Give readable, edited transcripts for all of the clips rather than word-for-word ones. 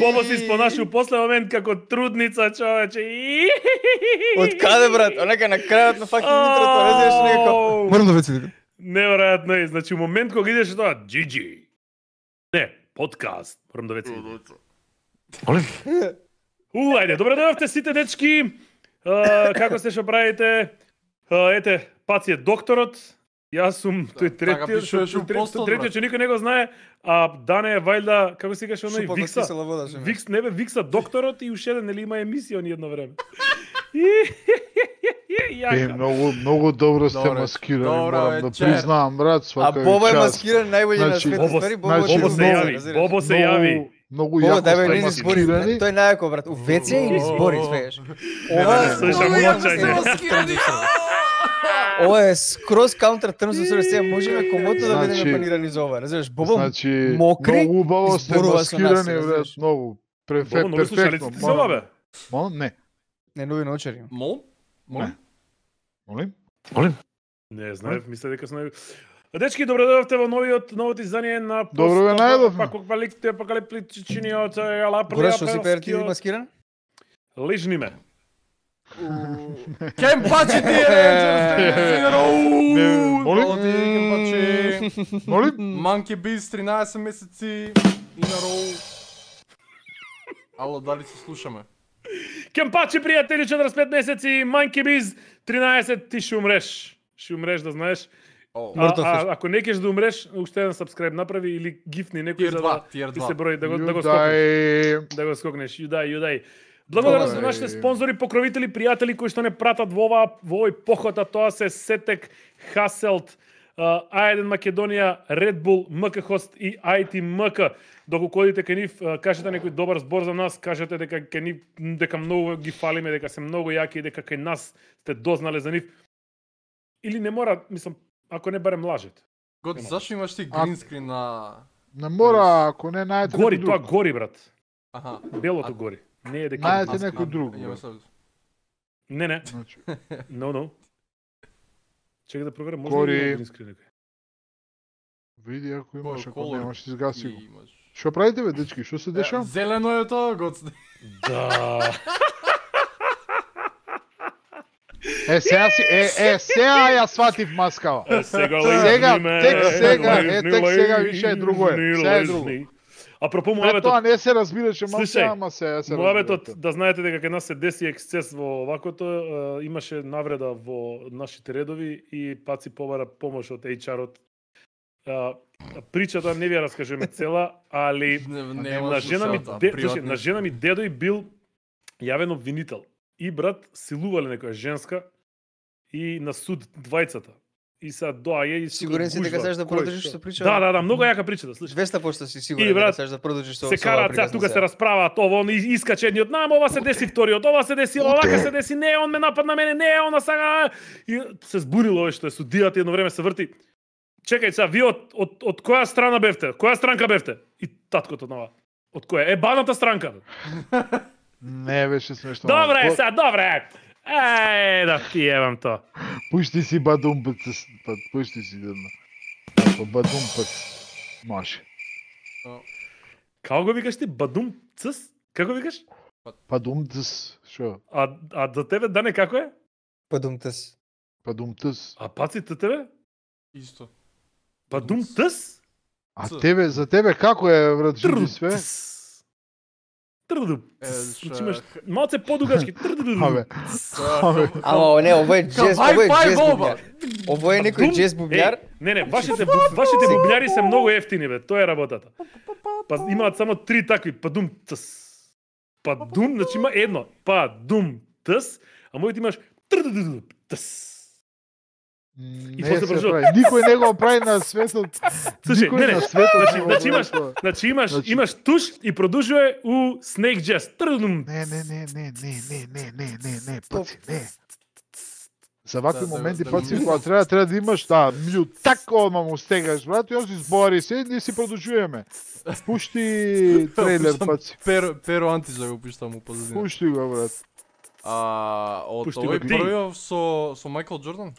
Бобо се испонашил после момент како трудница, човече. Од каде, брат? Онека на крајот на факин интрото, разбираш некако. Морам да веците. Неверојатно е. Значи, момент кога идеш тоа, GG. Не, подкаст. Морам да веците. Молим. Ајде, добре дојавте сите дечки. Како сте, што правите? Ете, Паци е докторот. Јас сум тој третиот што никој не го знае, а Дане е вајда, како се викаше оној Викса. Викс, не бе, Викса докторот и уште еден, нели има емисија ни едно време. Многу добро сте маскирани, морам да признавам, брат, свака час. А Бобо е маскиран најбољи на светот. Бобо се јави. Многу јако сте маскирани. Тој најако, брат, у ВЦ или збори, свееш. Ова е скроз counter terms of service, можеме комото да бидеме панирани за ова. Разбираш, Бобо мокри. Многу убаво сте маскирани, брат, многу. Перфектно. Не. Не нови научари. Молим? Не знаев, мисля дека сме. Дечки, добре дојдовте во новото издание на Добро ве најдовме. Апокалиптичниот Гора, што си перти маскиран? Лижни ме. Кемпачи ти е! Молим? Monkey Beast 13 месеци и на роу. Ало, дали се слушаме? Кемпачи, пријатели, 45 месеци, Monkey Beast 13, ти ще умреш. Ще умреш, да знаеш. Ако не кеш да умреш, уште еден subscribe направи или гифни некој за да ти се брои, да го скокнеш. Да го скокнеш, јудај. Благодарност на нашите спонзори, покровители, пријатели кои што не пратат во овој поход, а тоа се Сетек, Хаселт, А1 Македонија, Red Bull, МК Хост и IT МК. Доколку одите кај нив, кажете некој добар збор за нас, кажете дека кај нив дека многу ги фалиме, дека се многу јаки и дека кај нас сте дознале за нив. Или не мора, мислам, ако не барем лажете. Гот, зашто имаш ти гринскрин на... Не мора, ако не најдете некој друг. Гори, тоа гори, брат. Аха. Белото гори. Не е дека најдете некој друг. Не. No. Чекај да проверам, може ли да има гринскрин некој? Види, ако имаш, ако немаш, изгаси го. Што правите, бе, дечки? Што се деша? Зелено е тоа, Гот. Да. Сега ја сватив маскава. Сега, тек сега више е друго е. Сега е друго. Апропо муабетот. Тоа не се разбираше маска, ама се разбира. Муабетот, да знаете дека кај нас се деси ексцес во овакото, имаше навреда во нашите редови и Паци побара помош од HR-от. Причата не ви ја раскажеме цела, али на жена ми дедој бил јавен обвинител. И брат силувале некоја женска и на суд двајцата. И сега доаѓа и сигурен си дека сакаш да продолжиш со причата? Да, многу јака причата, слушај. 200% си сигурен дека сакаш да продолжиш со се караат сега тука се расправаат ово, он искаче едниот, ова се деси вториот, ова се деси, овака се деси, не, он ме нападна мене, не, она сага. И се збунило овој што е судијата едно време се врти. Чекај сега, вие од која страна бевте? Која странка бевте? И таткото нова. Од која? Ебаната странка. Не беше смешно. Добре, сега, добре. Да ти ебам тоа. Пушти си бадумпец, пушти си дедна. Бадумпец. Може. Како го викаш ти? Бадумцс? Како викаш? Бадумцс. Шо? А за тебе, Дане, како е? Бадумцс. Бадумцс. А Паци, за тебе? Исто. Бадумцс? А тебе, за тебе како е, брат, жуди све? Значи имаш малце подугачки. Ама не, ово е джез бубњар. Ово е некој джез бубњар. Не, вашите бубњари се многу ефтини бе, тоа е работата. Па имаат само 3 такви, падум тс. Падум, значи има едно, падум тс, а моите имаш тс. Не се прави. Никој не го прави на светот. Никој на светот. Значи имаш туш и продолжува у Snake Jazz. Не, паци, не. За вакви моменти паци кога треба да имаш мјут. Тако одма му стегаш, брат, и он си збори се, ние си продолжуваме. Пушти трейлер, паци. Перо Антиза го пуштам у позадина. Пушти го, брат. Од овој првиот со Майкл Џордан?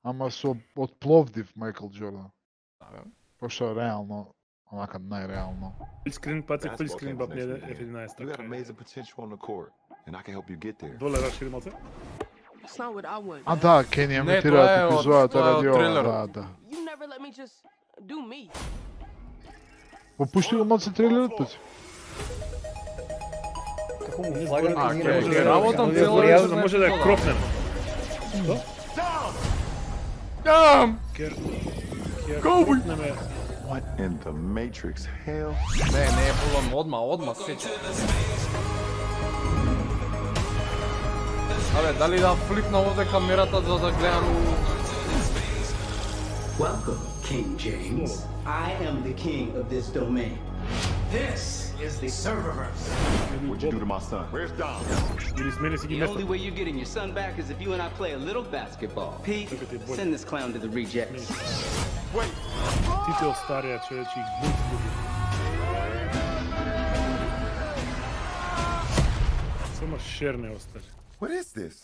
Ама со од Пловдив Майкл Џордан. Пошто реално, онака најреално. Филскрин, паци, филскрин баб не F11 така. Доле рашири малце? А да, Кени емитираат епизодата ради ова, да. Попушти го малце трейлерот, паци. Како му флагам работам цело, да може да ја кропнем. Коуби! What in the Matrix hell? Не е полам одма сече. Абе, дали да флипна овде камерата за да гледам Welcome, King James. I am the king of this domain. This is the serververse. What'd you do to my son? Where's Dom? The only way you're getting your son back is if you and I play a little basketball. Pete, send this clown to the rejects. Wait! Тите остарија човечи и бунт буди. Само шер не остари. What is this?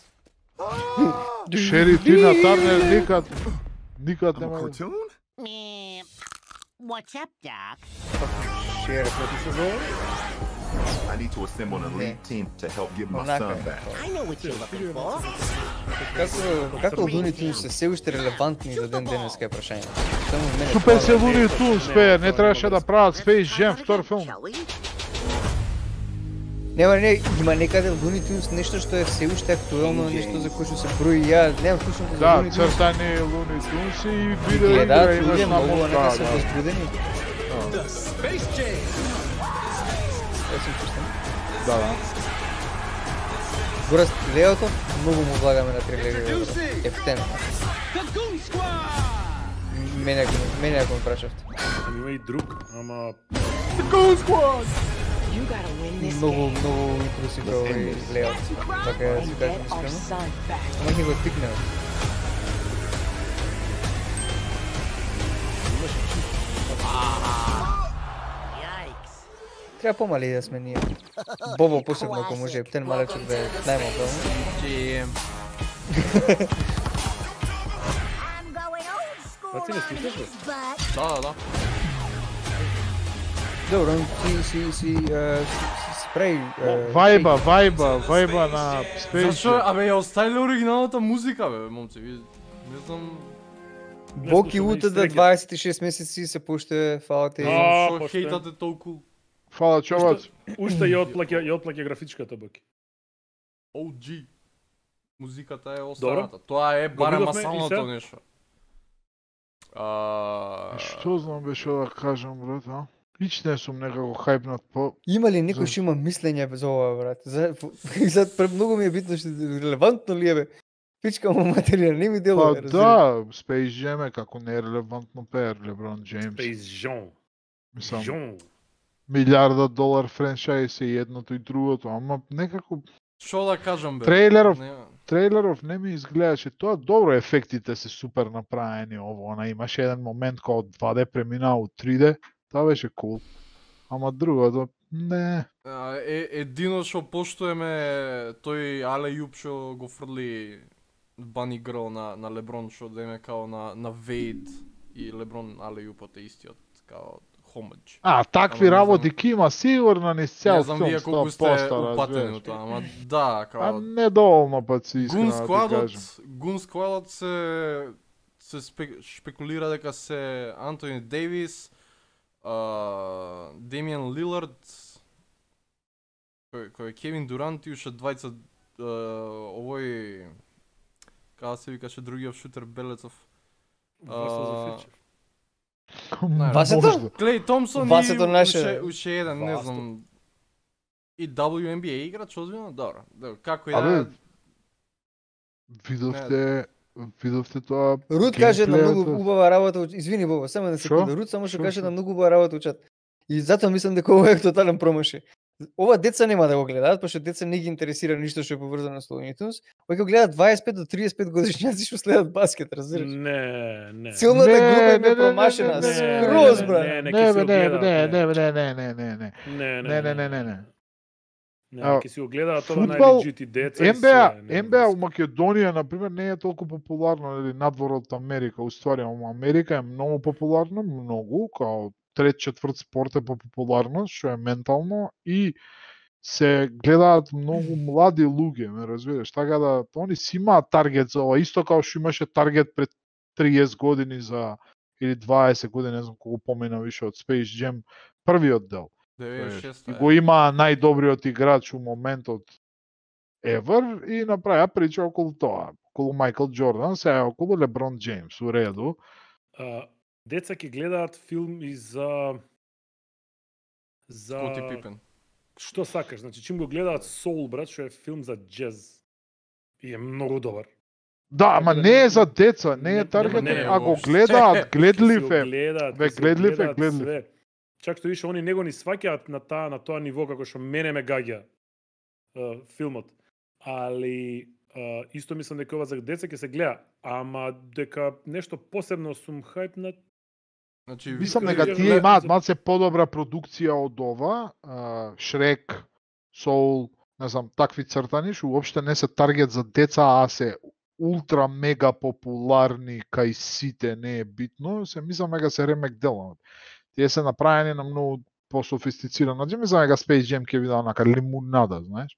Шери Тина Тарнер никад I'm a нема. cartoon? What's up, Doc? Шер, како се зове? I need to assemble an elite team to help give my son back. I know what you're looking for. Како Луни Тунс се уште релевантни до ден денеска е прашање. Супер се Луни Тунс, бе, не требаше да прават Space Jam втор филм. Има некаде Луни Тунс нешто што е се уште актуелно, нешто за кое што се брои. Ја немам слушам за Да, Луни Тунс. цртани Луни Тунс и видео игра Гледаат имаш луѓе на многу нека се моста. возбудени. Да. Гораст Леото, многу му влагаме на трейлери. Ефтен. Мене ако ме прашавте. Има и друг, ама Многу интереси про овој Леот. Така да си кажем искрено. Ама ќе го тикнеме. Треба помали да сме ние. Бобо посебно ако може, Ептен малечок да е најмалко. Паци не слушаш ли? Да. Добро, си спреј. Вајба на Space Зашо, Jam. абе ја оставиле оригиналната музика, бе, момци, ви не знам. Боки утре да 26 месеци се пуште, фала ти. А, Шо поштен. хейтате толку Фала човац. Уште ја отплаќа графичката баки. OG. Музиката е Добро. останата. Тоа е барем видовме и масалното се? нешто. Што знам беше да кажам, брат, а? Ич не сум некако хајпнат по... Има ли некој што има мислење без ова, брат? За многу ми е битно што релевантно ли е бе? Пичка му материја, не ми делува. Па да, Space Jam е како не е релевантно пеер Леброн Джеймс. Space Jam. Мислам, Jam. $1,000,000 франчајз и едното и другото, ама некако Што да кажам бе? Трейлеров. Нема. трейлеров не ми изгледаше тоа добро, ефектите се супер направени, ово, она имаше еден момент кога од 2D преминаа у 3D, тоа беше кул. Ама другото, не. Едино што поштуеме тој Але Јуп што го фрли Bunny Girl на Леброн, што да име као на Вейд и Леброн Але Јупот е истиот као homage. Такви Ама не работи знам. ки има сигурно низ цел Не знам филм, вие колку сте упатени разбираш. од тоа, ама да, као Недоволно пат си Гун искрено да ти сквадот, кажам. Гун сквадот се шпекулира дека се Антони Дейвис, Демиан Лилард, кој е Кевин Дурант и уште двајца овој како се викаше другиот шутер Белецов. Васето? Клей Томсон Васето и наше. уште еден, не знам. И WNBA играч, озбилно? Добро. Како и Абе, да... видовте тоа. Руд каже една геймплејот. многу убава работа, извини Боба, само една Шо? секунда. Руд само што Шо, каже шо? една многу убава работа учат. И затоа мислам дека ова е тотален промашај. Ова деца нема да го гледаат, пошто деца не ги интересира ништо што е поврзано со Looney Tunes. Овој го гледаат 25 до 35 годишњаци што следат баскет, разбираш? Не. Целната Не, група им не, е не, промашена, не, не, скроз не, брат. не, Не, ќе си го гледаат, не. Не, ќе си го гледаат тоа Фудбал, најлегити деца. и NBA, се, NBA у Македонија, например, не е толку популарно, нели, надвор од Америка, уствари, ама Америка е многу популарно, многу, као трет-четврт спорт е по популарност, што е ментално, и се гледаат многу млади луѓе, ме разбираш, така да они си имаат таргет за ова, исто као што имаше таргет пред 30 години за, или 20 години, не знам колку помина више од Space Jam, првиот дел. И 96-та го има најдобриот играч у моментот ever и направија прича околу тоа, околу Майкл Џордан, сега околу Леброн Джеймс, у реду. Деца ќе гледаат филм и за Скоти Пипен. што сакаш, значи чим го гледаат Soul, брат, што е филм за джез. И е многу добар. Да, ама да не е за деца, не е не, таргет, не, а го воопште. гледаат, гледлив Ќе си го е. гледаат, Бе, ќе си го гледлив е, гледаат гледлив. све. Чак што више они него ни сваќаат на тоа ниво како што мене ме гаѓа филмот. Али исто мислам дека ова за деца ќе се гледа, ама дека нешто посебно сум хајпнат. Значи, Мислам Викам, дека ја тие гледам имаат за- малце подобра продукција од ова, Шрек, Soul, не знам, такви цртани, што уопште не се таргет за деца, а се ултра мега популарни кај сите, не е битно, се мислам дека се ремек дела. Тие се направени на многу пософистициран начин, мислам дека Space Jam ќе биде онака лимунада, знаеш.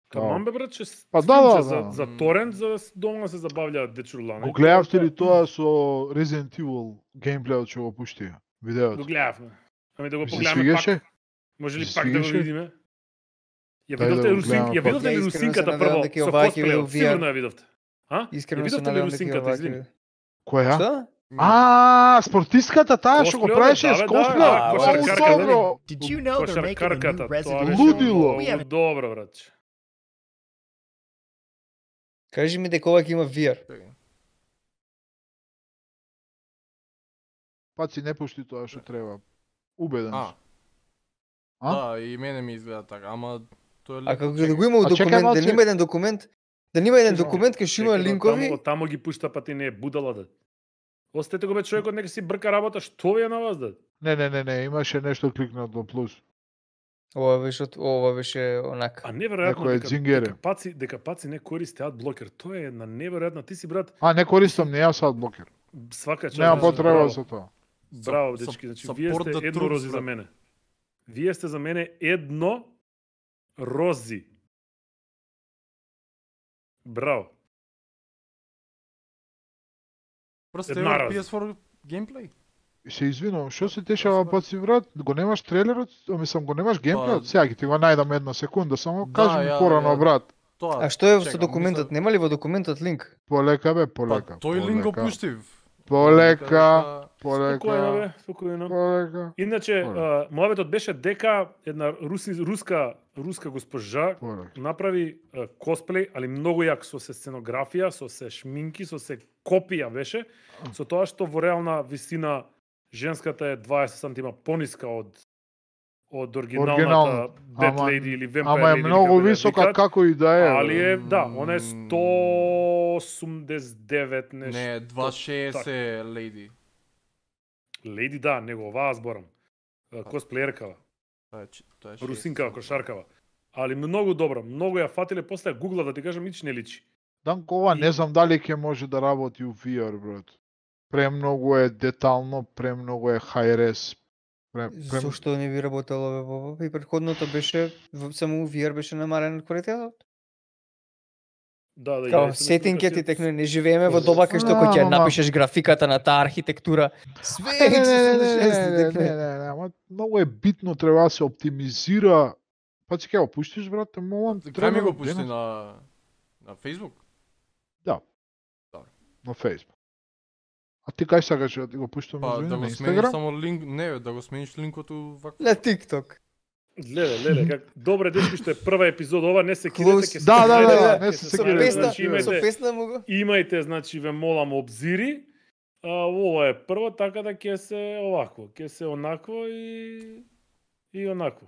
Каман бе брат, че Па филмче да, за, да. за торент, за дома се забавлjaат дечурлани. Го гледавте ли тоа со Resident Evil геймплејот што го пуштија? Го Видеото. гледавме. Ами да го Ви се погледаме свигаше? пак. Може ли се пак да го свигаше? видиме? Ја Дај да видовте го Русинка, гледаме ја пак. видовте ли Ја искрено се Русинката надевам прво дека со ова ќе биде косплејот? VR. Сигурно ја видовте. А? Ја Искрено се видовте ли надевам дека Русинката, ова извини? ќе... Која? Што? Спортистката таа што го Косплејот, правеше да, с бе, косплеј. да, О, кошаркарката. добро. Did you know they're making a new Кошаркарката, тоа Resident беше Evil? Лудило. We многу haven't добро, брат. Кажи ми дека ова ќе има VR. Паци не пушти тоа што треба. Убеден А. сум. А? Да, и мене ми изгледа така, ама тоа е А леко како чек. да го има А чекај документ, да малце. нема еден документ, да нема еден Чекај, документ кај што има Чекај, да, линкови. Тамо ги пушта, па ти не е будала да. Остете го бе човекот, нека си брка работа, што ви е на вас да? Не, имаше нешто кликнато плюс. Ова беше онака. А неверојатно Некој е дзингере. дека паци не користи адблокер. Тоа е една неверојатна. Ти си брат, А, не користам не јас адблокер. свака част. Нема да, потреба браво. со тоа. Браво, Со- дечки, значи со вие порт сте да едно трупс, рози за брат. мене. Вие сте за мене едно рози. Браво. Просто една е раз. PS4 геймплей. Се извинувам, што се дешава паци брат? Го немаш трейлерот? Мислам, го немаш геймплејот? Па- Сега ќе ти го најдам една секунда, само Да, кажи ми ја- порано ја- брат. Тоа. А што е со чекам, документот? Нема ли во документот линк? Полека бе, Па полека. тој линк го полека. пуштив. Полека, Спокојно полека, бе, спокојно. полека, Иначе, Полека. мојавето беше дека една руска госпожа полека. направи косплеј, али многу јак, со се сценографија, со се шминки, со се копија беше, со тоа што во реална висина женската е 20 сантима пониска од оригиналната Оригиналната. Bad Ама- Lady или Vampire Ама е Lady, многу како да ја висока викаат, како и да е. али бе. е, да, она е 189 нешто. Не, 260 леди. Леди, да, него оваа зборам. Косплееркава. Тоа е Русинкава, кошаркава. Али многу добра, многу ја фатиле, после ја гугла да ти кажам, ич не личи. Данко, ова не знам дали ќе може да работи у VR, брат. Премногу е детално, премногу е high-res. Зошто не би работело бе Боба? И претходното беше само VR беше намален квалитетот. Да, да. Као сетинкет и техно не живееме во доба кај што ќе напишеш графиката на таа архитектура. Све не, многу е битно, треба да се оптимизира. Па ќе го пуштиш, брате, молам. Кај ми го пушти на Facebook? Да. Добро. На Facebook. А ти кај сакаш да ти го пуштам Па да го смениш само линк, не, да го смениш линкот вака. На TikTok. Леле, как добре дечки што е прва епизода, ова не се кидете, ќе се Да, не се кидете. Со песна му го. Имајте, значи ве молам обзири. Ова е прво, така да ќе се овакво, ќе се онакво и онакво.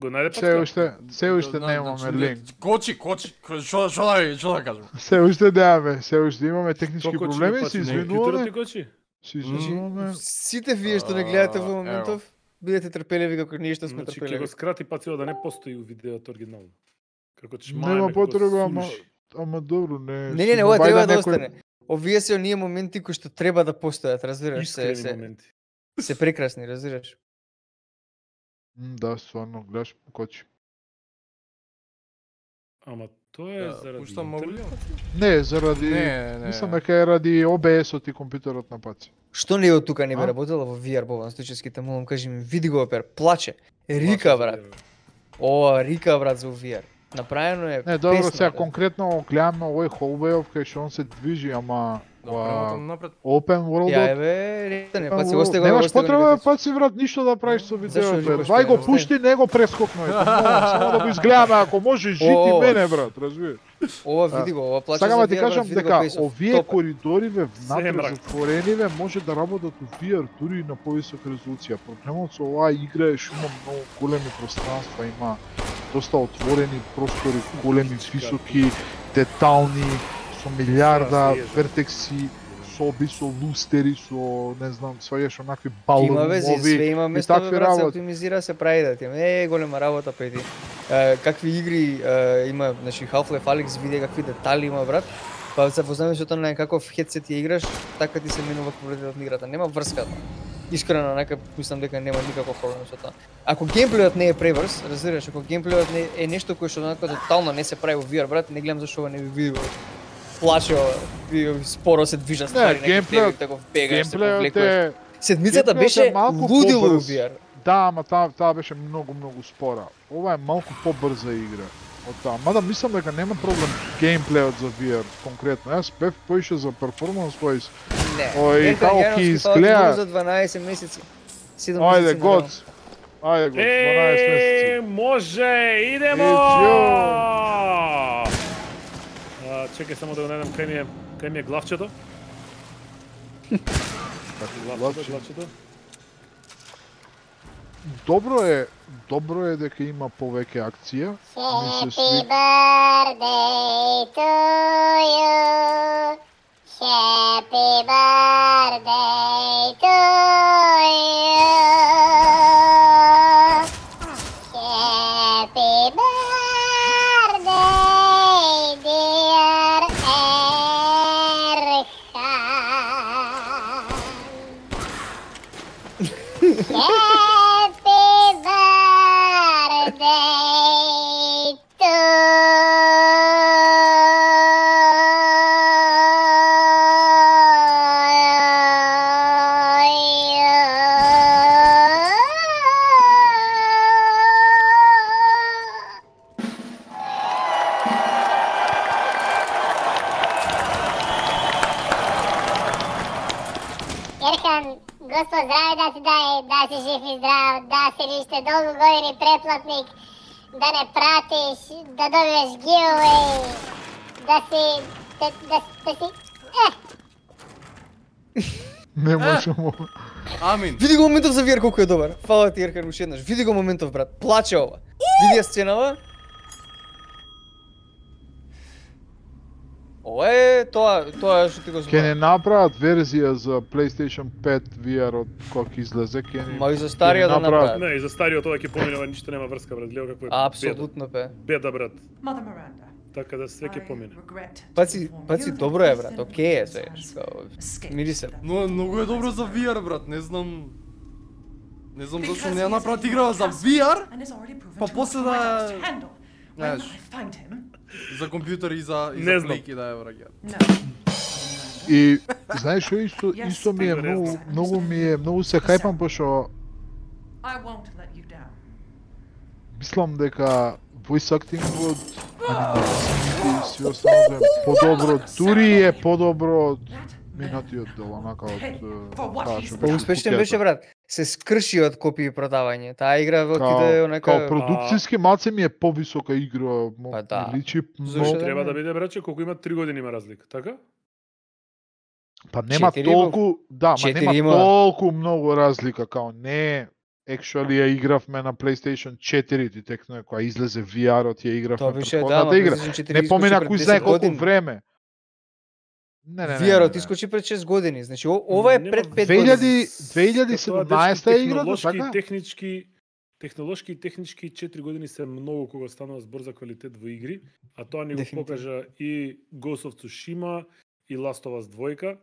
Го најде Се уште немаме линк. Кочи, што да кажам? Се уште немаме, се уште имаме технички проблеми, се извинуваме. Се извинуваме. Сите вие што не гледате во моментов, бидете трпеливи како ние што сме трпеливи. Ќе го скрати пацио да не постои у видеото оригинално. Како че нема потреба, ама добро, не. Не, ова треба да остане. Овие се оние моменти кои што треба да постојат, разбираш се. Се прекрасни, разбираш. Да, стварно, гледаш кочи. Ама тоа е заради Не, заради мислам дека е ради OBS-от и компјутерот на паци. Што не од тука не би работело во VR, Бован Стојчевски, молам, кажи ми, види го опер, плаче. Рика, брат. Рика, брат, за VR. Направено е не, добро, сега конкретно гледаме овој Hallway-ов кај што он се движи, ама Open World. Ја бе, не паци, осте го. Немаш потреба паци брат ништо да правиш со видеото. Вај го пушти, не го прескокнуј. Само да го изгледаме ако може жити мене брат, разбираш. Ова види го, ова плаче. Сакам да ти кажам дека овие коридориве внатре затворениве може да работат у VR дури на повисока резолуција. Проблемот со оваа игра е што има многу големи пространства, има доста отворени простори, големи, високи, детални, со милиарда вертекси, соби со лустери, со не знам, сваѓаш онакви балони, има вези, све има место да се оптимизира, се прави да ти. Голема работа преди. Какви игри има, значи Half-Life Alyx види какви детали има брат. Па се познаваме со тоа на каков хедсет ја играш, така ти се менува квалитетот на играта. Нема врска. Искрено нека мислам дека нема никаков проблем со тоа. Ако геймплејот не е пребрз, разбираш, ако геймплејот не е нешто кое што онака тотално не се прави во VR брат, не гледам зашто ова не би видио. Плаче, споро се движат ствари, некој таков бегаш, се повлекуваш. Седмицата беше лудило во VR. Да, ама таа беше многу спора. Ова е малку побрза игра од таа. Мада мислам дека нема проблем геймплејот за VR конкретно. Јас бев поише за перформанс wise. Ој, како ќе изгледа за 12 месеци. 7 месеци. Ајде, год. 12 месеци. Може, идемо! Чекај само да го најдам кај ми е главчето. Главчето. Добро е дека има повеќе акција. Happy birthday to you. Happy birthday to you. Happy birthday, dear Erhan. Ерхан, Господ здраве да ти даде, да си жив и здрав, да си лиште долго години преплатник, да не пратиш, да добиеш giveaway, да си... Не можемо. Амин. Види го моментов за VR колку е добар. Фала ти Ерхан уште еднаш. Види го моментов брат. Плаче ова. Види ја сценава. Ова е тоа што ти го зборам. Ќе не направат верзија за PlayStation 5 VR од кога ќе излезе, ќе не. Ма и за стариот да направат. Не, и за стариот тоа ќе помине, ништо нема врска брат. Гледа како е. Апсолутно бе. Беда брат. Така да све ќе помине. Паци добро е брат. Океј е све. Мири се. Но многу е добро за VR брат, не знам. Не знам зашто не ја направат игра за VR, па после да... Знаеш, за компјутери и за плейки да ја враќаат. И знаеш што исто ми е многу се хајпам пошто мислам дека voice acting-от анимациите и си останало е подобро, дури е подобро од минатиот дел, онака од Успешен беше, брат. Се скрши од копии продавање. Таа игра отиде онака као продукциски малце ми е повисока игра, личи многу. Треба да биде, браче, колку има 3 години има разлика, така? Па нема толку, ма нема толку многу разлика, као не actually ја игравме на PlayStation 4, ти текно кога излезе VR-от ја игравме претходната игра. Не помина кој знае колку време. VR-от искочи пред 6 години, значи ова е пред 5 години. 2017 играта, така? Технолошки и технички 4 години се многу кога станува збор за квалитет во игри, а тоа ни го покажа и Ghost of Tsushima и Last of Us 2,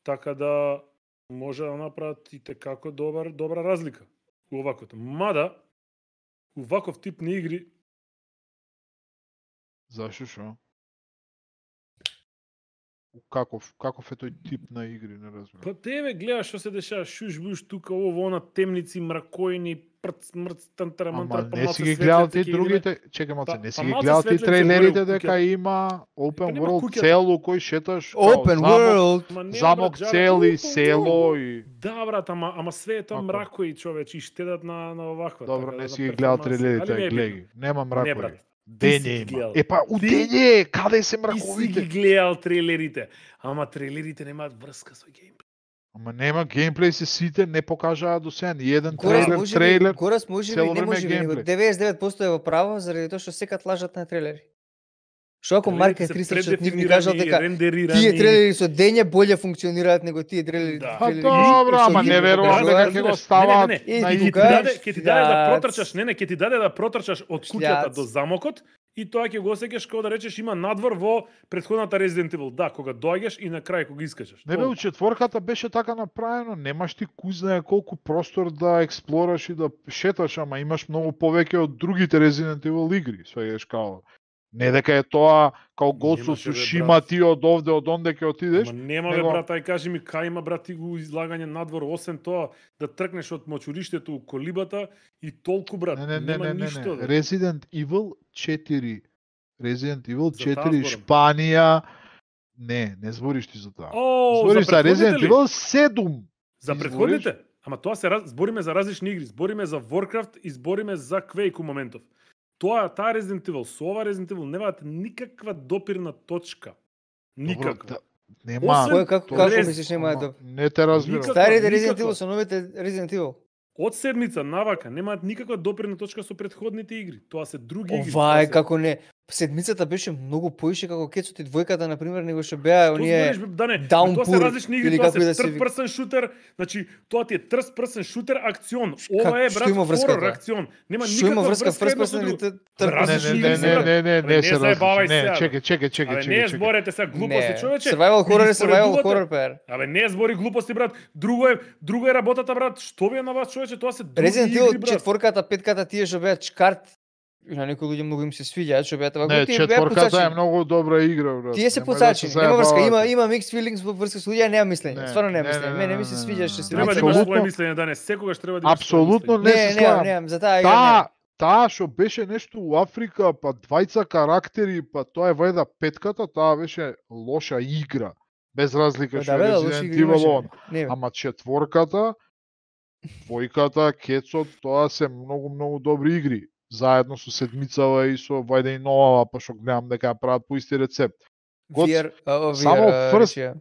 така да може да направат и tekako добра разлика у оваквото. Мада, у ваков тип на игри... Зашо шо? Каков е тој тип на игри, не разбирам. Па тебе гледаш што се дешава, шуш-буш тука, ово, она, темници, мракојни, прц, тантарамантар, па не си ги гледал ти другите, чекай малце, не си ги гледал ти трейлерите дека има Open World цело кој шеташ, Open World, замок цели, село и... Да, брат, ама све е тоа мракои, човече, и штедат на оваква. Добро, не си ги гледал трейлерите, гледај, нема мракои. Дење има. Епа, у дење, каде се мраковите? Ти си ги гледал трейлерите, ама трейлерите немаат врска со геймплей. Ама нема геймплей, се сите не покажаа до сега ни еден трейлер. Горас може ли, не може ли, 99% е во право заради тоа што секад лажат на трейлери. Што ако Марк 300 ни кажал дека тие трейлери со дење боле функционираат него тие трейлери. Па добро, ама не верувам дека ќе го ставаат на игра. Ќе ти даде да протрчаш, ќе ти даде да протрчаш од куќата до замокот и тоа ќе го осеќаш како да речеш има надвор во претходната Resident Evil. Да, кога доаѓаш и на крај кога искачаш. Не бе, у четворката беше така направено, немаш ти кој знае колку простор да експлораш и да шеташ, ама имаш многу повеќе од другите Resident Evil игри, сваѓаш као. Не дека е тоа као Ghost of Tsushima ти од овде од онде ќе отидеш. Ама нема бе брат, ај кажи ми кај има брат ти го излагање надвор освен тоа да тркнеш од мочуриштето у колибата и толку брат, нема ништо. Resident Evil 4. Resident Evil 4 Шпанија. Не збориш ти за тоа. Збориш за Resident Evil 7. За претходните? Ама тоа збориме за различни игри, збориме за Warcraft и збориме за Quake у моментов. Таа Resident Evil, со ова Resident Evil немаат никаква допирна точка. Никаква. Нема. Како мислиш нема да? Не те разбирам. Старите Resident Evil со новите Resident Evil. Од седмица навака немаат никаква допирна точка со претходните игри. Тоа се други игри. Ова е како не. Седмицата беше многу поише како Кецот и двојката на пример него што беа оние Downpour. Тоа се различни игри, тоа се third person shooter, значи тоа ти е third person shooter акцион. Ова е брат хорор акцион. Нема никаква врска first person или Не, се забавај се. Чекај. Не зборете се глупости, човече. Survival horror пер. Абе не збори глупости брат. Друго е работата брат. Што ви е на вас човече? Тоа се други Resident игри Evil 4-ката, 5-ката тие што беа чкарт. На некои луѓе многу им се свиѓаат, што беа тоа готини. Не, четворката е многу добра игра, брат. Тие се посачени, нема врска, има mixed feelings во врска со луѓе, нема мислење. Стварно нема мислење. Мене ми се свиѓаше се. Треба да имаш своје мислење, да не секогаш треба да имаш. Апсолутно не се славам. Не, за таа игра. Таа што беше нешто у Африка, па двајца карактери, па тоа е вајда петката, таа беше лоша игра. Без разлика што Resident Evil. Ама четворката, двојката, Кецот, тоа се многу добри игри. Заедно со седмицава и со вајде и новава, па што гледам дека ја прават по исти рецепт.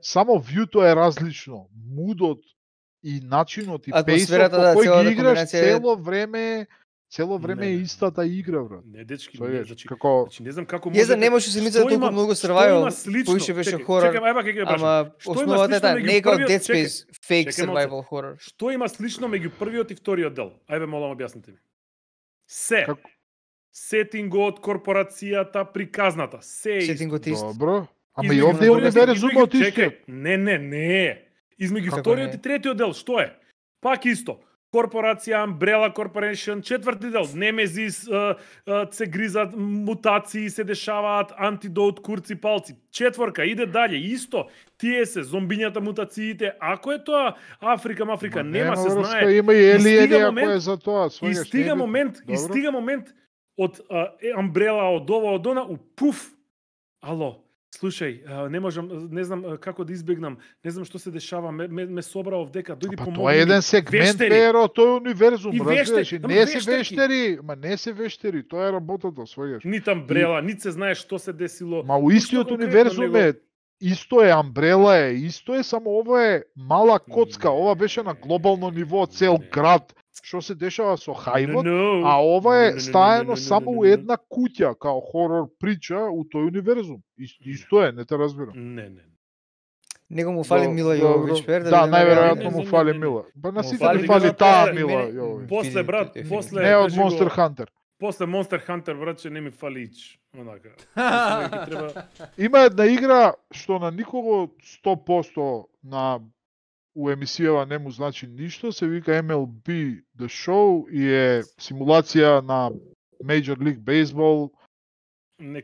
Само вјуто е различно. Мудот и начинот и пејсот по кој ги играш цело време е истата игра, брат. Не, дечки, значи не знам како може. Не може се мисли толку многу survival, поише беше хорор. Ама основата е не е како Dead Space, fake survival horror. Што има слично меѓу првиот и вториот дел? Ајде молам објасните ми. Сетингот, корпорацијата, приказната, се е исто. Добро. Ама и овде не бе резумот исто. Не. Измеѓу вториот и третиот дел, што е? Пак исто. корпорација Umbrella Corporation, 4-ти дел, Немезис, се гризат, мутации се дешаваат, антидот, курци, палци. 4 иде дале, исто, тие се, зомбињата, мутациите, ако е тоа Африка, нема се знае. Има и елиени ако е за тоа. И стига момент од Umbrella, од ова, од она, пуф, ало, слушај, не знам како да избегнам, не знам што се дешава, ме собра овдека, дојди помогни. Тоа е еден сегмент перо, тој универзум, разбираш, не се вештери, тоа е работата, својаш. Нит Umbrella, нит се знае што се десило. Ма у истиот универзум е, исто е, Umbrella е, исто е, само ова е мала коцка, ова беше на глобално ниво, цел град. Што се дешава со хајвот, а ова е стаено само у една куќа, као хорор прича у тој универзум. Исто е, не те разбирам. Не. Него му фали Мила Јововиќ, Да, најверојатно му фали Мила. Па на сите ни фали таа Мила Јововиќ. После брат, после не од Monster Hunter. После Monster Hunter, братче, не ми фали ич. Онака. Има една игра што на никого 100% на у емисијава не му значи ништо, се вика MLB The Show и е симулација на Major League Baseball.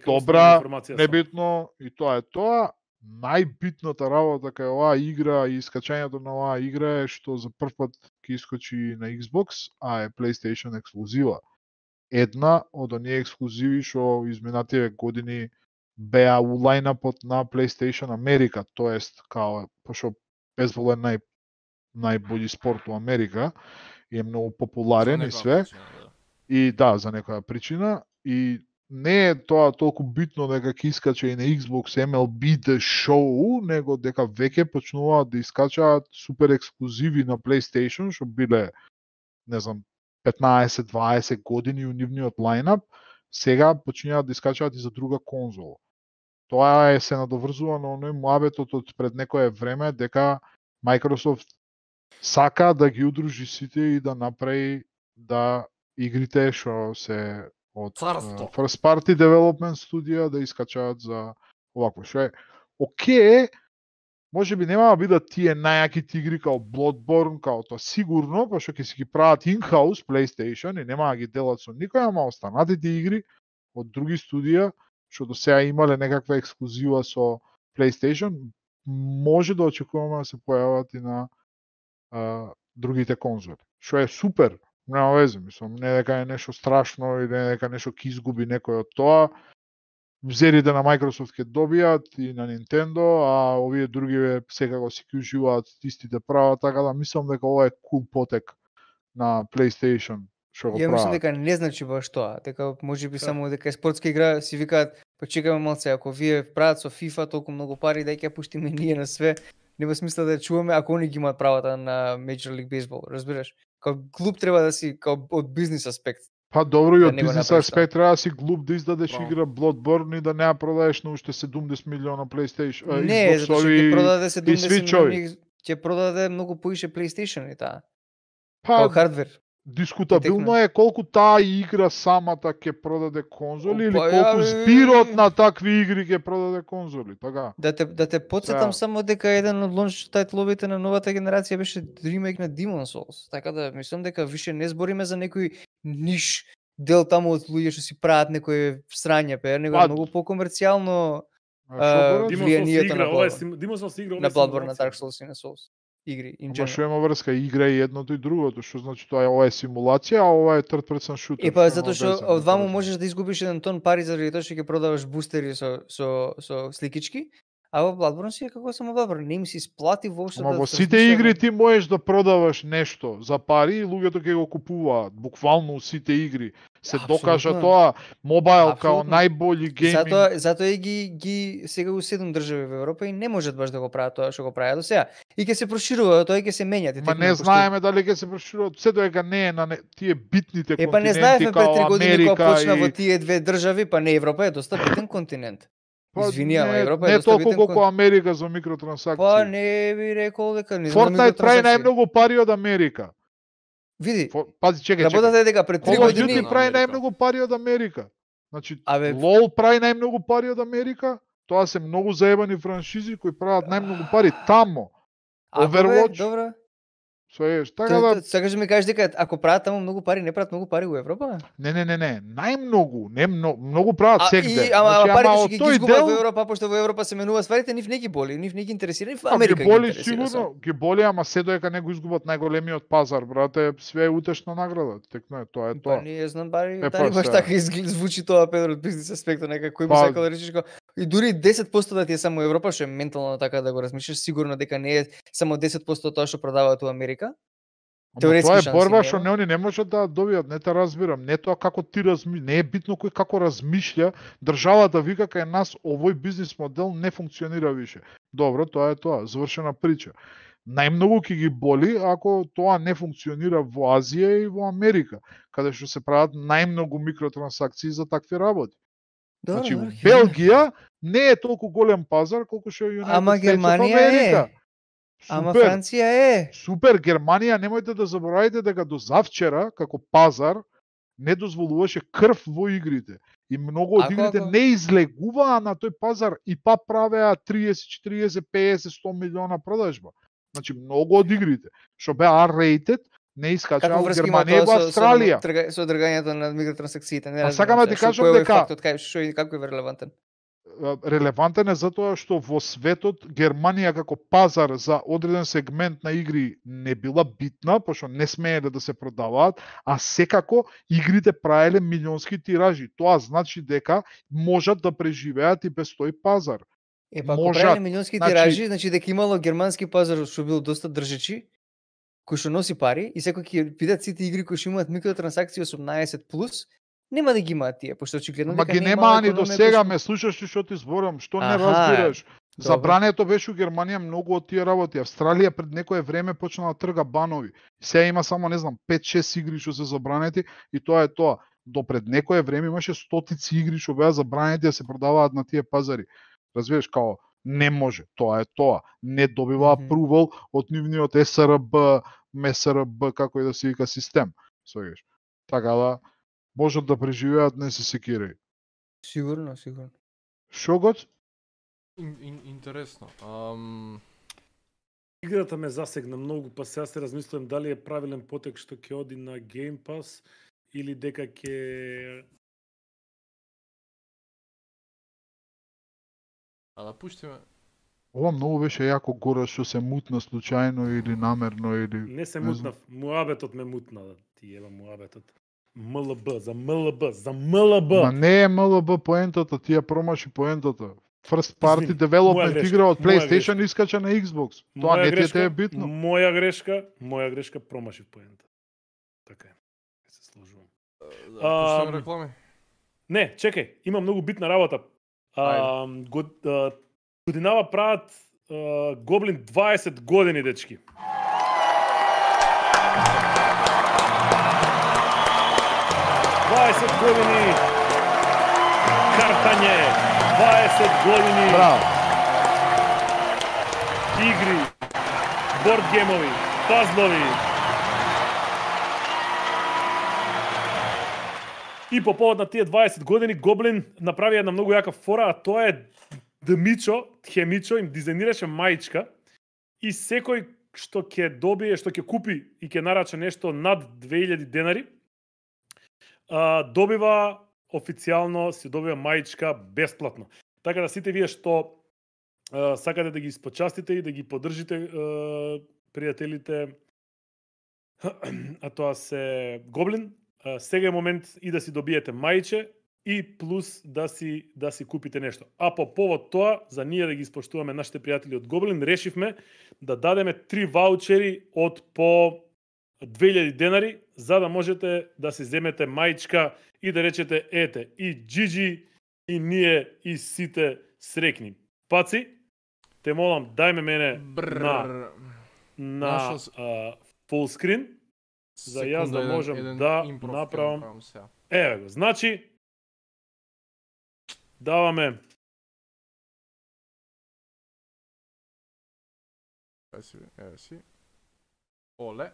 Добра, небитно, и тоа е тоа. Најбитната работа кај оваа игра и искачањето на оваа игра е што за прв пат ќе искочи на Xbox, а е PlayStation ексклузива. Една од оние ексклузиви што изминативе години беа у лајнапот на PlayStation Америка, тоест као пошто бейсбол е најбољи спорт у Америка и е многу популарен и све. И да, за некоја причина. И не е тоа толку битно дека ќе искача и на Xbox MLB The Show, него дека веќе почнуваат да искачаат супер ексклузиви на PlayStation, што биле, не знам, 15-20 години у нивниот лајнап, сега починаат да искачаат и за друга конзола. Тоа е се надоврзува на оној муабетот од пред некое време дека Microsoft сака да ги удружи сите и да направи да игрите што се од First Party Development студија да искачаат за овакво. Што е окей, може би нема да бидат тие најаките игри као Bloodborne, као тоа сигурно, пошто ќе си ги прават in-house PlayStation и нема да ги делат со никој, ама останатите игри од други студија што до сега имале некаква ексклузива со PlayStation, може да очекуваме да се појават и на другите конзоли. Што е супер, нема везе, мислам, не дека е нешто страшно или не дека нешто ќе изгуби некој од тоа. Зерите на Microsoft ќе добијат и на Nintendo, а овие други секако си ќе уживаат истите права, така да мислам дека ова е кул потек на PlayStation. Ја мислам дека не значи баш тоа, дека можеби само дека е спортска игра, си викаат, па чекаме малце, ако вие прават со FIFA толку многу пари, дај ќе пуштиме ние на све, нема смисла да чуваме ако они ги имаат правата на Major League Baseball, разбираш? Као клуб треба да си као од бизнис аспект. Па добро, и од бизнис аспект треба да си глуп да издадеш игра Bloodborne и да не ја продадеш на уште 70 милиона PlayStation. Не, затоа што ќе продаде 70 милиони, ќе продаде многу поише PlayStation и таа. Као хардвер. Дискутабилно е колку таа игра самата ќе продаде конзоли или колку збирот на такви игри ќе продаде конзоли, така? Да те потсетам само дека еден од лонч тајтловите на новата генерација беше ремейк на Demon's Souls, така да мислам дека више не збориме за некој ниш дел таму од луѓе што си прават некој срање, него е многу покомерцијално влијанието на Bloodborne, на Dark Souls и на Souls игри. Ама што има врска, игра и едното и другото, што значи тоа е ова е симулација, а ова е third person shooter. Епа затоа што од ваму можеш да изгубиш еден тон пари заради тоа што ќе продаваш бустери со сликички, а во Bloodborne си е како само Bloodborne, не им се исплати воопшто. Ама во сите игри ти можеш да продаваш нешто за пари и луѓето ќе го купуваат, буквално сите игри. Се докажа тоа, мобайл као најбољи гейминг. Затоа и ги сега у 7 држави во Европа и не можат баш да го прават тоа што го прават до сега. И ќе се проширува, тоа и ќе се менјат. Ма не знаеме дали ќе се проширува, се дека не е на тие битните континенти. Па не знаевме пред 3 години кога почна во тие две држави, па не Европа е доста битен континент. Извини, ама Европа е доста битен континент. Не толку колку Америка за микротрансакции. Па не би рекол дека не знам. Fortnite прави најмногу пари од Америка. Види, пази, чекај. Работата е дека пред 3 години Call of Duty прави најмногу пари од Америка. Значи, LOL прави најмногу пари од Америка. Тоа се многу заебани франшизи кои прават најмногу пари тамо. Overwatch. Добро. Така да Сакаш да ми кажеш дека ако прават таму многу пари, не прават многу пари во Европа? не, најмногу, не многу прават сегде. Ама парите што од ги тој изгубат дел во Европа, пошто во Европа се менува стварите, нив не ги боли, нив не ги интересира, нив ги Америка ги боли интересира. сигурно, ги боли, ама се доека не го изгубат најголемиот пазар, брате, све е утешна награда. Текно е, тоа е тоа. Па не знам бари, Па дали баш се. така звучи тоа Педро од бизнес аспектот, нека кој би Па- сакал да речеш како и дури 10% да ти е само Европа, што е ментално така да го размислиш, сигурно дека не е само 10% тоа што продаваат у Америка. Ама Теоретски тоа е шанси борба нема. што не они не можат да добијат, не те разбирам. Не тоа како ти не е битно кој како размишља, државата вика кај нас овој бизнис модел не функционира више. Добро, тоа е тоа, завршена прича. Најмногу ќе ги боли ако тоа не функционира во Азија и во Америка, каде што се прават најмногу микротрансакции за такви работи. Значи, ќе Белгија не е толку голем пазар колку што е United Ама States of Германија America. Ама Супер. Франција е. Супер, Германија, немојте да заборавате дека до завчера, како пазар, не дозволуваше крв во игрите. И многу од игрите не излегуваа на тој пазар и па правеа 30, 40, 50, 100 милиона продажба. Значи, многу од игрите, што беа R-rated, не искачаа во Германија и во Австралија. Со одргањето на микротрансакциите, не А разбирам. сакам да ти кажам дека фактот кај што и како е релевантен. Релевантен е затоа што во светот Германија како пазар за одреден сегмент на игри не била битна, пошто не смееле да се продаваат, а секако игрите правеле милионски тиражи. Тоа значи дека можат да преживеат и без тој пазар. Па ако правеле милионски тиражи, значи дека имало германски пазар што бил доста држечи, кој што носи пари и секој ќе видат сите игри кои што имаат микротрансакции 18+, нема да ги имаат тие, пошто очигледно дека дека нема ни до сега, ме слушаш што ти зборам, што не разбираш. Забрането беше у Германија многу од тие работи. Австралија пред некое време почна да трга банови. Сега има само, не знам, 5-6 игри што се забранети и тоа е тоа. До пред некое време имаше стотици игри што беа забранети да се продаваат на тие пазари. Разбираш, као не може, тоа е тоа. Не добива апрувал од нивниот СРБ, МСРБ, како и да се вика систем. Свегаш. Така да можат да преживеат, не се секирај. Сигурно, сигурно. Шо гоц? Интересно. Играта ме засегна многу, па сега се размислувам дали е правилен потек што ќе оди на Game Pass или дека ќе да пуштиме. Ова многу беше јако гора што се мутна случајно или намерно или не се мутнав, муабетот ме мутна, да ти ева муабетот. МЛБ, за МЛБ, за МЛБ. Ма не е МЛБ поентата, ти ја промаши поентата. First party development игра од PlayStation искача на Xbox. Тоа не ти е битно. Моја грешка промашив поента. Така е. Се сложувам. Пуштаме реклами? Не, чекај, има многу битна работа. Годинава прават Гоблин 20 години, дечки. години картање, 20 години игри, борд геймови, пазлови. И по повод на тие 20 години Гоблин направи една многу јака фора, а тоа е Дмичо, Хемичо им дизајнираше маичка и секој што ќе добие, што ќе купи и ќе нарача нешто над 2000 денари, добива официјално, си добива маичка бесплатно. Така да сите вие што сакате да ги спочастите и да ги поддржите пријателите, а тоа се Гоблин, сега е момент и да си добиете маиче и плюс да си купите нешто. А по повод тоа, за ние да ги испоштуваме нашите пријатели од Гоблин, решивме да дадеме 3 ваучери од по 2000 денари, за да можете да си земете маичка и да речете ете, и Джиджи, и ние, и сите срекни. Паци, те молам, дајме мене на full screen, за јас да можам да направам. Еве го, значи, даваме еве си. Оле.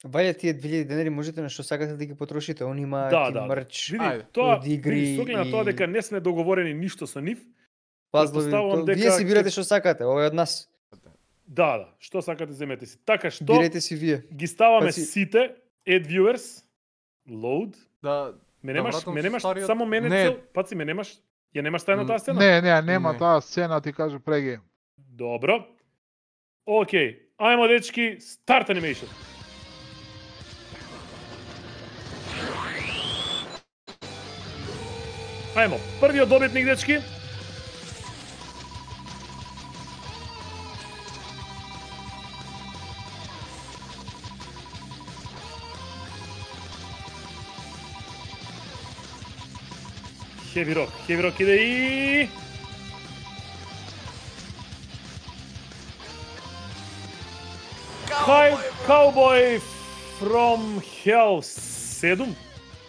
Вајде тие 2000 денари можете на што сакате да ги потрошите, они имаат и мрч. Види, тоа игри со оглед на тоа дека не сме договорени ништо со нив. Пазлови, вие си бирате што сакате, ова е од нас. Да, што сакате земете си. Така што Бирајте си вие. ги ставаме Паци- сите add viewers, load. Да, Ме Да немаш, вратам ме немаш стариот- само мене Не. цел, паци ме немаш. Ја немаш тајна таа сцена? Нема Не. таа сцена, ти кажу преги. Добро. Океј, ајмо дечки, старт animation. Ајмо, првиот добитник дечки. Heavy Rock иде и... Cowboy from Hell 7?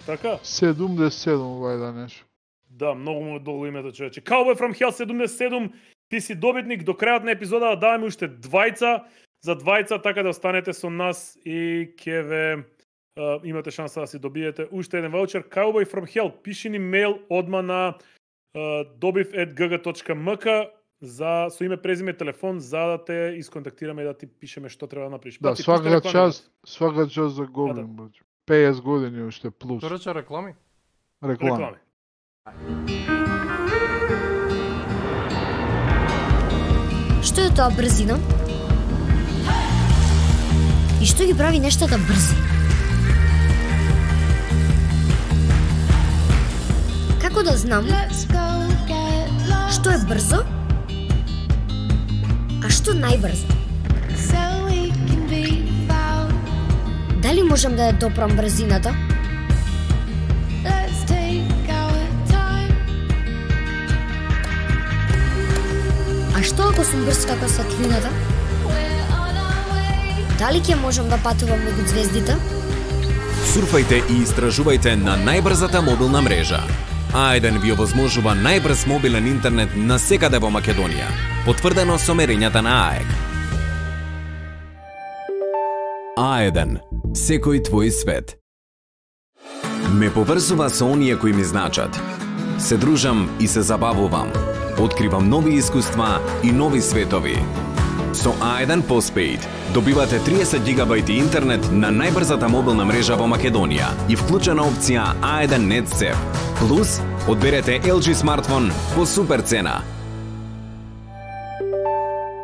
Така? 77 вајда нешто. Да, многу му е долго името, човече. Cowboy from Hell 77, ти си добитник до крајот на епизодата, даваме уште двајца, за двајца, така да останете со нас и ќе ве имате шанса да си добиете уште еден ваучер. Cowboy from Hell, пиши ни мејл одма на dobiv@gg.mk со име, презиме, телефон, за да те исконтактираме и да ти пишеме што треба да направиш. Да, Паци, пушти реклами, свака час за Goblin, браќе. 50 години уште плюс. Тоа рече реклами? Реклама. Што е тоа брзина? И што ги прави нештата брзи? Како да знам што е брзо, а што најбрзо? Дали можам да ја допрам брзината? А што ако сум брз како светлината? Дали ќе можам да патувам меѓу ѕвездите? Сурфајте и истражувајте на најбрзата мобилна мрежа. А1 ви овозможува најбрз мобилен интернет на секаде во Македонија, потврдено со мерењата на АЕК. А1. Секој твој свет. Ме поврзува со оние кои ми значат. Се дружам и се забавувам. Откривам нови искуства и нови светови. Со A1 Postpaid добивате 30 GB интернет на најбрзата мобилна мрежа во Македонија и вклучена опција A1 NetSafe. Плюс, одберете LG смартфон по супер цена.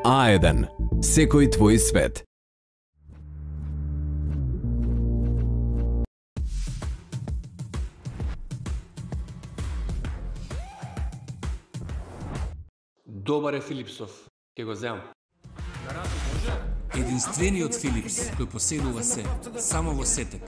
A1. Секој твој свет. Добар е Филипсов, ќе го земам. Единствениот Филипс кој поседува се, само во сетек.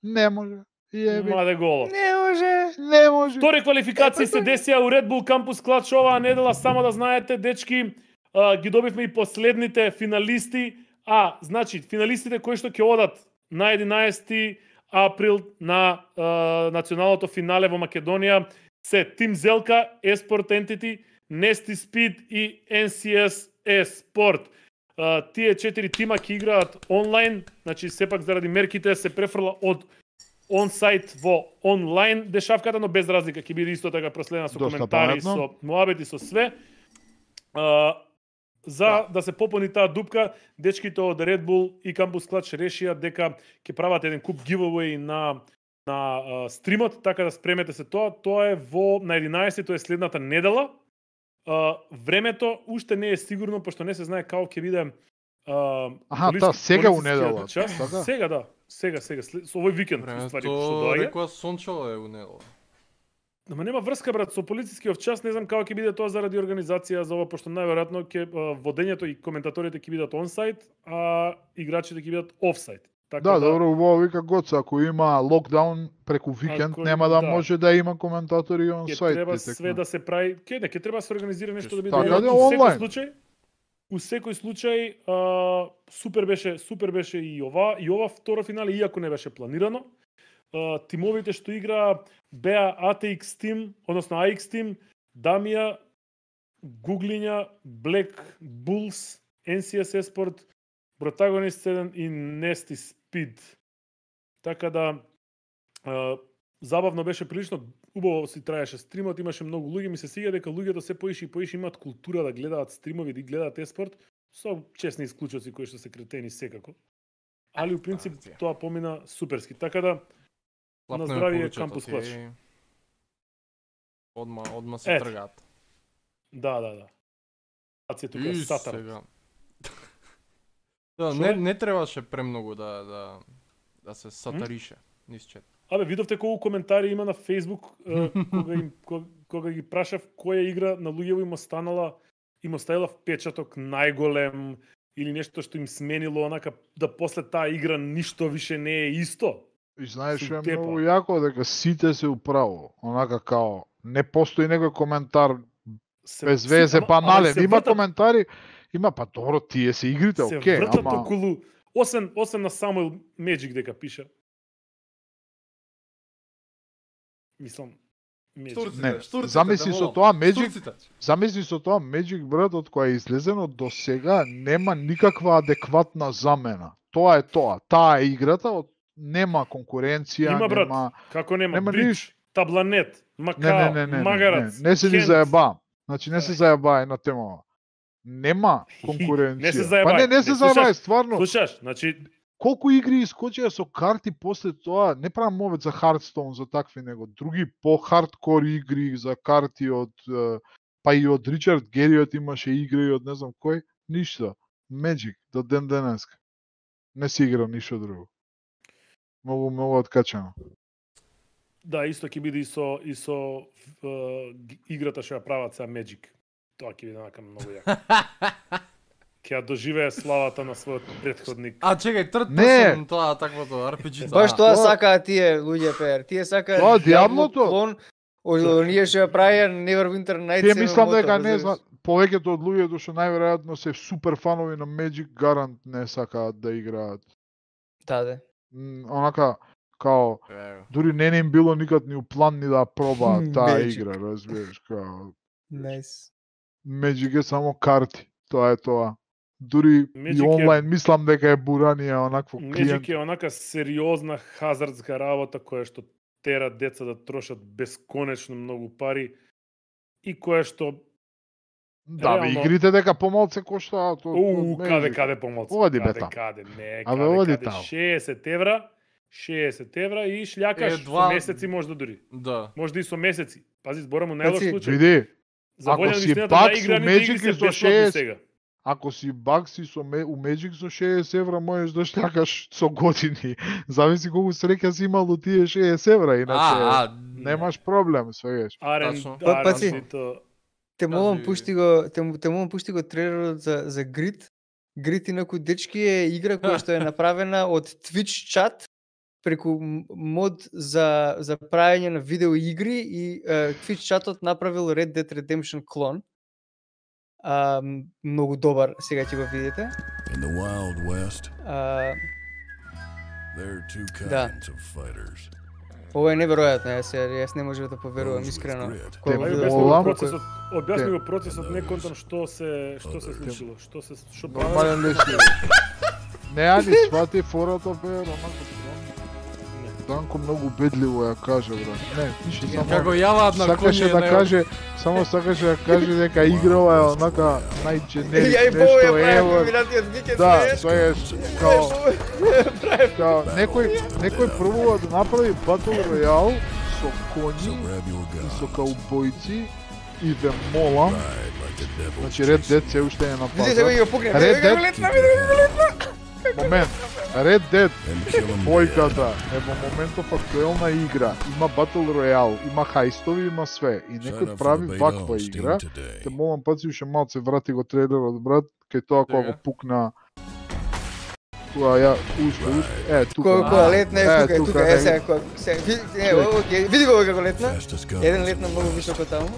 Не може. Маде голо. Не може. Втори квалификации се десија у Red Bull Campus Clutch оваа недела, само да знаете, дечки, ги добивме и последните финалисти. Значи, финалистите кои што ќе одат на 11 април на националното финале во Македонија се Team Zelka, Esport Entity, Nesty Speed и NCS Esport. Тие 4 тима ќе играат онлайн, значи сепак заради мерките се префрла од онсайт во онлайн дешавката, но без разлика ќе биде исто така проследена со коментари, со муабети, со све. За да се попълни таа дупка, дечките од Red Bull и Campus Clutch решија дека ќе прават еден куп giveaway на стримот, така да спремете се тоа. Тоа е на 11, тоа е следната недела. Времето уште не е сигурно, пошто не се знае како ќе биде Таа сега у недела. Сега, да. Сега, со овој викенд, ствари, што доаѓа. Рекоа сончево е унело. Ама нема врска, брат, со полицискиот час, не знам како ќе биде тоа заради организација за ова, пошто најверојатно ќе водењето и коментаторите ќе бидат онсайт, а играчите ќе бидат офсайт. Така добро, убаво вика Гоца, ако има локдаун преку викенд, нема да може да има коментатори онсайт. Ќе треба све да се прави, ќе треба да се организира нешто да биде онлайн. У секој случај супер беше и ова второ финале, иако не беше планирано. Тимовите што игра беа ATX Team, односно AX Team, Дамија, Гуглиња, Black Bulls, NCS Esport, Protagonist 7 и Nasty Speed. Така да забавно беше прилично, убаво си траеше стримот, имаше многу луѓе, ми се сиѓа дека луѓето се поише и поише имаат култура да гледаат стримови, да гледаат еспорт, со чесни исклучоци кои што се кретени секако. Али у принцип тоа помина суперски. Така да на здравие Кампус Клач. Одма се тргаат. Да. Ација тука сатар. Не требаше премногу да се сатарише низ чет. Абе, видовте колку коментари има на Facebook кога ги прашав која игра на луѓево им оставила впечаток најголем или нешто што им сменило онака да после таа игра ништо више не е исто. И знаеш што е многу јако дека сите се управо, онака као не постои некој коментар без везе банален, има коментари, има па добро тие се игрите, окей, ама се вртат околу осем на Самуел Меджик дека пиша. Мислам, замисли со тоа Magic, брат, од која е излезено до сега нема никаква адекватна замена. Тоа е тоа. Таа е играта, нема конкуренција, има, брат, нема... Како нема Бридж, Табланет, Макао, Магарац, не се ни заебаам. Значи не се заебај на темава. Нема конкуренција. Не се заебај. Па не се заебај, стварно. Слушаш, значи колку игри искочија со карти после тоа, не правам мовет за Hearthstone, за такви, него други по-хардкор игри за карти од, па и од Ричард Гериот имаше игри од не знам кој, ништо. Magic, до ден денеска. Не си играм ништо друго. Многу откачано. Да, исто ќе биде и со играта што ја прават сега Magic. Тоа ќе биде нака многу јако. Ќе ја доживее славата на својот претходник. Чекај, трет персон тоа таквото RPG. Баш тоа сакаат тие луѓе пер. Тие сакаат Тоа Диаблото. Оние што ја правија Neverwinter Nights. Тие мислам дека не знам, повеќето од луѓето што најверојатно се супер фанови на Magic гарант не сакаат да играат. Да. Онака као дури не им било никад ни у план ни да пробаат таа игра, разбираш, као. Nice. Magic е само карти, тоа е тоа. Дури и онлайн мислам дека е буранија онакво клиент. Magic е онака сериозна хазардска работа која што тера деца да трошат бесконечно многу пари и која што да, бе, игрите дека помалце коштаат. Каде помалце? Оди бета. Каде, не, каде 60 евра и шљакаш со месеци можда дури. Да. Можда и со месеци. Пази, зборам у најлош случај. Види, ако си бак со Magic и со 60, ако си бак си со у Magic со 60 евра можеш да шљакаш со години. Зависи колку среќа си имал до тие 60 евра, иначе немаш проблем, свегаш. Те молам пушти го трейлерот за Grid. Grid инаку дечки е игра која што е направена од Twitch чат преку мод за правење на видео игри и Twitch чатот направил Red Dead Redemption клон. Многу добар, сега ќе го видите. In the Wild West, there are two kinds of fighters. Ова е неверојатно, јас не можев да поверувам искрено. Објасни го процесот, не контам што се случило, што нормален леси. Не, ани свати фората бе, онако Данко многу бедливо ја каже, брат. Не, ништо само. Како јаваат на коње да каже, само сакаше да каже дека играва е онака најдженерик нешто ево. Да, тоа е као некој пробува да направи Battle Royale со коњи и со каубојци и ве молам. Значи Red Dead се уште е на пазар. Видите го пукне. Момент. Red Dead двојката е во моментов актуелна игра. Има Battle Royale, има хаистови, има све. И некој прави ваква игра. Те молам паци уште малце врати го трейлерот, брат, кај тоа кога го пукна. Тука ја тука летна тука сега види го како летна. Еден летна многу високо таму.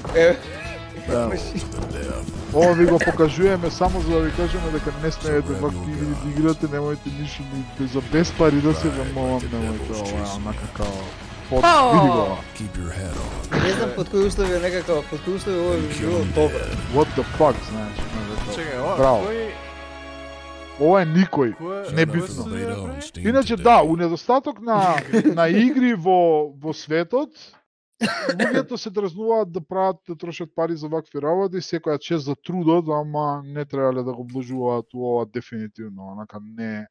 Ова ви го покажуваме само за да ви кажеме дека не смеете вакви игри да играте, немојте ништо ни за без пари да се вамолам, немојте ова, онака као види го. Не знам под кои услови е некако, под кои услови ова би било добро. What the fuck, знаеш? Браво. Ова е никој, небитно. Иначе да, у недостаток на игри во светот, луѓето се дразнуваат да прават, да трошат пари за вакви работи, секоја чест за трудот, ама не требале да го вложуваат у ова дефинитивно, онака не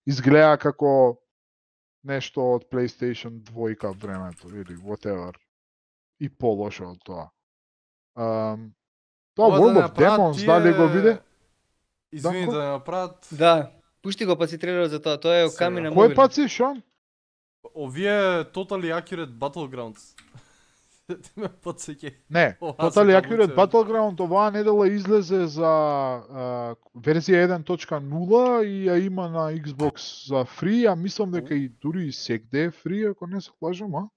изгледа како нешто од PlayStation 2 времето или whatever. И полошо од тоа. Тоа World of Demons, дали го виде? Извини да направат. Да, пушти го паци трейлерот за тоа, тоа е Оками на мобил. Кој паци, шо? Овие Totally Accurate Battlegrounds. Ме подсеќа. Не, Totally Accurate Battleground оваа недела излезе за верзија 1.0 и ја има на Xbox за фри, а мислам дека и дури и секде е фри, ако не се лажам, а?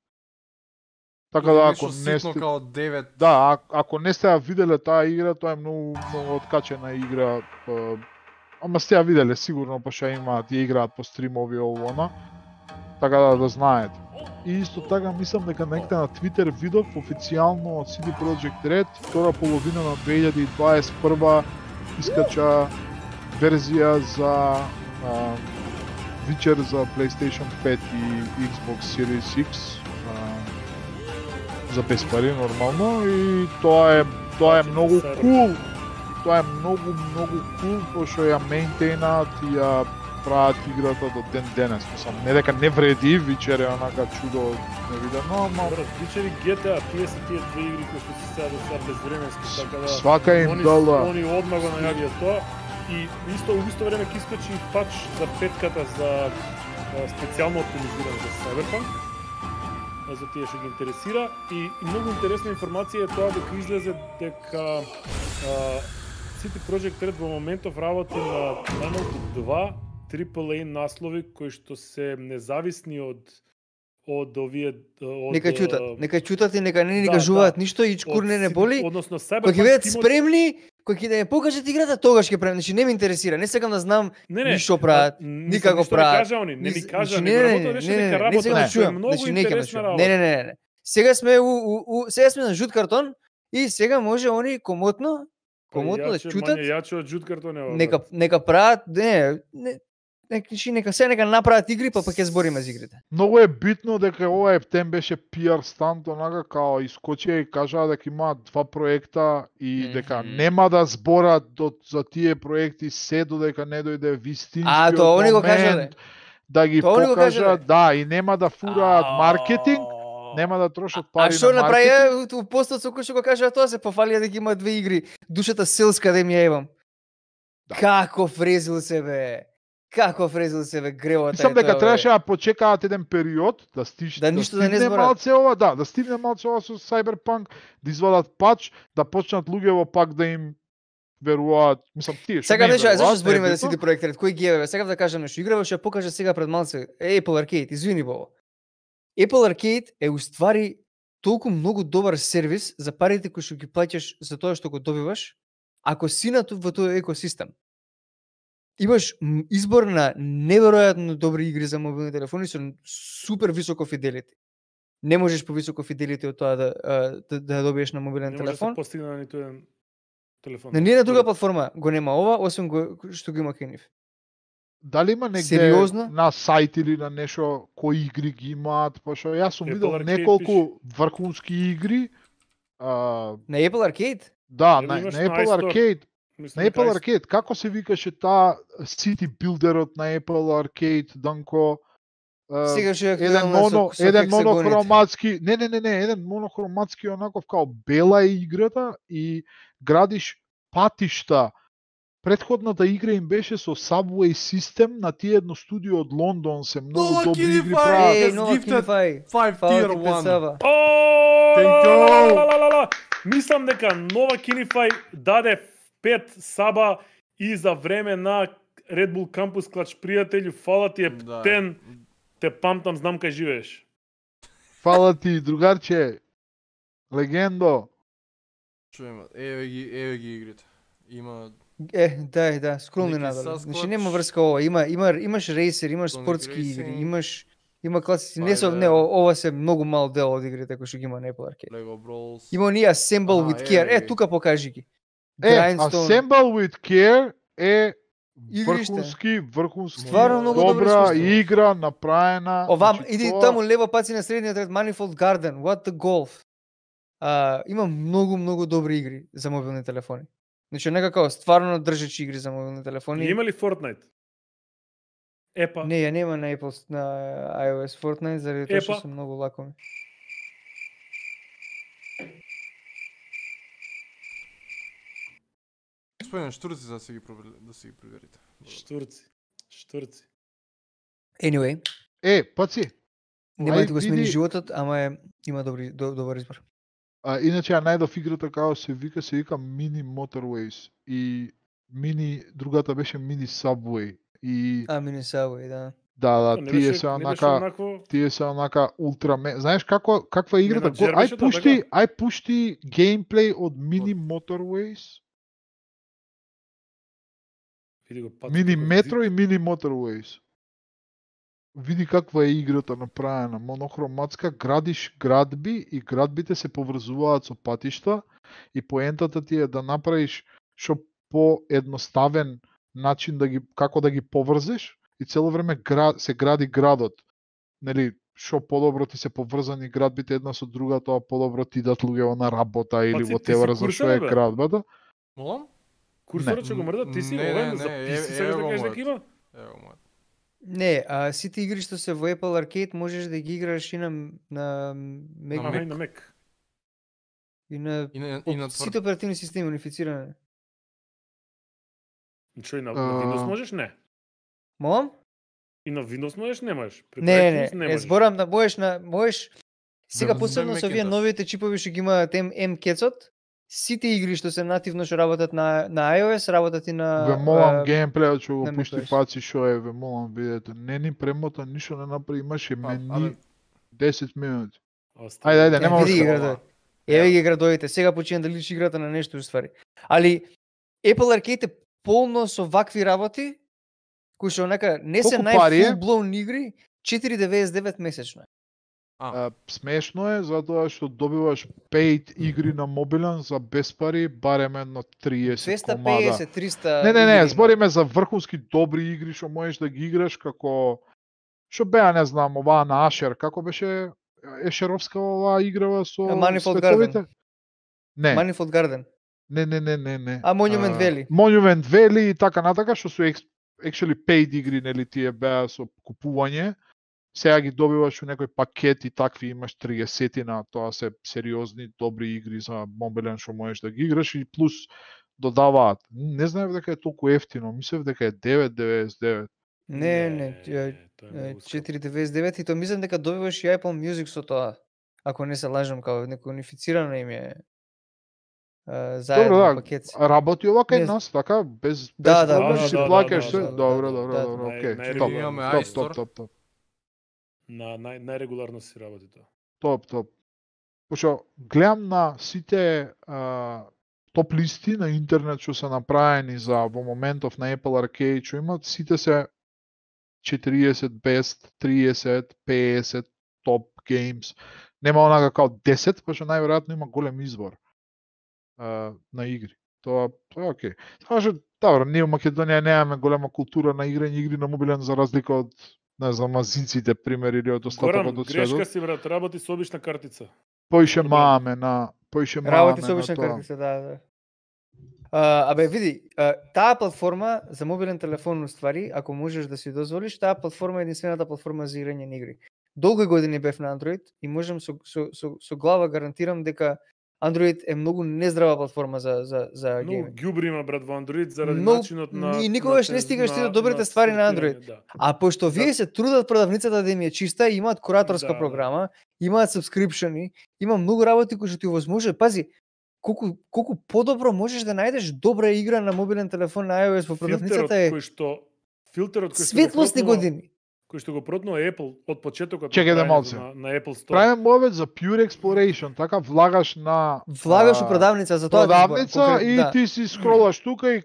Така да ако не сте као 9. Да, ако не сте ја виделе таа игра, тоа е многу откачена игра. Ама сте ја виделе сигурно, пошто имаат ја играат по стримови овона. Така да знаете. И исто така мислам дека некаде на Twitter видов официјално од CD Projekt Red втора половина на 2021 искача верзија за Witcher за PlayStation 5 и Xbox Series X за без пари нормално и тоа е многу кул. Тоа е многу кул, пошто ја мейнтейнат и ја прават играта до ден денес. Мислам, не дека не вреди, Witcher е онака чудо невидено, ама Witcher и GTA, тие се тие две игри кои што се сега до сега безвременски, така да свака им дала. Они одма го најавија тоа и во исто време ќе искочи пач за петката за специјално оптимизиран за Cyberpunk. За тие што ги интересира и многу интересна информација е тоа дека излезе дека CD Projekt Red во моментов работи на најмалку 2 AAA наслови кои што се независни од овие нека чутат и нека не ни кажуваат ништо и чкур не боли. Односно Кога ќе бидат спремни, кога ќе да ја покажат играта, тогаш ќе прават. Значи не ме интересира, не сакам да знам ништо прават, никако прават. Не ми кажа, не сакам многу интересна работа. Не. Сега сме на жут картон и сега може они комотно да чутат. Јачо од жут картон е ова. Нека прават, нека направат игри, па ќе збориме за игрите. Многу е битно дека ова ептен беше PR стант, онака као искочија и кажаа дека имаат 2 проекта и дека нема да зборат за тие проекти се додека не дојде вистинскиот момент да ги покажат, да, и нема да фураат маркетинг, нема да трошат пари на маркетинг. А што направија у постот со кој што го кажа тоа, се пофалија дека има 2 игри, душата селска да ми ја ебам. Како фрезил се бе. Како фрезил се бе гревата. Мислам дека требаше да почекаат еден период да стигне малце ова, да стигне малце ова со Cyberpunk, да извадат пач, да почнат луѓето пак да им веруваат. Мислам тие што. Сега зашто збориме да CD Projekt Red, кој ги е бе? Сега да кажам нешто. Играва што ја покажа сега пред малце Apple Arcade, извини бо. Apple Arcade е уствари толку многу добар сервис за парите кои што ги плаќаш за тоа што го добиваш, ако си во тој екосистем. Имаш избор на неверојатно добри игри за мобилни телефони со супер високо фиделити. Не можеш по високо фиделити од тоа да добиеш на мобилен телефон. Не може да се постигне на ниту еден телефон. На ниједна друга платформа го нема ова, освен што го има кај нив. Дали има негде на сајт или на нешто кои игри ги имаат, пошто јас сум видел неколку врхунски игри. На Apple Arcade? Да, на Apple Arcade. На Apple Arcade, како се викаше таа City Builderот на Apple Arcade, Данко? Еден монохроматски, еден монохроматски онаков као бела е играта и градиш патишта Претходната игра им беше со Subway систем, на тие едно студио од Лондон се многу Нова добри игри Kinify! прават. Ей, Yes, нова gifted Kinify. 5 Фала tier ти пред 1. Сава. Thank you. Мислам дека нова Kinify даде 5 саба и за време на Red Bull Campus клач пријателju, фала ти Ептен, те памтам, знам кај живееш. Фала ти, другарче. Легендо. Чуеме, еве ги игрите. Има Да, скролни Неки надолу. Sasquatch. Значи нема врска ова, имаш рейсер, имаш Sonic спортски Racing. игри, има класици, не со Spider. не ова се многу мал дел од игрите кои што ги има на Apple Arcade. Lego Brawls. Има оние Assemble with Care. ги. Тука покажи ги. Assemble with Care е Игриште. врхунски Стварно многу добро добра искуство. игра направена. Овам, значи, иди тоа- таму лево паци на средниот ред Manifold Garden, What the Golf. Има многу добри игри за мобилни телефони. Значи некако стварно држечи игри за мобилни телефони. Има ли Fortnite? Епа. Не, ја нема на Apple на iOS Fortnite заради тоа што Епа. се многу лакоми. Спојам штурци за да си ги проверите. Штурци. Anyway, паци. нема да Ај, ти го смени види- животот, ама има добар избор. Иначе ја најдов играта како се вика Mini Motorways и другата беше Mini Subway и Mini Subway, да. Да, Не тие беше- се не беше онака, онакво- тие се онака Знаеш каква е играта? Менаџер Ај беше тоа, пушти, така? ај пушти геймплей од Mini Motorways, Види го паци Mini како Metro и Mini Motorways. Види каква е играта направена, монохроматска, градиш градби и градбите се поврзуваат со патишта и поентата ти е да направиш што поедноставен начин како да ги поврзеш и цело време се гради градот. Нели, што подобро ти се поврзани градбите една со друга, тоа подобро ти дат луѓе на работа или Паци, во ти си тевара за што е курсор, бе? градбата. Молам? Курсорот ќе го мрда, ти си Не, овен не, за не, ти си еве сега го да кажеш мојот. дека има. Ево мојот. Не, сите игри што се во Apple Arcade можеш да ги играш и на Mac. Аха, и на Mac. И на И на сите оперативни системи унифицирани. Што и на Windows можеш? Не. Молам? И на Windows можеш? Не можеш. Преку Не, iTunes не, можеш. зборам да можеш сега Да, посебно на со овие Macintosh. новите чипови што ги имаат M-кецот, сите игри што се нативно што работат на iOS, работат и на Ве молам геймплејот што го на пушти macOS. паци што е, ве молам видете. Не ни премота, ништо не направи, имаше мени 10 минути. Ајде, нема види ги уште. градови. Еве ги градовите. Сега почина да личи играта на нешто уствари. Али Apple Arcade е полно со вакви работи кои што онака не се Колку пари е? full blown игри, 4.99 месечно. Смешно е затоа што добиваш paid игри на мобилен за без пари, барем едно 30 комада. 250, 300. Не, игри има. збориме за врхунски добри игри што можеш да ги играш како што беа, не знам, оваа на Ашер, како беше Ешеровска оваа играва со Manifold световите? Garden. Не. Manifold Garden. Не. Monument Valley. Monument Valley и така натака, што се actually paid игри, нели тие беа со купување. Сега ги добиваш у некој пакет и такви имаш 30-на, тоа се сериозни, добри игри за мобилен што можеш да ги играш и плюс додаваат. Не знаев дека е толку ефтино, мислев дека е 9.99. Не, 4.99 и тоа мислам дека добиваш и Apple Music со тоа. Ако не се лажам, као некој унифицирано им е заедно Добро, да, пакет. работи ова кај Не нас, така, без Да, проблем, да, си да, плаќаш да, се. да, Добро, да, да, окей. Имаме Топ. iStore. На најрегуларно си работи тоа. Топ. Пошто гледам на сите топ листи на интернет што се направени за во моментов на Apple Arcade што имат, сите се 40 best, 30, 50 топ games. Нема онака као 10, пошто најверојатно има голем избор на игри. Тоа е окей. Само што добро, ние во Македонија немаме голема култура на игри на мобилен за разлика од не знам, азинците пример или од остатокот од грешка светот. си брат, работи со обична картица. Поише маме на Работи со обична картица, да. Абе, види, таа платформа за мобилен телефон уствари, ако можеш да си дозволиш, таа платформа е единствената платформа за играње на игри. Долги години бев на Android и можам со глава гарантирам дека Android е многу нездрава платформа за Многу гейминг. ѓубри има брат во Android заради Многу- начинот на и никогаш не стигаш ти до добрите ствари на Android. сортирање, да. А пошто вие се трудат продавницата да им е чиста, имаат кураторска Да, да. програма, имаат subscription-и, има многу работи кои што ти овозможуваат. Пази, колку подобро можеш да најдеш добра игра на мобилен телефон на iOS во продавницата е филтерот кој што светлосни го протнува- години. кој што го протнува Apple од почетокот Чекај да на малце. траењето на Apple Store. Правим мовет за pure exploration, така влагаш на Влагаш у продавница за тоа. продавница и ти си скролаш тука и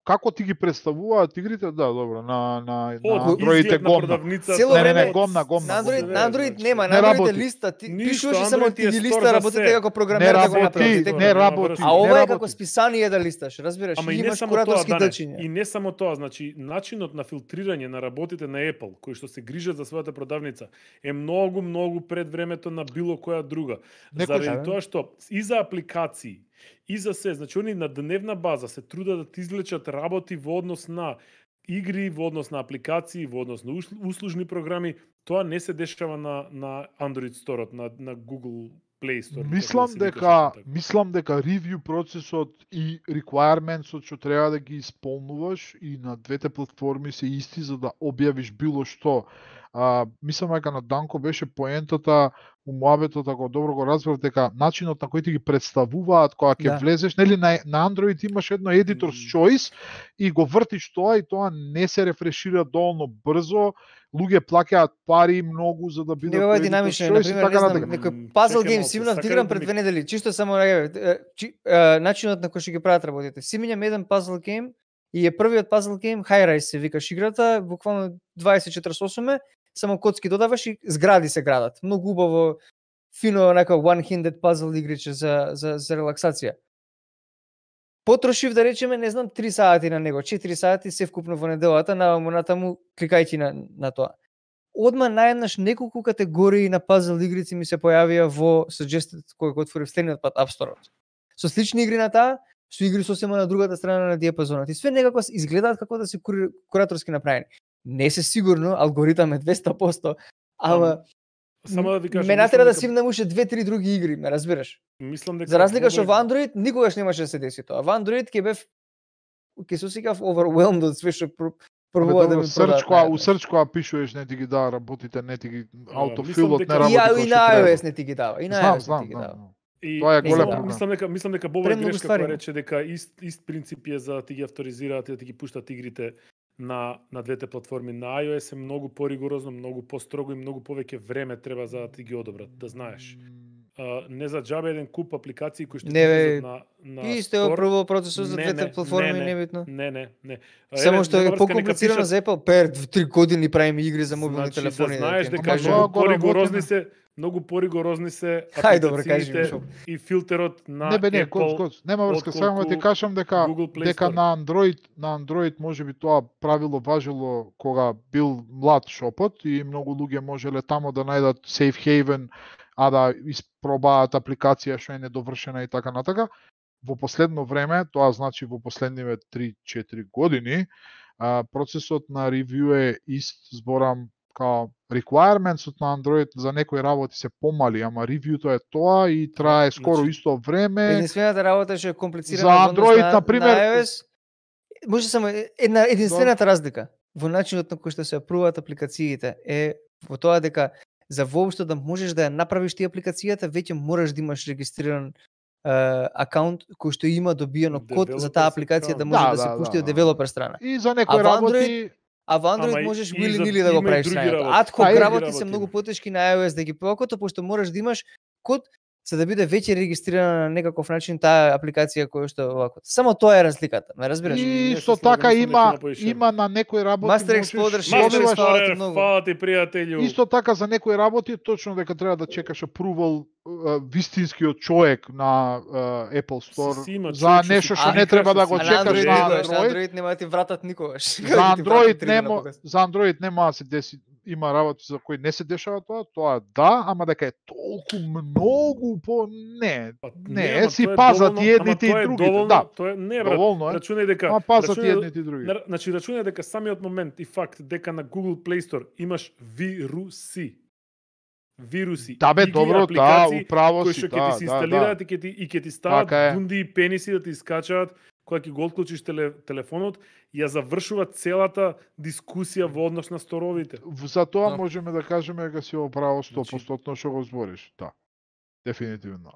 како ти ги представуваат игрите, да, добро, на Android е изглед на гомна. продавницата. Цело Не, време гомна. на Android, на Android значи, нема, не на Android е работи. листа, ти Ништо, пишуваш и само Android ти е ги стор листа, за работите се. како програмер да го направите. Не работи. А ова не е како работи. списание да листаш, разбираш, Ама и и не имаш само тоа, кураторски Дане, дачиња. и не само тоа, значи начинот на филтрирање на работите на Apple, кои што се грижат за својата продавница, е многу пред времето на било која друга. Некој Заради тоа што и за апликации, и за се, значи они на дневна база се трудат да ти извлечат работи во однос на игри, во однос на апликации, во однос на услужни програми, тоа не се дешава на Android Store-от, на Google Play Store. Мислам дека ревју процесот и requirementsот што треба да ги исполнуваш и на двете платформи се исти за да објавиш било што. Мислам дека на Данко беше поентата у муабетот, ако добро го разбрав, дека начинот на кој ти ги представуваат кога ќе влезеш, нели на Android имаш едно editor's choice и го вртиш тоа и тоа не се рефрешира доволно брзо, луѓе плаќаат пари многу за да бидат Нема динамично, на пример, не знам, некој puzzle game си имав играм пред 2 недели, чисто само начинот на кој што ги прават работите. Си минам еден puzzle game и е првиот puzzle game, High Rise се викаш играта, буквално 2048 само коцки додаваш и згради се градат. Многу убаво, фино, нека one-handed puzzle игриче за релаксација. Потрошив, да речеме, не знам, 3 сати на него, 4 сати се вкупно во неделата, наваму натаму, кликајќи на тоа. Одма наеднаш неколку категории на puzzle игрици ми се појавија во suggested кој го отворив следниот пат App Store-от. Со слични игри на таа, со игри сосема на другата страна на диапазонот. И све некако изгледаат како да се кураторски направени. Не се сигурно, алгоритам е 200%, ама само да ви кажам, ме натера да симнам уште 2-3 други игри, ме разбираш? Мислам дека за разлика што во Android никогаш немаше да се деси тоа. Во Android ќе се осеќав overwhelmed од све што пробува да ми продават. У Search која пишуваш не ти ги дава работите, не ти ги автофилот не работи. И на iOS не ти ги дава, и на iOS не ти ги дава. Тоа е голем проблем. Мислам дека Бобо е грешка која рече дека ист принцип е за да ти ги авторизираат и да ти ги пуштат игрите на двете платформи. На iOS е многу поригорозно, многу построго и многу повеќе време треба за да ти ги одобрат, да знаеш. Не за џабе еден куп апликации кои што ти на исто е прво процесот за двете платформи небитно. Не. Само што е покомплицирано за Apple, 3 години правиме игри за мобилни телефони. Да знаеш дека многу поригорозни се апликациите и филтерот на Apple. Не, нема врска, само ти кажам дека на Android можеби тоа правило важело кога бил млад шопот и многу луѓе можеле тамо да најдат safe haven, а да испробаат апликација што е недовршена и така натака. Во последно време, тоа значи во последниве 3-4 години, процесот на ревју е ист, зборам као requirementsот на Android за некои работи се помали, ама ревјуто е тоа и трае скоро исто време. Единствената работа што е комплицирана за Android, например, на iOS, може само единствената разлика во начинот на кој што се апруваат апликациите е во тоа дека за воопшто да можеш да ја направиш ти апликацијата, веќе мораш да имаш регистриран акаунт кој што има добиено код за таа апликација да може да се пушти од девелопер страна. И за некои работи А во Android можеш willy-nilly да го правиш сајот. Адхок работи се многу потешки на iOS да ги покото, пошто можеш да имаш код за да биде веќе регистрирана на некаков начин таа апликација која што овако. Само тоа е разликата, ме разбираш? И исто така има на некои работи Master Explorer 6 фала ти пријателju. Исто така за некои работи точно дека треба да чекаш approval вистинскиот човек на Apple Store за нешто што не треба да го чекаш на Android нема ти вратат никогаш. За Android нема да се деси. Има работи за кои не се дешава тоа да, ама дека е толку многу не, си пазат и едните и другите, да. Тоа не брат, рачунај дека пазат и едните и другите. Значи рачунај дека самиот момент и факт дека на Google Play Store имаш вируси. вируси, Да бе, игри, добро, апликации управо кои си, што ќе ти се инсталираат и ќе ти стават бунди и пениси да ти искачаат кога ќе го отклучиш телефонот, ја завршува целата дискусија во однос на сторовите. За тоа можеме да кажеме дека си оправо 100% што го збориш, да. Дефинитивно.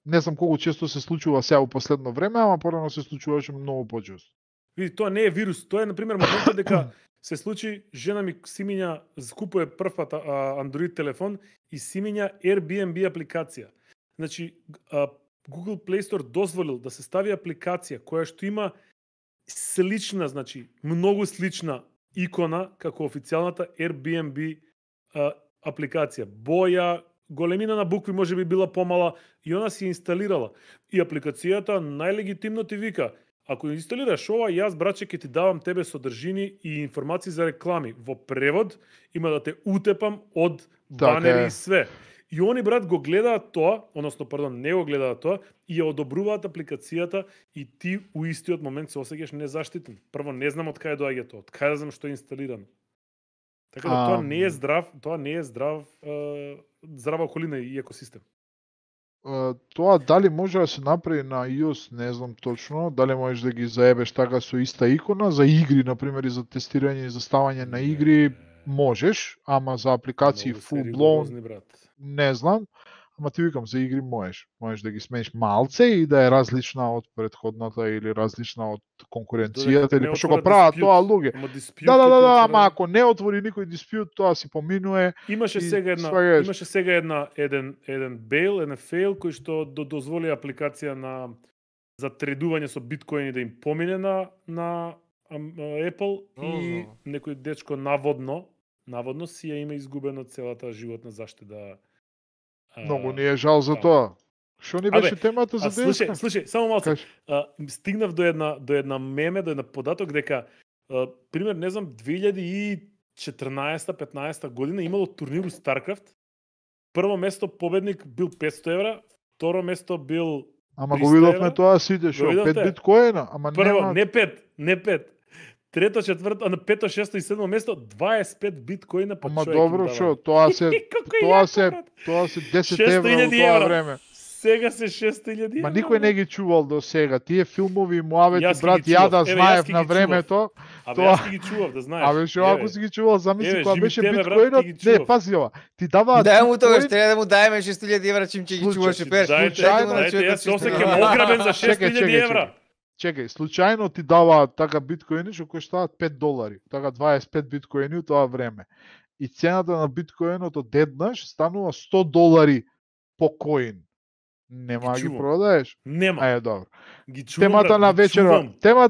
Не знам колку често се случува сега во последно време, ама порано се случуваше многу почесто. Види, тоа не е вирус, тоа е на пример моментот дека се случи, жена ми симиња скупува прв пат Android телефон и симиња Airbnb апликација. Значи, Google Play Store дозволил да се стави апликација која што има слична, значи, многу слична икона како официјалната Airbnb апликација. Боја, големина на букви може би била помала и она си инсталирала. И апликацијата најлегитимно ти вика: ако инсталираш ова, јас, браче, ќе ти давам тебе содржини и информации за реклами. Во превод има да те утепам од банери и све. И они, брат, го гледаат тоа, односно, пардон, не го гледаат тоа, и ја одобруваат апликацијата и ти у истиот момент се осеќаш незаштитен. Прво, не знам од кај доаѓа тоа, од кај да знам што е инсталирано. Така да тоа не е здрава околина и екосистем. Тоа дали може да се направи на iOS, не знам точно, дали можеш да ги заебеш така со иста икона, за игри, например, и за тестирање и за ставање на игри, можеш, ама за апликации full blown, не знам, ама ти викам, за игри можеш. Можеш да ги смениш малце и да е различна од претходната или различна од конкуренцијата, или пошто го прават тоа луѓе. Да, ама ако не отвори никој диспјут, тоа си поминуе. Имаше сега еден бейл, еден фейл кој што дозволи апликација за тредување со биткоини да им помине на Apple и некој дечко наводно си ја има изгубено целата животна заштита. Многу ни е жал за тоа. Што ни беше темата за денеска? Слушај, само малку. Стигнав до една меме, до една податок дека пример, не знам, 2014-15 година имало турнир у StarCraft. Прво место победник бил 500 евра, второ место бил Ама го видовме тоа сите, шо 5 биткоина, ама прво, не 5. Трето, четврто, пето, шесто и седмо место 25 биткоина по човек. Ама добро, шо, тоа се 10 евра во тоа време. Сега се 6.000 евра. Ма никој не ги чувал до сега. Тие филмови муавети, брат, ја да знаев на времето. Јас ги чував, да знаеш. Абе, шо, ако си ги чувал, замисли кога беше биткоинот, не, пази ова. Ти даваат дај му тоа, треба да му даеме 6.000 евра чим ќе ги чуваше пер. Дајте, јас се осеќам ограбен за 6.000 евра. Чекај, случајно ти даваат така биткоини што коштаат $5, така 25 биткоини у тоа време. И цената на биткоинот одеднаш станува $100 по коин. Нема ги продаеш? Нема. Ајде, добро. Темата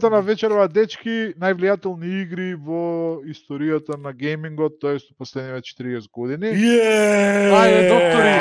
на вечерва, дечки, највлијателни игри во историјата на геймингот, тоест последниве 40 години. Ајде, доктори!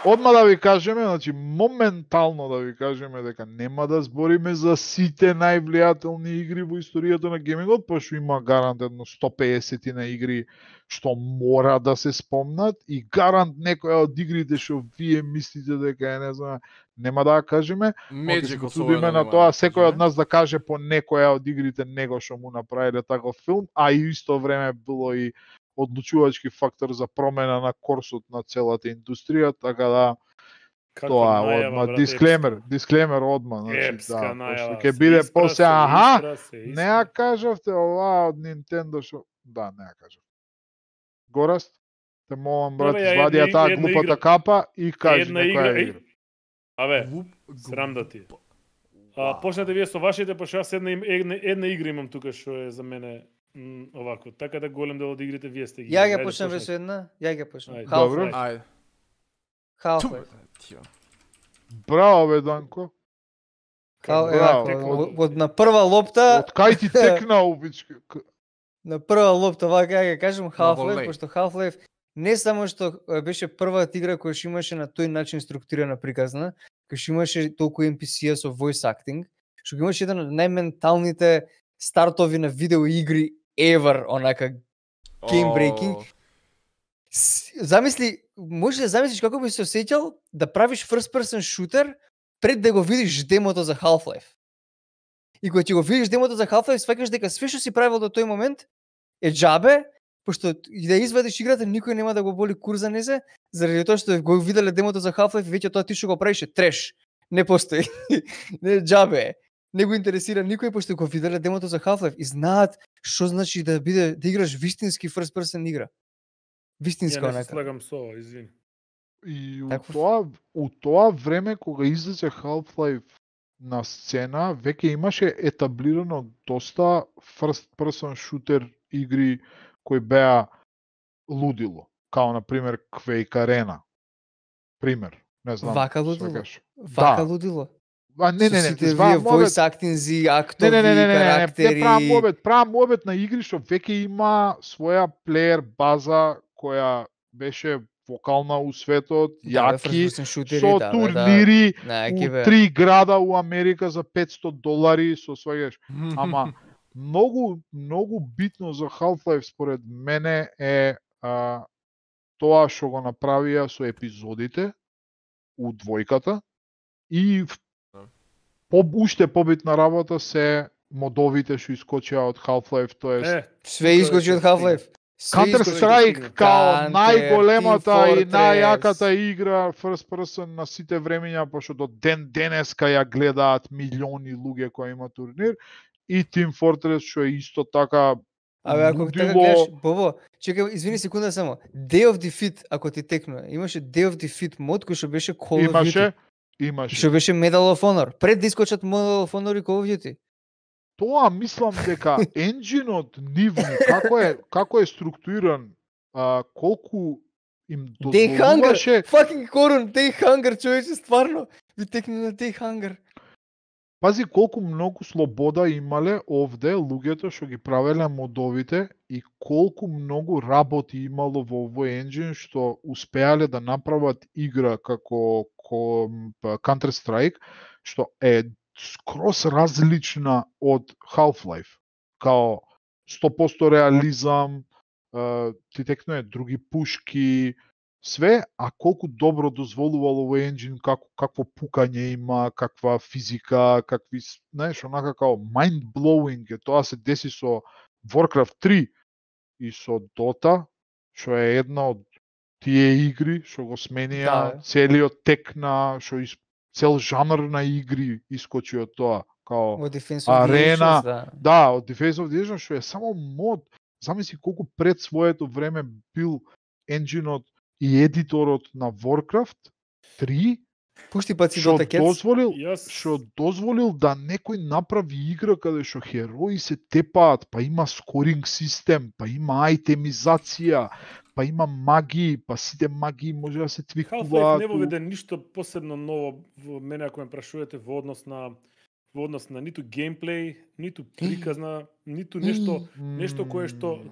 Одма да ви кажеме, значи моментално да ви кажеме дека нема да збориме за сите највлијателни игри во историјата на геймингот, пошто има гарант едно 150 на игри што мора да се спомнат и гарант некоја од игрите што вие мислите дека е, не знам, нема да кажеме. Меджико со на тоа секој од нас да каже по некоја од игрите него што му направиле таков филм, а и исто време било и одлучувачки фактор за промена на курсот на целата индустрија, така да тоа одма дисклеймер одма, значи да, ќе биде после не ја кажавте ова од Nintendo што да, не ја кажав. Гораст, те молам брат, извади ја таа глупата капа и кажи некоја игра. Абе, срам да ти. Почнете вие со вашите, пошто јас една игра имам тука што е за мене овако, така да голем дел од игрите вие сте ги. Ја ќе почнам веќе една, ја ќе почнам. Добро. Ајде. Half-Life. Браво бе, Данко. Од на прва лопта. Од кај ти текна убички? На прва лопта, вака ја кажам Half-Life, пошто Half-Life не само што беше првата игра која што имаше на тој начин структурирана приказна, која што имаше толку NPC-а со voice acting, што имаше еден од најменталните стартови на видео игри ever, онака game breaking. Замисли, можеш да замислиш како би се осеќал да правиш first person shooter пред да го видиш демото за Half-Life. И кога ќе го видиш демото за Half-Life, сваќаш дека све што си правил до тој момент е џабе, пошто и да извадиш играта, никој нема да го боли кур за незе, заради тоа што го виделе демото за Half-Life и веќе тоа ти што го правиш е треш. Не постои. Не џабе. Не го интересира никој пошто го виделе демото за Half-Life и знаат што значи да играш вистински first person игра. Вистинска онака. Ја не се слагам со ова, извини. И у тоа време кога излезе Half-Life на сцена, веќе имаше етаблирано доста first person shooter игри кои беа лудило, као на пример Quake Arena. Пример, не знам. Вака лудило. Вака лудило. Не, voice acting, актови, карактери. Правам обет на игри што веќе има своја плеер база која беше вокална у светот, јаки, со турнири у 3 града у Америка за $500, со сваѓаш. Ама многу битно за Half-Life според мене е тоа што го направија со епизодите у двојката и уште побитна работа се модовите што искочија од Half-Life, тоа све искочи од Half-Life. Counter-Strike као најголемата и најјаката игра first person на сите времења, пошто до ден денеска ја гледаат милиони луѓе кои има турнир, и Team Fortress што е исто така. Абе, ако така гледаш, Бобо, чекај, извини секунда само. Day of Defeat, ако ти текнува, имаше Day of Defeat мод кој што беше Call of Duty. Имаше. Што беше Medal of Honor. Пред да искочат Medal of Honor и Call of Duty. Тоа мислам дека енџинот нивни како е структуриран, колку им дозволуваше. Fucking Корун, Day Hunger, човече, стварно. Ви текни на Day Hunger. Пази колку многу слобода имале овде луѓето што ги правеле модовите и колку многу работи имало во овој енџин што успеале да направат игра како Counter-Strike, што е скрос различна од Half-Life. Као 100% реализам, ти текнуе други пушки, све, а колку добро дозволувало овој енџин, какво пукање има, каква физика, какви, знаеш, онака као mind-blowing е, тоа се деси со Warcraft 3 и со Dota, што е една од тие игри што го сменија целиот тек на цел жанр на игри искочи од тоа, као Арена, од Defense of the Nation, што е само мод. Замисли колку пред своето време бил енџинот и едиторот на Warcraft 3, пушти паци Dota Cats, што дозволил да некој направи игра каде што херои се тепаат, па има скоринг систем, па има айтемизација, па има магии, па сите магии може да се твикуваат. Half-Life не воведе ништо посебно ново во мене, ако ме прашувате, во однос на ниту геймплей, ниту приказна, ниту нешто кое што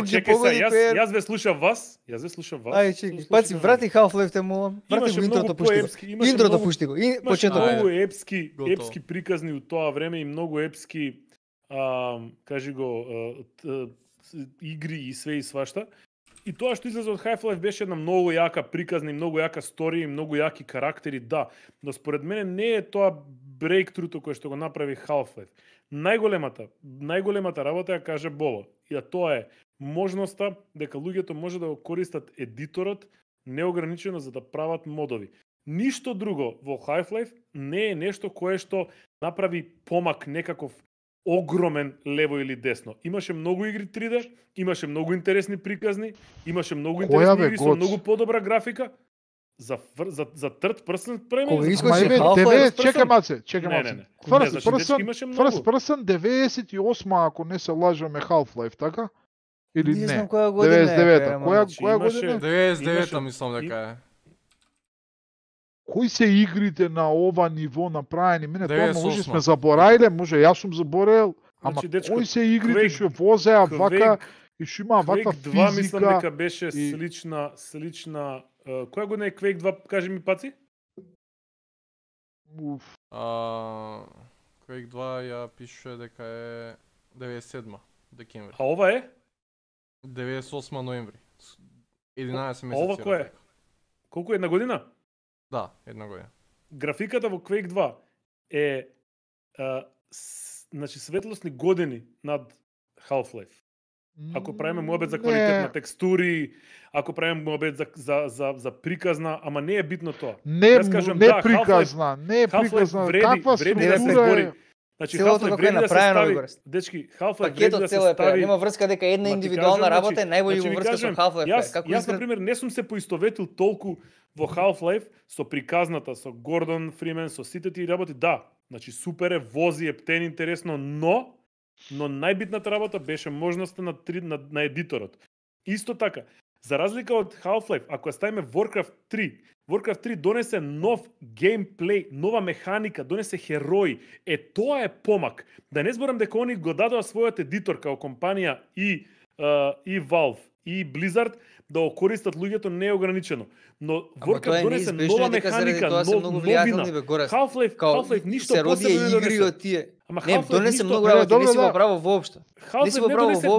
чекај се, јас ве слушам вас. Ај, чекај, паци, врати Half-Life те молам. Врати го интрото, пушти го. Интрото пушти го. Почеток. Многу епски приказни у тоа време и многу епски кажи го игри и све и свашта. И тоа што излезе од Half-Life беше една многу јака приказна и многу јака сторија и многу јаки карактери, да. Но според мене не е тоа брейктруто кое што го направи Half-Life. Најголемата работа ја каже Бобо. И тоа е можноста дека луѓето може да го користат едиторот неограничено за да прават модови. Ништо друго во Half-Life не е нешто кое што направи помак некаков огромен лево или десно. Имаше многу игри 3D, имаше многу интересни приказни, имаше многу интересни игри со многу подобра графика. За third person премиер. Чекај маце. First person 98 ако не се лажаме Half-Life, така? Или не? знам која година е. 99-та. Која година? 99-та мислам дека е. Кои се игрите на ова ниво направени? Мене тоа може сме забораиле, може јас сум заборел, ама кои се игрите што возеа вака и што има ваква физика? Quake 2 мислам дека беше слична. Која година е Quake 2, кажи ми паци? Quake 2 ја пишува дека е 97 декември. А ова е? 98 ноември. 11 месеци. А ова кој е? Колку е една година? Да, една година. Графиката во Quake 2 е значи светлосни години над Half-Life. Ако правиме муабет за квалитет на текстури, ако правиме муабет за приказна, ама не е битно тоа. Не приказна, не е приказна. Каква структура е? Значи Half-Life вреди да се стави, дечки, Half-Life вреди да се стави. Нема врска дека една индивидуална работа е најбољи во врска со Half-Life. Јас на пример не сум се поистоветил толку во Half-Life со приказната, со Гордон Фримен, со сите тие работи. Да, значи супер е, вози, ептен, интересно, но најбитната работа беше можноста на едиторот. Исто така, за разлика од Half-Life, ако ја ставиме Warcraft 3 донесе нов геймплей, нова механика, донесе херои. Тоа е помак. Да не зборам дека они го дадоа својот едитор као компанија и Valve и Blizzard да го користат луѓето неограничено. Но Warcraft донесе нова механика, новина. Half-Life ништо посебно не донесе. Не, донесе многу работи, не си го право воопшто.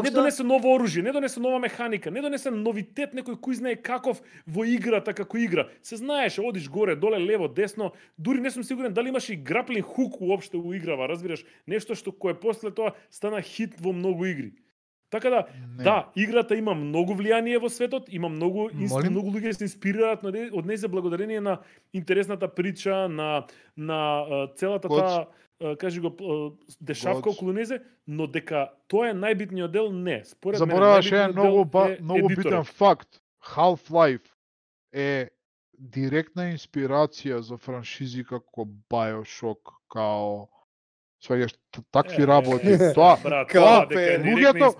Не донесе ново оружје, не донесе нова механика, не донесе новитет, некој кој знае каков во играта како игра. Се знаеше, одиш горе, доле, лево, десно, дури не сум сигурен дали имаше и граплинг хук уопште во играва, разбираш, нешто што кое после тоа стана хит во многу игри. Така да, играта има многу влијание во светот, има многу луѓе се инспирираат од нејзе благодарение на интересната прича, на целата таа кажи го дешавка околу незе, но дека тоа е најбитниот дел, не. Според мене најбитниот дел е многу битен факт. Half-Life е директна инспирација за франшизи како BioShock, као сваѓаш такви работи. Тоа луѓето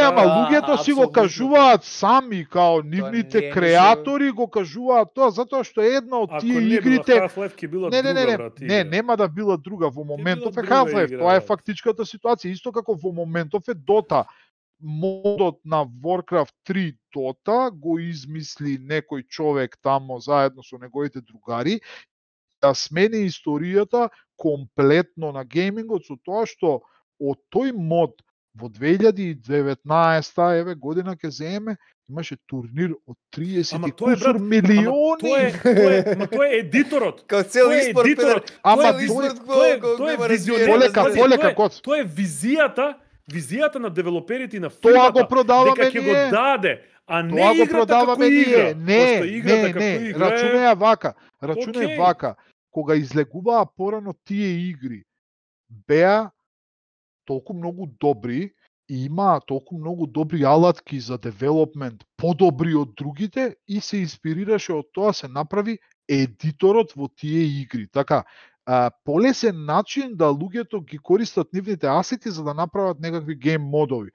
ама луѓето си го кажуваат сами, као нивните креатори го кажуваат тоа затоа што една од тие игрите нема да била друга во моментов е Half-Life. Тоа е фактичката ситуација, исто како во моментов е Dota. Модот на Warcraft 3 Dota го измисли некој човек тамо заедно со неговите другари да смени историјата комплетно на геймингот со тоа што од тој мод во 2019 година ќе земе имаше турнир од 30 и кусур милиони. Тоа е едиторот. Као цел испорт. Тоа е визионерот. Тоа е визијата на девелоперите на фирмата. Тоа го продаваме ние. Дека ќе го даде, а не играта како игра. Не, рачунај вака. Кога излегуваа порано тие игри, беа толку многу добри и имаа толку многу добри алатки за девелопмент, подобри од другите и се инспирираше од тоа се направи едиторот во тие игри. Така, полесен начин да луѓето ги користат нивните асети за да направат некакви гейм модови.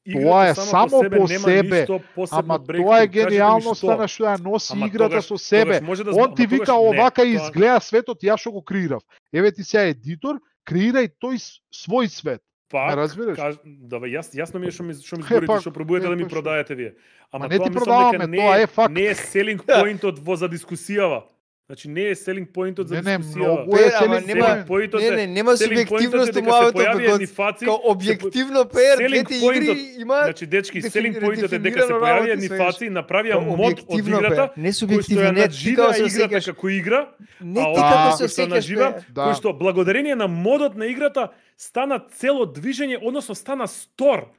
Тоа е само по себе, ама тоа е гениалноста на што ја носи играта со себе. Он ти вика овака изгледа светот, ја што го креирав. Еве ти сега едитор, креирај тој свој свет. Пак, јасно ми е што ми зборите, што пробувате да ми продаете вие. Ама не ти продаваме, тоа е факт. Не е селинг поинтот во за дискусијава. Значи не е селинг поинтот за дискусија. Нема субјективност во мојот као објективно двете игри имаат. Значи дечки, селинг поинтот е дека се појавија едни фаци и направија мод од играта, кој што ја надживаа играта како игра, а кој што нажива, кој што благодарение на модот на играта стана цело движење, односно стана стор.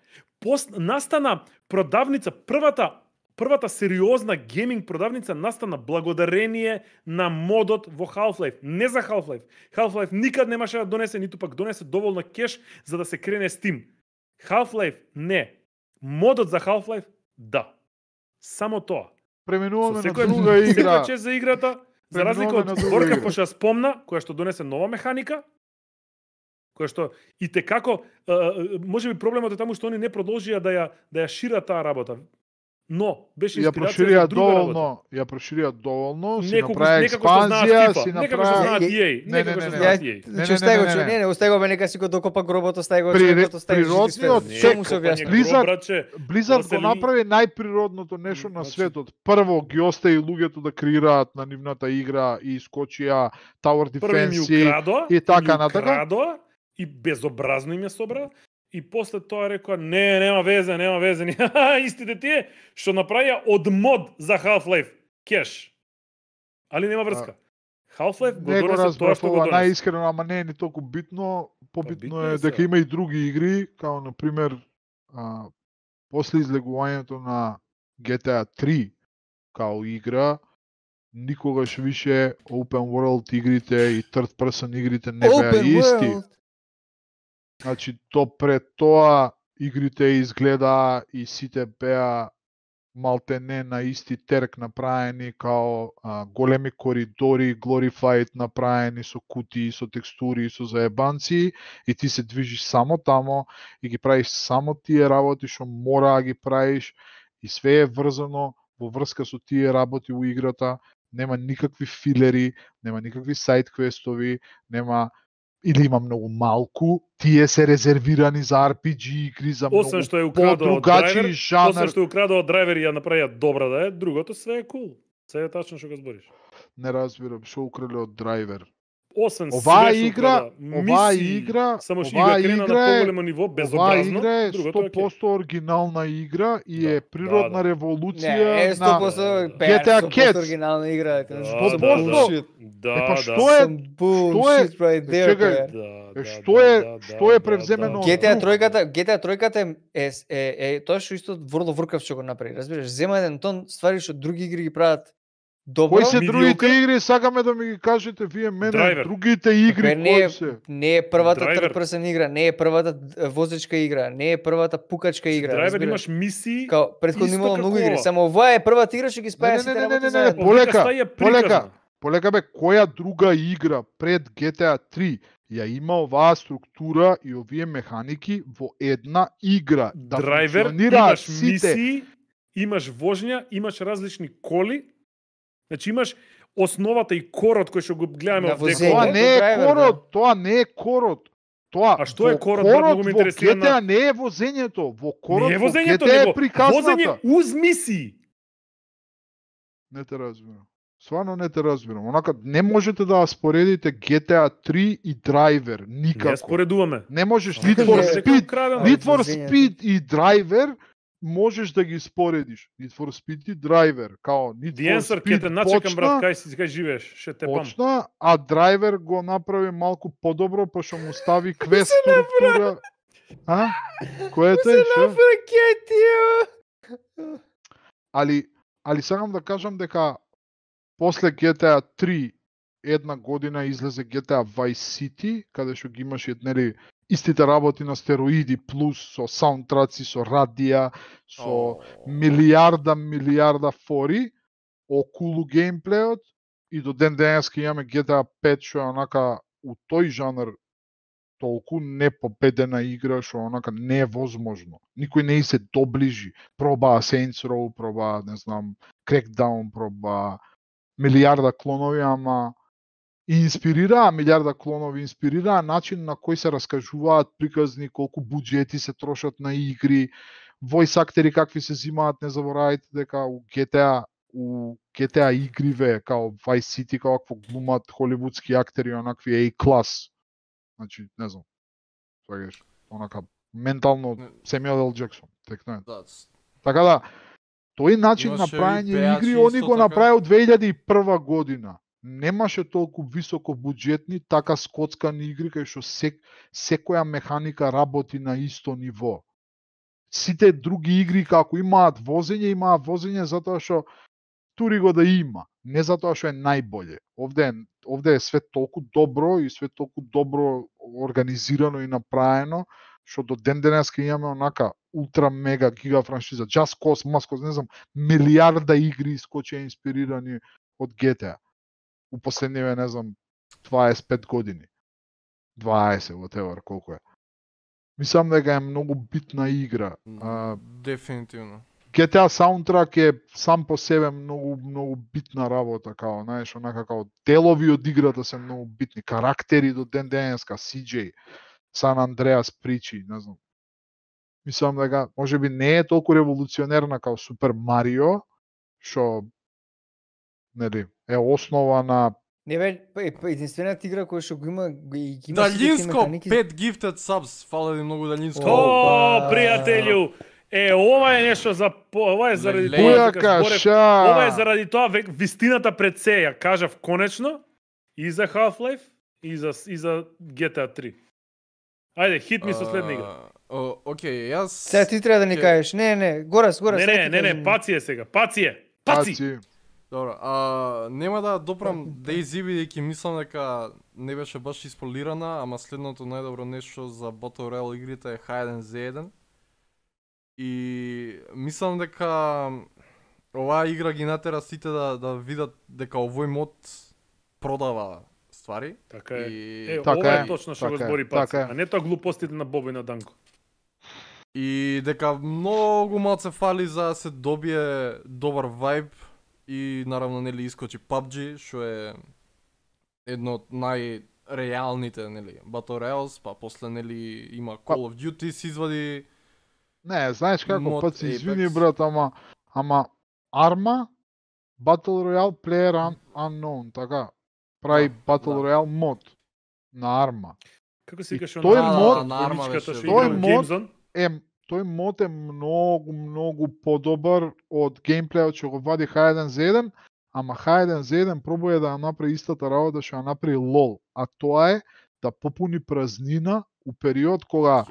Настана продавница, првата сериозна гейминг продавница настана благодарение на модот во Half-Life, не за Half-Life. Half-Life никад немаше да донесе, ниту пак донесе доволно кеш за да се крене Steam. Half-Life не. Модот за Half-Life да. Само тоа. Преминуваме на друга игра. Секој за играта, за разлика од Warcraft, која што спомна, која што донесе нова механика, која што и те како можеби проблемот е таму што они не продолжија да ја шират таа работа. Но беше инспирација за друга работа. Ја проширија доволно, си направи експанзија, си направи... Че остај го, не, остај го, нека си го докопа гробот, остај го, природниот Blizzard го направи најприродното нешто на светот. Прво ги остави луѓето да креираат на нивната игра и искочија Tower Defense и така натака. И безобразно им ја собра. И после тоа рекоа, нема везе. Истите тие што направија од мод за Half-Life кеш. Али нема врска. Half-Life го Не го донесе тоа разбрав што го ова донесе. најискрено, ама не е ни толку битно. Побитно битно е е дека сега. има и други игри, као на пример после излегувањето на GTA 3 као игра, никогаш више open world игрите и third person игрите не беа исти. Значи, пред тоа игрите изгледа и сите беа малтене на исти терк направени, као големи коридори, glorified направени со кутии, со текстури, со заебанци, и ти се движиш само тамо и ги правиш само тие работи што мора да ги правиш, и све е врзано во врска со тие работи у играта, нема никакви филери, нема никакви сайд квестови, нема или има многу малку, тие се резервирани за RPG игри, за многу Освен што е украдо од подругачи драйвер, жанр. освен што е украдо од драйвер и ја направија добра да е, другото све е кул. Се е тачно што го збориш. Не разбирам, што украле од драйвер. Освен Оваа све што игра, украда, оваа мисии, игра, само што оваа игра крена игра на е- поголемо ниво, Оваа безобразно, игра е другото е 100% оригинална игра и е природна да. револуција Не, е на 100% GTA 100% Cats. оригинална игра. Да, Bullshit. Па да. што е? Some bullshit right there. Чекај, бе. што е превземено од GTA друг? тројката е тоа што исто World of Warcraft што го направи, разбираш? Зема еден тон ствари што други игри ги прават добро. Кои се другите игри, сакаме да ми ги кажете вие мене, Драйвер. другите игри Така, не е, кои се? не е првата Драйвер. third person игра, не е првата возечка игра, не е првата пукачка игра. Драйвер разбираш? имаш мисии. Као претходно исто имало многу како игри, ова. само оваа е првата игра што ги спаја сите работи не, заедно. полека, стаја полека, приказна. полека бе, која друга игра пред GTA 3 ја има оваа структура и овие механики во една игра? Да Драйвер, функционираат имаш сите. мисии, имаш воžња, имаш различни коли. Значи имаш основата и корот кој што го гледаме На од возење. Тоа декова. не е Драйвер, корот, тоа не е корот. Тоа А што е во корот? Брат, многу ме во интересира GTA на- не е возењето, во корот Не е во возењето, GTA е него приказната. возење уз мисии. Не те разбирам. Сварно не те разбирам. Онака не можете да ја споредите GTA 3 и Driver Не ја никако. споредуваме. Не можеш Само Need кажа, for дека Speed, украдено. Need for возењето. Speed и Driver можеш да ги споредиш. Need for Speed и Driver, као Need The for answer, Speed ке те начекам, брат, почна, кај живееш, ше те пам. почна, а Driver го направи малку подобро, па што му стави квест структура. А? Кој е тој? Шо? Али сакам да кажам дека после GTA 3 една година излезе GTA Vice City, каде што ги имаш нели истите работи на стероиди плюс со саундтраци, со радија, со милиарда фори, окулу геймплеот, и до ден денеска имаме GTA 5 што е онака у тој жанр толку непобедена игра што онака не е возможно. Никој не и се доближи. Пробаа Saints Row, пробаа, не знам, Crackdown, пробаа милиарда клонови, ама инспирираа милиарда клонови, инспирираа начин на кој се раскажуваат приказни, колку буџети се трошат на игри, voice актери какви се зимаат, не заборавајте дека у GTA игриве, као Vice City, као какво глумат холивудски актери, онакви A-клас. Значи, не знам, сваѓаш, онака, ментално Семјуел Л. Джексон, текно е. Така да, тој начин на Имаше и правење пејачи игри, они исто го така. направи од 2001 година. Немаше толку високо буџетни, така скоцкани игри, кај што секоја механика работи на исто ниво. Сите други игри, како имаат возење затоа што тури го да има, не затоа што е најболje. Овде е све толку добро и све толку добро организирано и направено, што до ден денеска имаме онака ултра мега гига франшиза, Just Cause, Maskos, не знам, милиарда игри искочи инспирирани од GTA. У последниве, не знам, 25 години. 20, whatever, колку е. Мислам дека е многу битна игра. Дефинитивно. GTA саундтрак е сам по себе многу битна работа, као, знаеш, онака као делови од играта се многу битни, карактери до ден денеска, CJ, Сан Андреас причи, не знам. Мислам дека можеби не е толку револуционерна као Супер Марио, што нели е основа на Не бе, единствената игра која што го има Далинско, 5 gifted subs, фала ви многу Далинско. О, пријателju, ова е нешто за ова е заради Бујака, тоа, ша. ова е заради тоа вистината пред се, ја кажав конечно. И за Half-Life и за GTA 3. Ајде, хит ми со следна игра. Океј, јас Сега ти треба да ни кажеш. Не, Горас. Не, Паци е сега. Паци. Добро, нема да допрам DayZ бидејќи мислам дека не беше баш исполирана, ама следното најдобро нешто за Battle Royale игрите е H1Z1. И мислам дека оваа игра ги натера сите да видат дека овој мод продава ствари. Така е. И... Ова е точно што го збори Паци, а не тоа глупостите на Боби на Данко. И дека многу малце фали за да се добие добар вајб и наравно нели искочи PUBG, што е едно од најреалните нели Battle Royales, па после нели има Call of Duty се извади. Не, знаеш како Паци, извини брат, ама Arma Battle Royale Player Unknown, така. Прави Battle Royale мод на Arma. Како се викаше тој мод е многу подобар од геймплејот што го вади H1Z1, ама H1Z1 пробува да направи истата работа што ја направи LOL, а тоа е да попуни празнина у период кога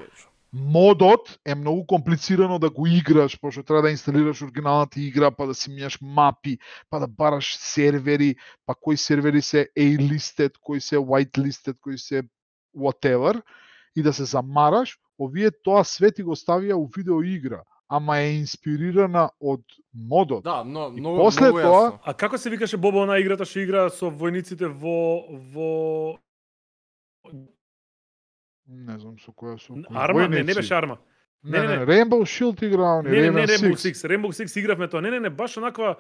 модот е многу комплицирано да го играш, пошто треба да инсталираш оригиналната игра, па да си мијаш мапи, па да бараш сервери, па кои сервери се A-listed, кои се white-listed, кои се whatever, и да се замараш. Овие тоа све ти го ставија у видеоигра, ама е инспирирана од модот. Да, многу тоа... А како се викаше Бобо на играта што игра со војниците во Не знам со која со Arma, не беше Arma. Не, Rainbow Shield играа, не Rainbow Six. Rainbow Six игравме тоа. Не, баш онаква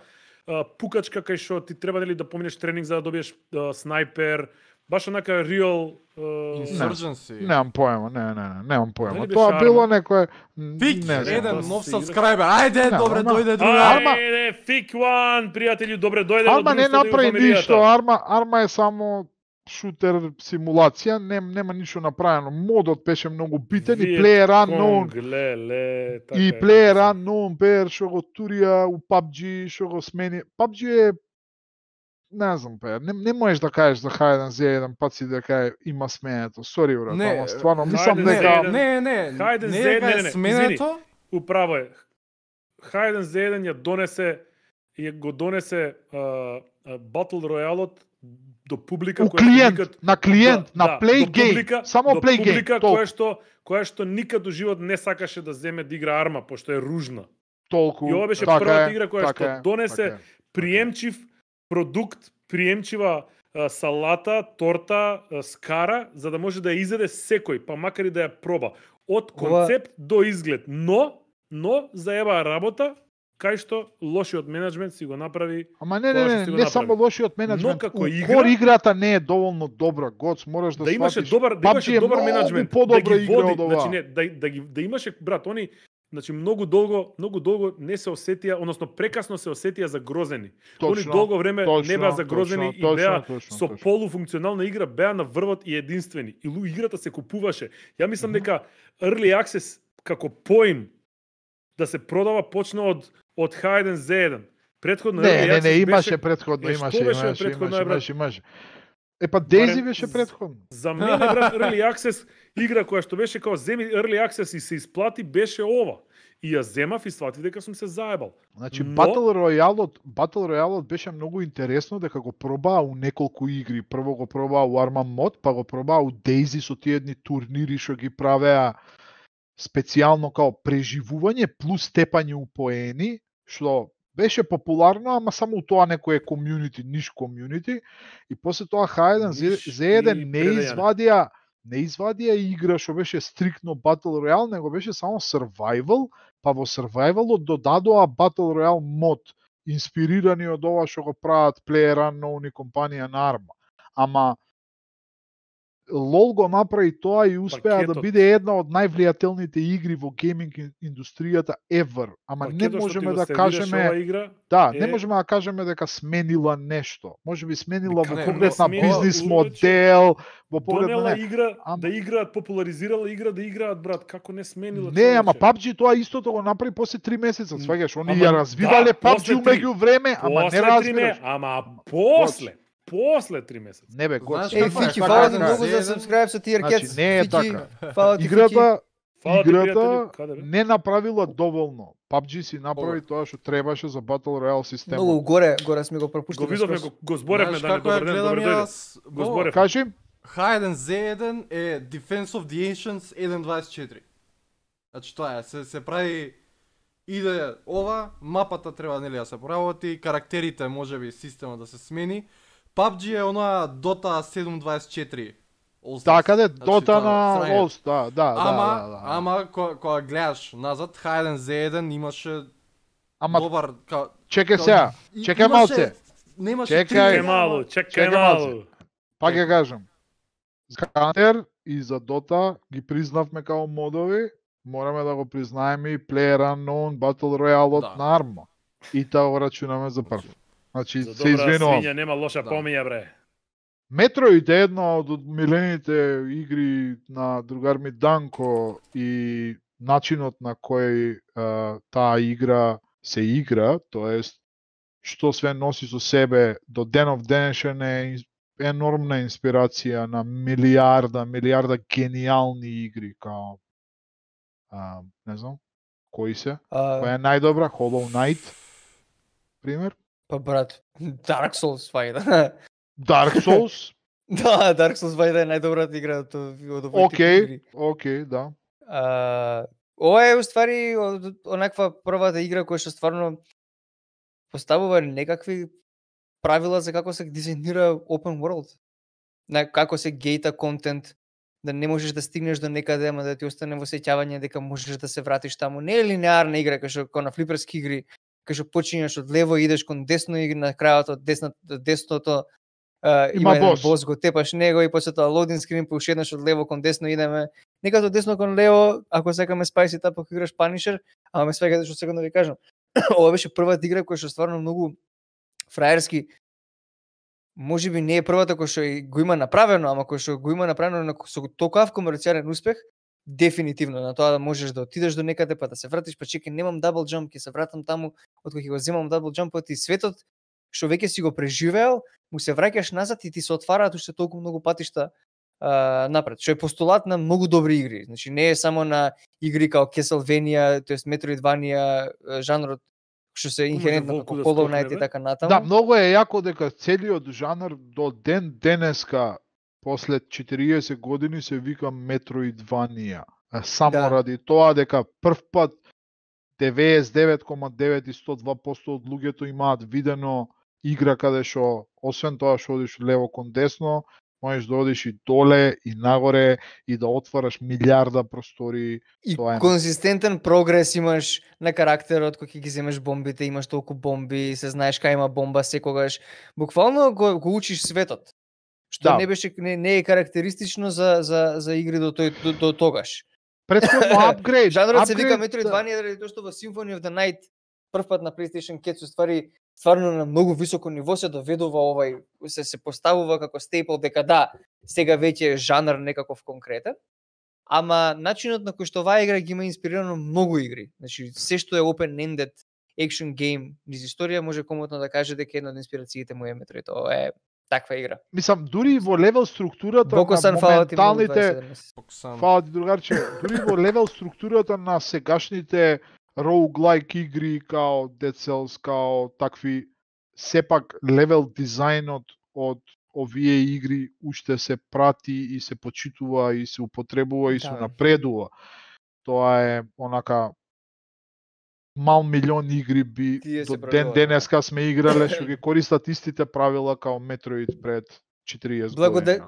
пукачка кај што ти треба нели да поминеш тренинг за да добиеш снайпер, баш онака real Insurgency. Немам поема, немам поема. Тоа било некое еден нов subscriber. Ајде, добре, дојде друга. Ајде, Fik One, пријатели, добре, дојде. Arma не направи ништо, Arma е само шутер симулација, нема ништо направено. Модот беше многу битен и Player Unknown. И Player Unknown бер што го турија у PUBG, што го смени. PUBG е не знам, не можеш да кажеш за H1Z1 Паци дека има сменето. Сори, брат, ама стварно мислам дека H1Z1 сменето. Управо е. H1Z1 го донесе Battle Royale-от до публика на клиент, на play game, само play game, која што никад во живот не сакаше да земе да игра Arma, пошто е ружна. Толку. И ова беше првата игра која што донесе приемчив продукт, приемчива салата, торта, скара, за да може да ја изеде секој, па макар и да ја проба. Од концепт до изглед. Но заеба работа, кај што лошиот менеджмент си го направи. Ама не само лошиот менеджмент. Кор играта не е доволно добра, Гоц, мораш да имаше добар менеджмент, да ги води, значи не, да имаше брат, они значи многу долго не се осетија, односно прекасно се осетија загрозени. Они долго време не беа загрозени и беа со полуфункционална игра, беа на врвот и единствени. И играта се купуваше. Ја мислам дека Early Access како поим да се продава почна од H1Z1. Претходно не, имаше претходно, имаше. Епа DayZ беше претходно. За мене брат Early Access игра која што беше како земи Early Access и се исплати беше ова. И ја земав и сватив дека сум се заебал. Значи Battle Royale беше многу интересно дека го пробаа у неколку игри. Прво го пробаа у Arma мод, па го пробаа у DayZ со тие едни турнири што ги правеа специјално као преживување плюс степање у поени, што беше популарно, ама само у тоа некое комјунити, ниш комјунити, и после тоа H1Z1 не извадија игра што беше стриктно Battle Royale, него беше само Survival, па во Survivalот додадоа Battle Royale мод, инспирирани од ова што го прават Player Unknown и компанија на Arma. Ама LOL го направи тоа и успеа да биде една од највлијателните игри во гейминг индустријата ever. Ама не можеме да кажеме не можеме да кажеме дека сменила нешто. Можеби сменила во поглед на бизнис модел, во поглед на игра да играат, популаризирала игра да играат, брат, како не сменила. Не, ама PUBG тоа истото го направи после 3 месеца, сваѓаш, они ја развивале PUBG меѓу време, ама не развиваш. Ама после после 3 месеци. Не бе, Знаеш Ей, како е, Фики, како фала е, ти како е. многу за subscribe со Tier Значи, Cats. не е Фики, така. фала ти, Фики. Играта Фала ти, Играта пријатели, каде бе? не направила доволно. PUBG си направи тоа што требаше за Battle Royale системот. Многу горе сме го пропуштиле. Го видовме, го зборевме Знаеш да не како ја добар ден, гледам добар дојде. јас? Го зборевме. Кажи, H1Z1 е Defense of the Ancients 1.24. Значи тоа е, се прави иде ова, мапата треба нели да се поработи, карактерите можеби системот да се смени. PUBG е онаа Dota 7.24. така де, Значи, Dota тоа, на срање. Олс, да. Ама кога гледаш назад, H1Z1 имаше Ама добар чекај сега, чекај малце. Немаше Чекај малу, чекај малце. малу. Пак ја кажам. За Counter и за Dota ги признавме као модови, мораме да го признаеме и PlayerUnknown Battle Royale на Arma. И таа го рачунаме за прв. Значи, За се добра извинувам. свиња нема лоша помиња, бре. Metroid е една од милените игри на другар ми Данко и начинот на кој таа игра се игра, тоест што све носи со себе до денов денешен е енормна инспирација на милиарда гениални игри као не знам кои се. Која е најдобра? Hollow Knight пример? Па брат, Dark Souls вајда. Dark Souls? Да, Dark Souls вајда е најдобрата игра од овој игри. Океј, да. Ова е уствари онаква првата игра која што стварно поставува некакви правила за како се дизајнира open world. Како се гејта контент, да не можеш да стигнеш до некаде, ама да ти остане во сеќавање дека можеш да се вратиш таму. Не е линеарна игра, како на флиперски игри, кај што почињаш од лево и идеш кон десно и на крајот од десното има еден бос, го тепаш него и после тоа лоадинг скрин, па уште еднаш од лево кон десно идеме. Некако од десно кон лево, ако сакаме Spicy Tap, ако играш Punisher, ама ме свега што секој да ви кажам. Ова беше првата игра која што стварно многу фраерски, можеби не е првата која што го има направено, ама која што го има направено со толков комерцијален успех, дефинитивно на тоа да можеш да отидеш до некаде, па да се вратиш, па чекај, немам дабл џамп, ќе се вратам таму, откога ќе го земам дабл џампот и светот што веќе си го преживеал, му се враќаш назад и ти се отвараат уште толку многу патишта напред, што е постулат на многу добри игри. Значи не е само на игри као Castlevania, тоест Metroidvania, жанрот што се инхерентно како Hollow Knight и така натаму. Да, многу е јако дека целиот жанр до ден денеска после 40 години се вика Metroidvania. Само ради тоа дека прв пат 99,9 и 102% од луѓето имаат видено игра каде што освен тоа што одиш лево кон десно, можеш да одиш и доле и нагоре и да отвараш милиарда простори. И конзистентен прогрес имаш на карактерот кога ќе ги земеш бомбите, имаш толку бомби, се знаеш кај има бомба секогаш. Буквално го учиш светот. Што не беше не е карактеристично за игри до тогаш. Претходно апгрейд. Жанрот се вика Metroidvania заради тоа што во Symphony of the Night првпат на PlayStation 4 ствари стварно на многу високо ниво се доведува овај, се поставува како стейпл дека да, сега веќе е жанр некаков конкретен. Ама начинот на кој што оваа игра ги има инспирирано многу игри. Значи се што е open-ended action game низ историја може комотно да каже дека една од инспирациите му е Metroid. Ова е таква игра. Мислам, дури во левел структурата на моменталните... Фала ти, другарче. Дури во левел структурата на сегашните roguelike игри, као Dead Cells, као такви, сепак левел дизајнот од овие игри уште се прати и се почитува и се употребува и се напредува. Тоа е онака мал милион игри би до ден денеска сме играле што ги користат истите правила као Metroid пред 40 години.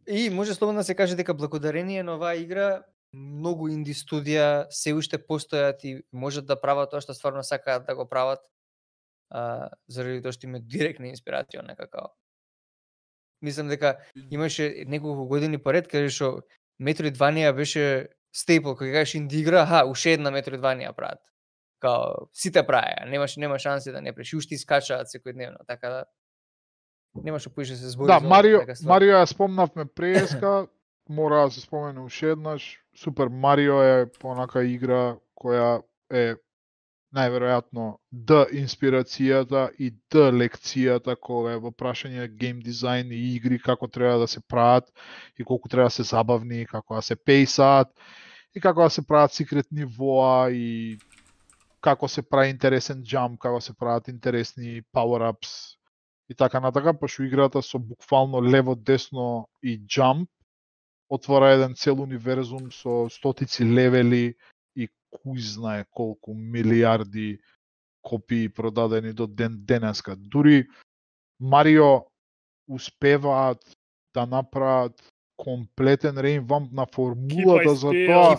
И може слободно да се каже дека благодарение на оваа игра многу инди студија се уште постојат и можат да прават тоа што стварно сакаат да го прават, заради тоа што има директна инспирација некако. Мислам дека имаше неколку години поред каде што Metroidvania беше стейпл, кога кажеш инди игра, уште една Metroidvania прават. Као сите праеа, нема шанси да не преш, уште искачаат секојдневно, така да немаше поише се збори. Да, Марио ја спомнавме преска, мора да се спомене уште еднаш. Супер Марио е понака игра која е најверојатно Д инспирацијата и Д лекцијата кога е во прашање гейм дизајн и игри, како треба да се прават и колку треба да се забавни, како да се пейсаат и како да се прават секрет нивоа и како се прави интересен джамп, како се прават интересни power-ups и така натака, пошто играта со буквално лево, десно и джамп отвора еден цел универзум со стотици левели и кој знае колку милиарди копии продадени до денеска. Дури Марио успеваат да направат комплетен реинвамп на формулата за тоа.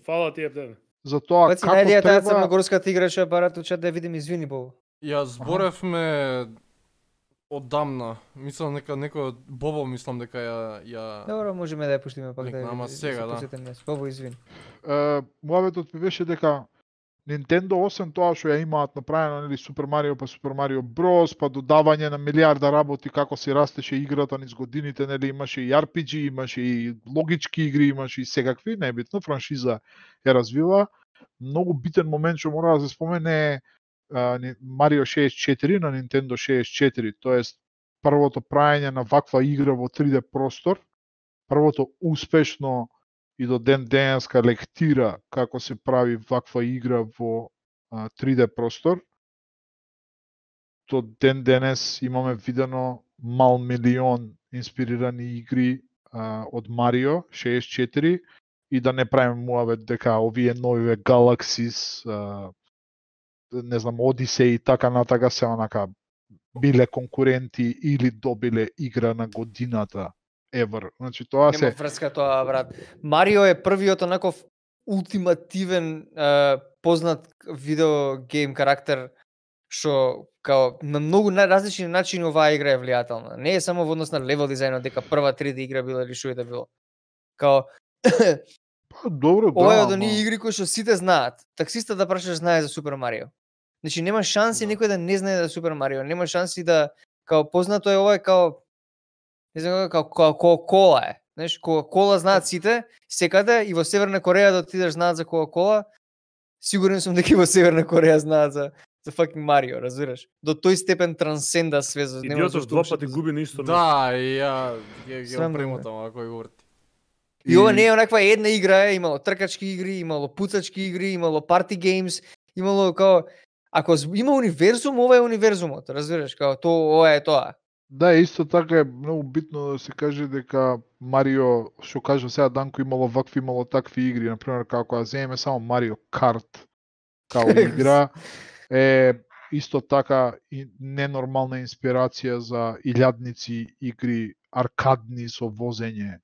Фала ти Ептен. За тоа Паци, како најдеја таа треба... црногорската играча барат учат да видим, извини Бобо. Ја зборевме одамна. Мислам дека некој Бобо мислам дека ја Добро, можеме да ја пуштиме пак да. Ама сега да. Бобо, извини. Муаветот ми беше дека Nintendo освен тоа што ја имаат направено, нели, Super Mario па Super Mario Bros, па додавање на милиарда работи како се растеше играта низ годините, нели, имаше и RPG, имаше и логички игри, имаше и секакви, небитно, франшиза ја развива. Многу битен момент што мора да се спомене е Mario 64 на Nintendo 64, тоест првото праење на ваква игра во 3D простор, првото успешно и до ден денеска лектира како се прави ваква игра во 3D простор. До ден денес имаме видено мал милион инспирирани игри од Марио 64 и да не правиме муавет дека овие новиве Galaxies, не знам, Odyssey и така натака се онака биле конкуренти или добиле игра на годината. Ever. Значи тоа се нема врска тоа, брат. Марио е првиот онаков ултимативен познат видеогейм карактер што као на многу различни начини оваа игра е влијателна. Не е само во однос на левел дизајнот дека прва 3D игра била или што е да било. Као добро, ова е да, од оние игри кои што сите знаат. Таксиста да прашаш знае за Супер Марио. Значи нема шанси некој да не знае за Супер Марио. Нема шанси да као познато е ова е као не знам како Кока-кола е. Знаеш, Кока-кола знаат сите, секаде и во Северна Кореја да отидеш знаат за Кока-кола. Сигурен сум дека и во Северна Кореја знаат за fucking Марио, разбираш? До тој степен трансценда свезот. Идиотот два пати губи на исто место. Да, и ја ги премотам ако го врти. И ова не е онаква една игра, имало тркачки игри, имало пуцачки игри, имало парти геймс, имало као ако има универзум, ова е универзумот, разбираш, као ова е тоа. Да, исто така е многу битно да се каже дека Марио, што кажа сега Данко, имало вакви, имало такви игри, например, како да земеме само Марио Карт као игра, е исто така и ненормална инспирација за илјадници игри аркадни со возење,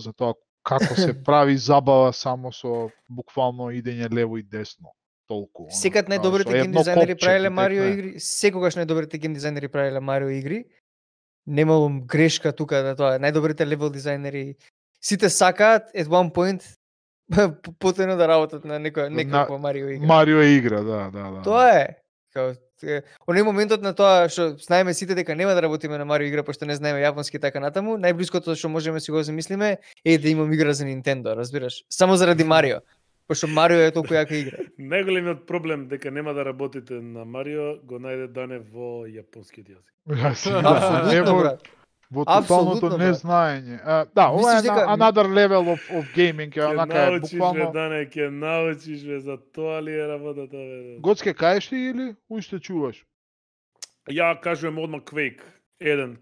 за тоа како се прави забава само со буквално идење лево и десно. Толку. Секад најдобрите гейм дизајнери правеле Марио игри, секогаш најдобрите гейм дизајнери правеле Марио игри. Немало грешка тука да тоа, најдобрите левел дизајнери сите сакаат at one point потено да работат на некоја Марио игра. Марио игра, да. Тоа е. Као оној моментот на тоа што знаеме сите дека нема да работиме на Марио игра пошто не знаеме јапонски така натаму, најблиското што можеме си го замислиме е да имам игра за Nintendo, разбираш? Само заради Марио. Пошто Марио е толку јака игра. Најголемиот проблем дека нема да работите на Марио го најде Дане во јапонскиот јазик. Апсолутно, брат. Во тоталното незнаење. Да, ова е another level of gaming, е онака е буквално. Дане, ќе научиш ве за тоа ли е работата ве. Гоцке каеш ли или уште чуваш? Ја кажувам одма Quake 1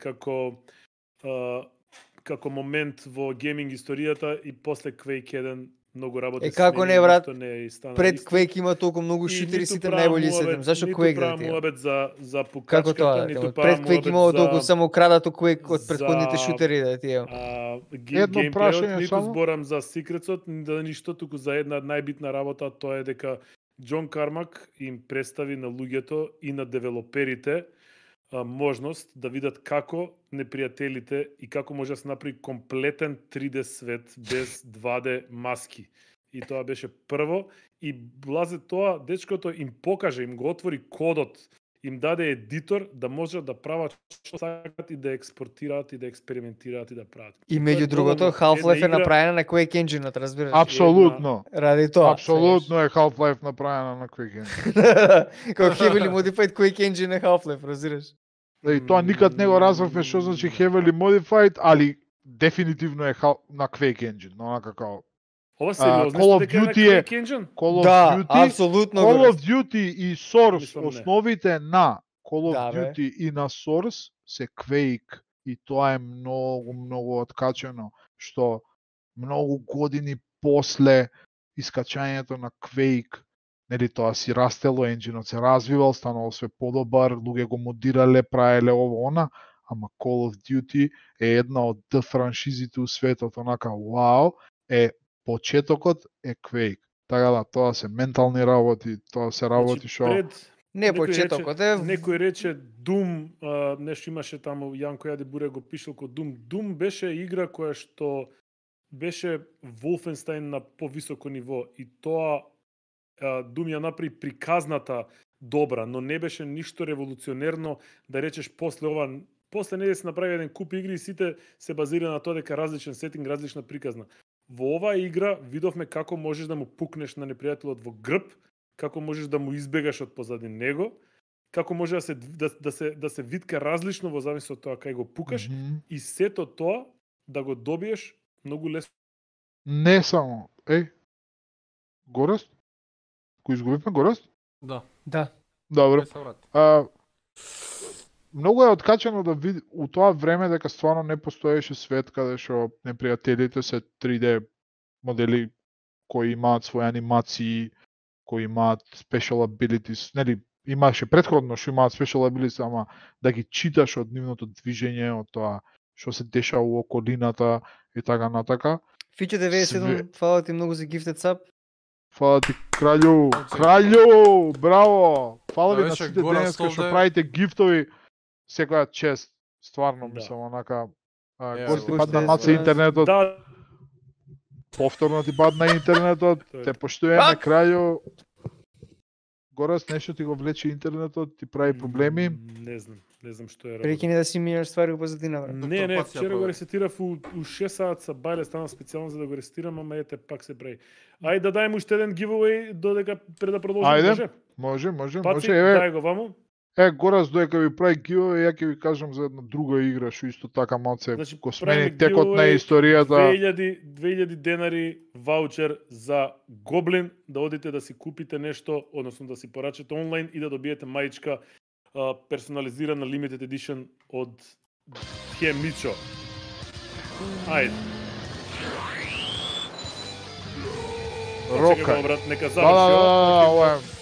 како момент во гейминг историјата и после Quake 1 многу работи. Како не, брат? Не пред Quake има толку многу шутери, сите најбољи сетам. Зашо Quake да ти? Муабет за пукачката, како тоа? Пред Quake имало толку само крадато Quake од претходните шутери да ти е. Едно прашање ниту само. Зборам за секретот, да ништо, туку за една најбитна работа, тоа е дека Џон Кармак им представи на луѓето и на девелоперите можност да видат како непријателите и како може да се направи комплетен 3D свет без 2D маски. И тоа беше прво и блазе тоа, дечкото им покаже, им го отвори кодот им даде едитор да можат да прават што сакат и да експортираат и да експериментираат и да прават. И меѓу другото, Half-Life е направена на Quake Engine-от, разбираш? Апсолутно. Ради тоа. Апсолутно е Half-Life направена на Quake Engine. Како heavily modified Quake Engine е Half-Life, разбираш? И тоа никад не го разбравме што значи heavily modified, али дефинитивно е на Quake Engine, онака како Ова сериозно Call of дека е на Duty Quake Engine? Call of Да, Duty, апсолутно Call го of Duty и Source, Мислам, не. основите на Call of Да, бе. Duty и на Source се Quake и тоа е многу откачено, што многу години после искачањето на Quake, нели тоа си растело енџинот, се развивал, станало све подобар, луѓе го модирале, правеле ово она, ама Call of Duty е една од франшизите у светот, онака вау, е почетокот е Quake. Така да, тоа се ментални работи, тоа се работи што... Не почетокот е... Некој рече Doom, нешто имаше таму, Јанко Јади Буре го пишал ко Doom. Doom беше игра која што беше Wolfenstein на повисоко ниво и тоа Doom ја направи приказната добра, но не беше ништо револуционерно да речеш после ова, после не да се направи еден куп игри и сите се базира на тоа дека различен сетинг, различна приказна. Во оваа игра видовме како можеш да му пукнеш на непријателот во грб, како можеш да му избегаш од позади него, како може да се витка различно во зависи од тоа кај го пукаш и сето тоа да го добиеш многу лесно. Не само, Горест? Кој изгубивме Горест? Да. Да. Добро. Многу е откачено да види у тоа време дека стварно не постоеше свет каде што непријателите се 3D модели кои имаат своји анимации, кои имаат special abilities, нели имаше претходно што имаат special abilities, ама да ги читаш од нивното движење, од тоа што се дешава у околината и така натака. Фиче 97, фала ти многу за gifted sub. Фала ти, кралју, браво! Фала ви на сите денеска што правите гифтови, секоја чест, стварно, мислам, онака, гости падна маца интернетот, повторно ти падна интернетот, те поштуеме, крају. Горас, нешто ти го влече интернетот, ти прави проблеми? Не знам што е. Прекини да си мијаш ствари во позадина, брат. Не, вчера го ресетирав у 6 саат са бајле, станав специјално за да го ресетирам, ама ете пак се прави. Ајде да дајме уште еден giveaway додека пред да продолжиме, може? Може. Дај го ваму. Горас, додека ви прави giveaway, ја ќе ви кажам за една друга игра, што исто така малце го смени текот на историјата. 2000 денари ваучер за Гоблин, да одите да си купите нешто, односно да си порачате онлайн и да добиете мајчка персонализирана limited edition од Хемичо. Ајде. Рока. Брат, нека заврши.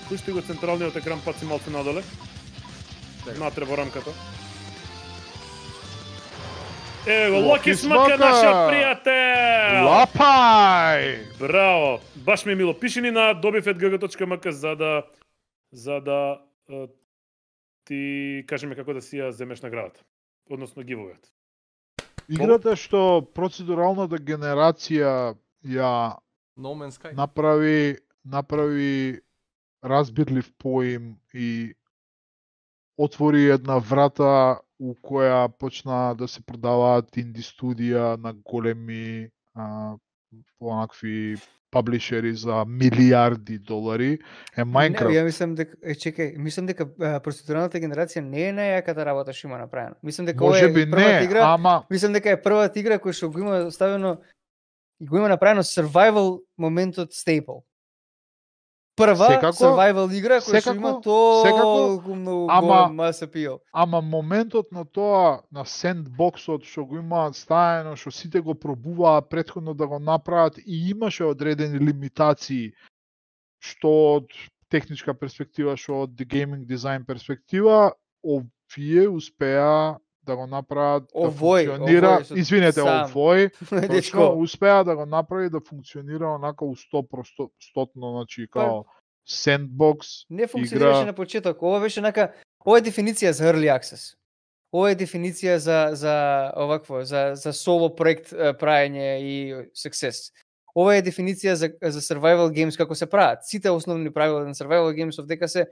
Пушти го централниот екран, паци малце надоле. Натре во рамката. Ево, Локи Смака, нашиот пријател! Лапај! Браво! Баш ми е мило. Пиши ни на dobifetgg.mk за да ти кажеме како да си ја земеш наградата. Односно гивовиот. Играта што процедуралната генерација ја No Man's Sky направи разбирлив поим и отвори една врата у која почна да се продаваат инди студија на големи онакви паблишери за милиарди долари е Minecraft. Ја мислам дека мислам дека процедуралната генерација не е најаката работа што има направена. Мислам дека ова е првата игра. Мислам дека е првата игра која што го има ставено и го има направено survival моментот стейпл. Прва survival игра која што има толку многу голем mass appeal. Ама моментот на тоа, на сендбоксот што го има ставено, што сите го пробуваат претходно да го направат и имаше одредени лимитации, што од техничка перспектива, што од гейминг дизајн перспектива, овие успеа да го направат да функционира, точно успеа да го направи да функционира онака у 100%, значи као сендбокс не функционираше на почеток. Ова беше нака Ова е дефиниција за early access. Ова е дефиниција за соло проект праење и success. Ова е дефиниција за survival games како се прават. Сите основни правила на survival games дека се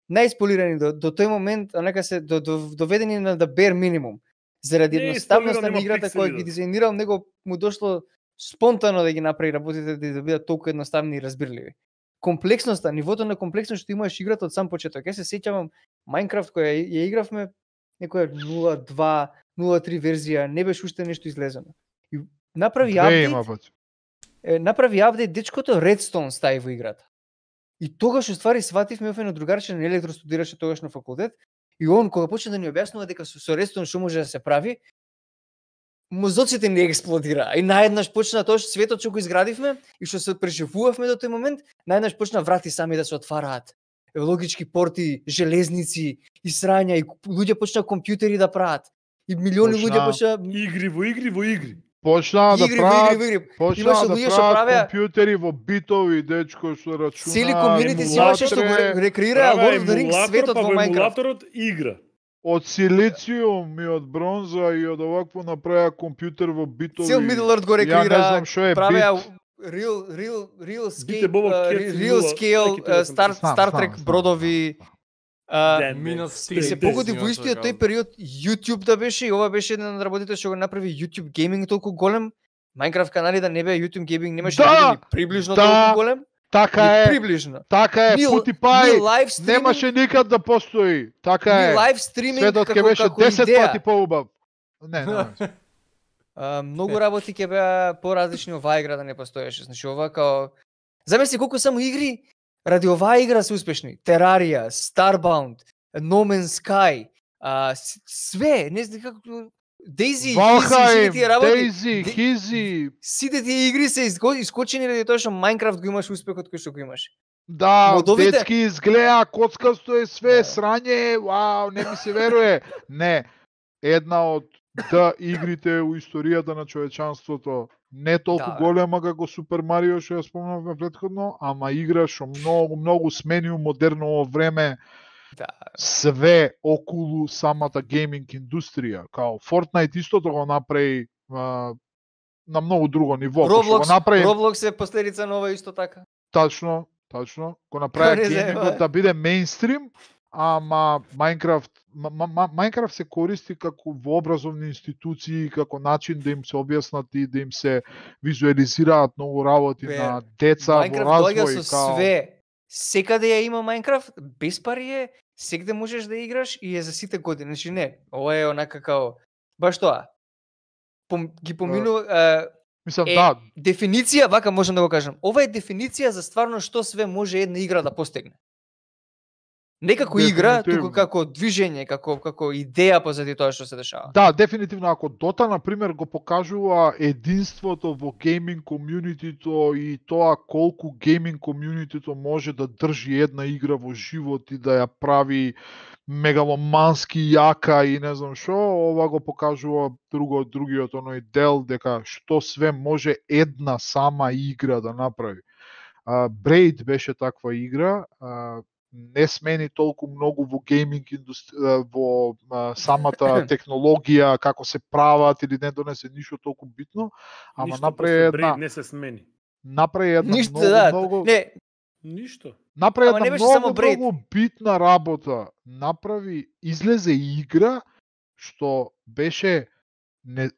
наисполирани до тој момент, нека се доведени на да bare минимум. Заради едноставноста на играта која ги дизајнирал, него му дошло спонтано да ги направи работите да бидат толку едноставни и разбирливи. Комплексноста, нивото на комплексност што имаш играта од сам почеток. Јас се сеќавам Minecraft која ја игравме некоја 0.2, 0.3 верзија, не беше уште нешто излезено. И направи апдейт, дечкото Redstone стави во играта. И тогаш уствари сватив ме офено другарче на електро студираше тогаш на факултет и он кога почна да ни објаснува дека со Redstone што може да се прави, мозоците ни експлодира. И наеднаш почна тоа што светот што го изградивме и што се преживувавме до тој момент, наеднаш почна врати сами да се отвараат. Логички порти, железници и срања и луѓе почна компјутери да прават. И милиони луѓе почна игри во игри. Почнаа да прават компјутери во битови, дечко што рачуна. Цели комјунити си имаше што го рекреира Lord of the Rings светот во Minecraft. Емулаторот игра. Од силициум и од бронза и од овакво направија компјутер во битови. Цел Middle Earth го рекреира, правеа real scale Star Trek бродови. И се погоди во истиот тој период YouTube да беше и ова беше една од работите што го направи YouTube Gaming толку голем. Minecraft канали да не беа YouTube Gaming немаше да биде приближно толку голем. Така е. Приближно. Така е. PewDiePie немаше никад да постои. Така е. Лайв стриминг светот ќе беше 10 пати поубав. Не. Многу работи ќе беа поразлични, оваа игра да не постоеше. Значи ова као замисли колку само игри ради оваа игра се успешни. Terraria, Starbound, No Man's Sky, све, не знам како Daisy, Hizzy. Сите тие игри се искочени ради тоа што Minecraft го имаш успехот кој што го имаш. Да, детски изгледа, коцкасто е све, срање, вау, не ми се веруе. Не, една од игрите у историјата на човечанството, не толку голема како Супер Марио што ја спомнавме претходно, ама игра што многу смени у модерно време. Све околу самата гейминг индустрија, као Fortnite истото го направи на многу друго ниво. Roblox е последица на ова исто така. Точно, го направи геймингот да биде мејнстрим, ама Minecraft се користи како во образовни институции, како начин да им се објаснат и да им се визуализираат многу работи на деца во развој. Minecraft доаѓа со све. Секаде ја има Minecraft, без пари е, секаде можеш да играш и е за сите години. Значи не, ова е онака као баш тоа. Ги поминува дефиниција, вака можам да го кажам. Ова е дефиниција за стварно што све може една игра да постигне. Не како игра, туку како движење, како идеја позади тоа што се дешава. Да, дефинитивно, ако Dota, например, го покажува единството во гейминг комјунитито и тоа колку гейминг комјунитито може да држи една игра во живот и да ја прави мегаломански јака и не знам што, ова го покажува другиот оној дел, дека што све може една сама игра да направи. Braid беше таква игра, не смени толку многу во гейминг индустрија, во самата технологија, како се прават или не донесе ништо толку битно, ама направи една не се смени. Направи една многу ништо. Направи една многу битна работа. Излезе игра што беше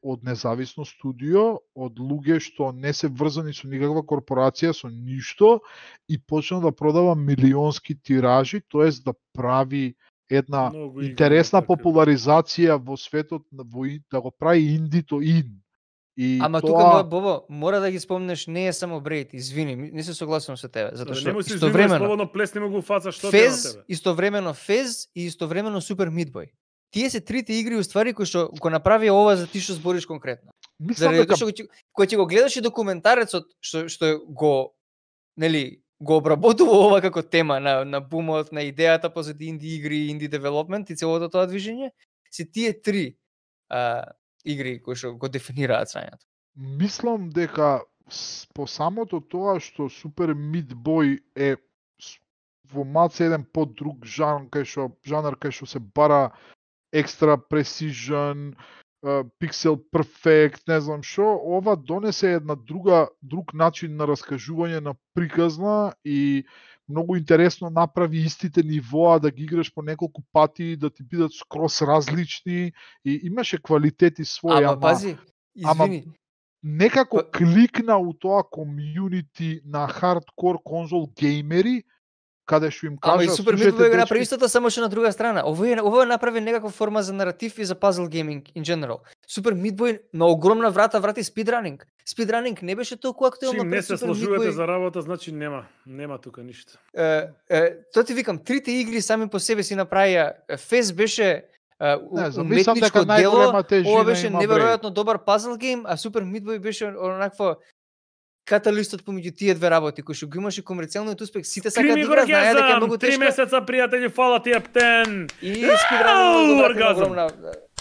од независно студио, од луѓе што не се врзани со никаква корпорација, со ништо, и почна да продава милионски тиражи, тоест да прави една интересна популаризација во светот, да го прави индито ин. Ама тука, Бобо, мора да ги спомнеш, не е само Braid, извини, не се согласувам со тебе, затоа што истовремено плесни го фаца што те на тебе. Истовремено Fez и истовремено Super Meat Boy. Тие се трите игри уствари кои што го направи ова за ти што збориш конкретно. Заради тоа што кој ќе го гледаш и документарецот што го обработува ова како тема на бумот, на идејата позади инди игри, инди девелопмент и целото тоа движење, се тие три игри кои што го дефинираат срањето. Мислам дека по самото тоа што Super Meat Boy е во малце еден подруг жанр кај што се бара екстра precision, pixel perfect, не знам што, ова донесе една друг начин на раскажување на приказна и многу интересно направи истите нивоа да ги играш по неколку пати, да ти бидат скрос различни и имаше квалитети своји, ама пази, извини. Некако кликна у тоа комјунити на хардкор конзол геймери, каде што им кажа... Ама и Супер Meat Boy го направи истото, само што на друга страна. Ово направи некаква форма за наратив и за puzzle gaming in general. Супер Meat Boy на огромна врати спидранинг. Спидранинг не беше толку актуелно пред Супер Meat Boy. Не се сложувате за работа, значи нема тука ништо. Тоа ти викам, трите игри сами по себе си направија. Фес беше уметничко дело, ова беше неверојатно добар puzzle game, а Супер Meat Boy беше онакво каталистот помеѓу тие две работи, кој што го имаше комерцијалниот успех, сите сакаат да играат, знаеа дека е многу тешко. 3 месеца, пријатели, фала ти Ептен. И спидранинг огромна.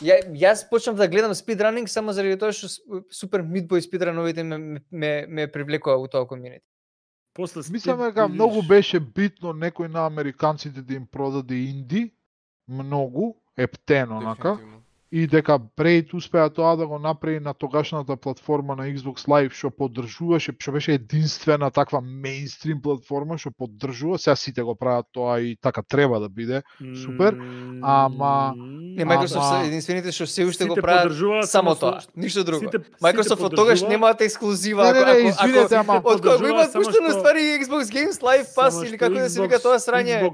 Јас почнав да гледам спидранинг само заради тоа што Супер Meat Boy спидрановите ме привлекоа у тоа комјунити. Мислам дека многу беше битно некој на американците да им продаде инди, многу, Ептен онака. И дека Braid успеа тоа да го направи на тогашната платформа на Xbox Live, што поддржуваше, што беше единствена таква мејнстрим платформа што поддржува. Сега сите го прават тоа и така треба да биде. Супер. Ама Microsoft се единствените што се уште го прават само тоа, ништо друго. Microsoft од тогаш немаат ексклузива, ако го имаат пуштено ствари Xbox Games Live Pass или како да се вика тоа срање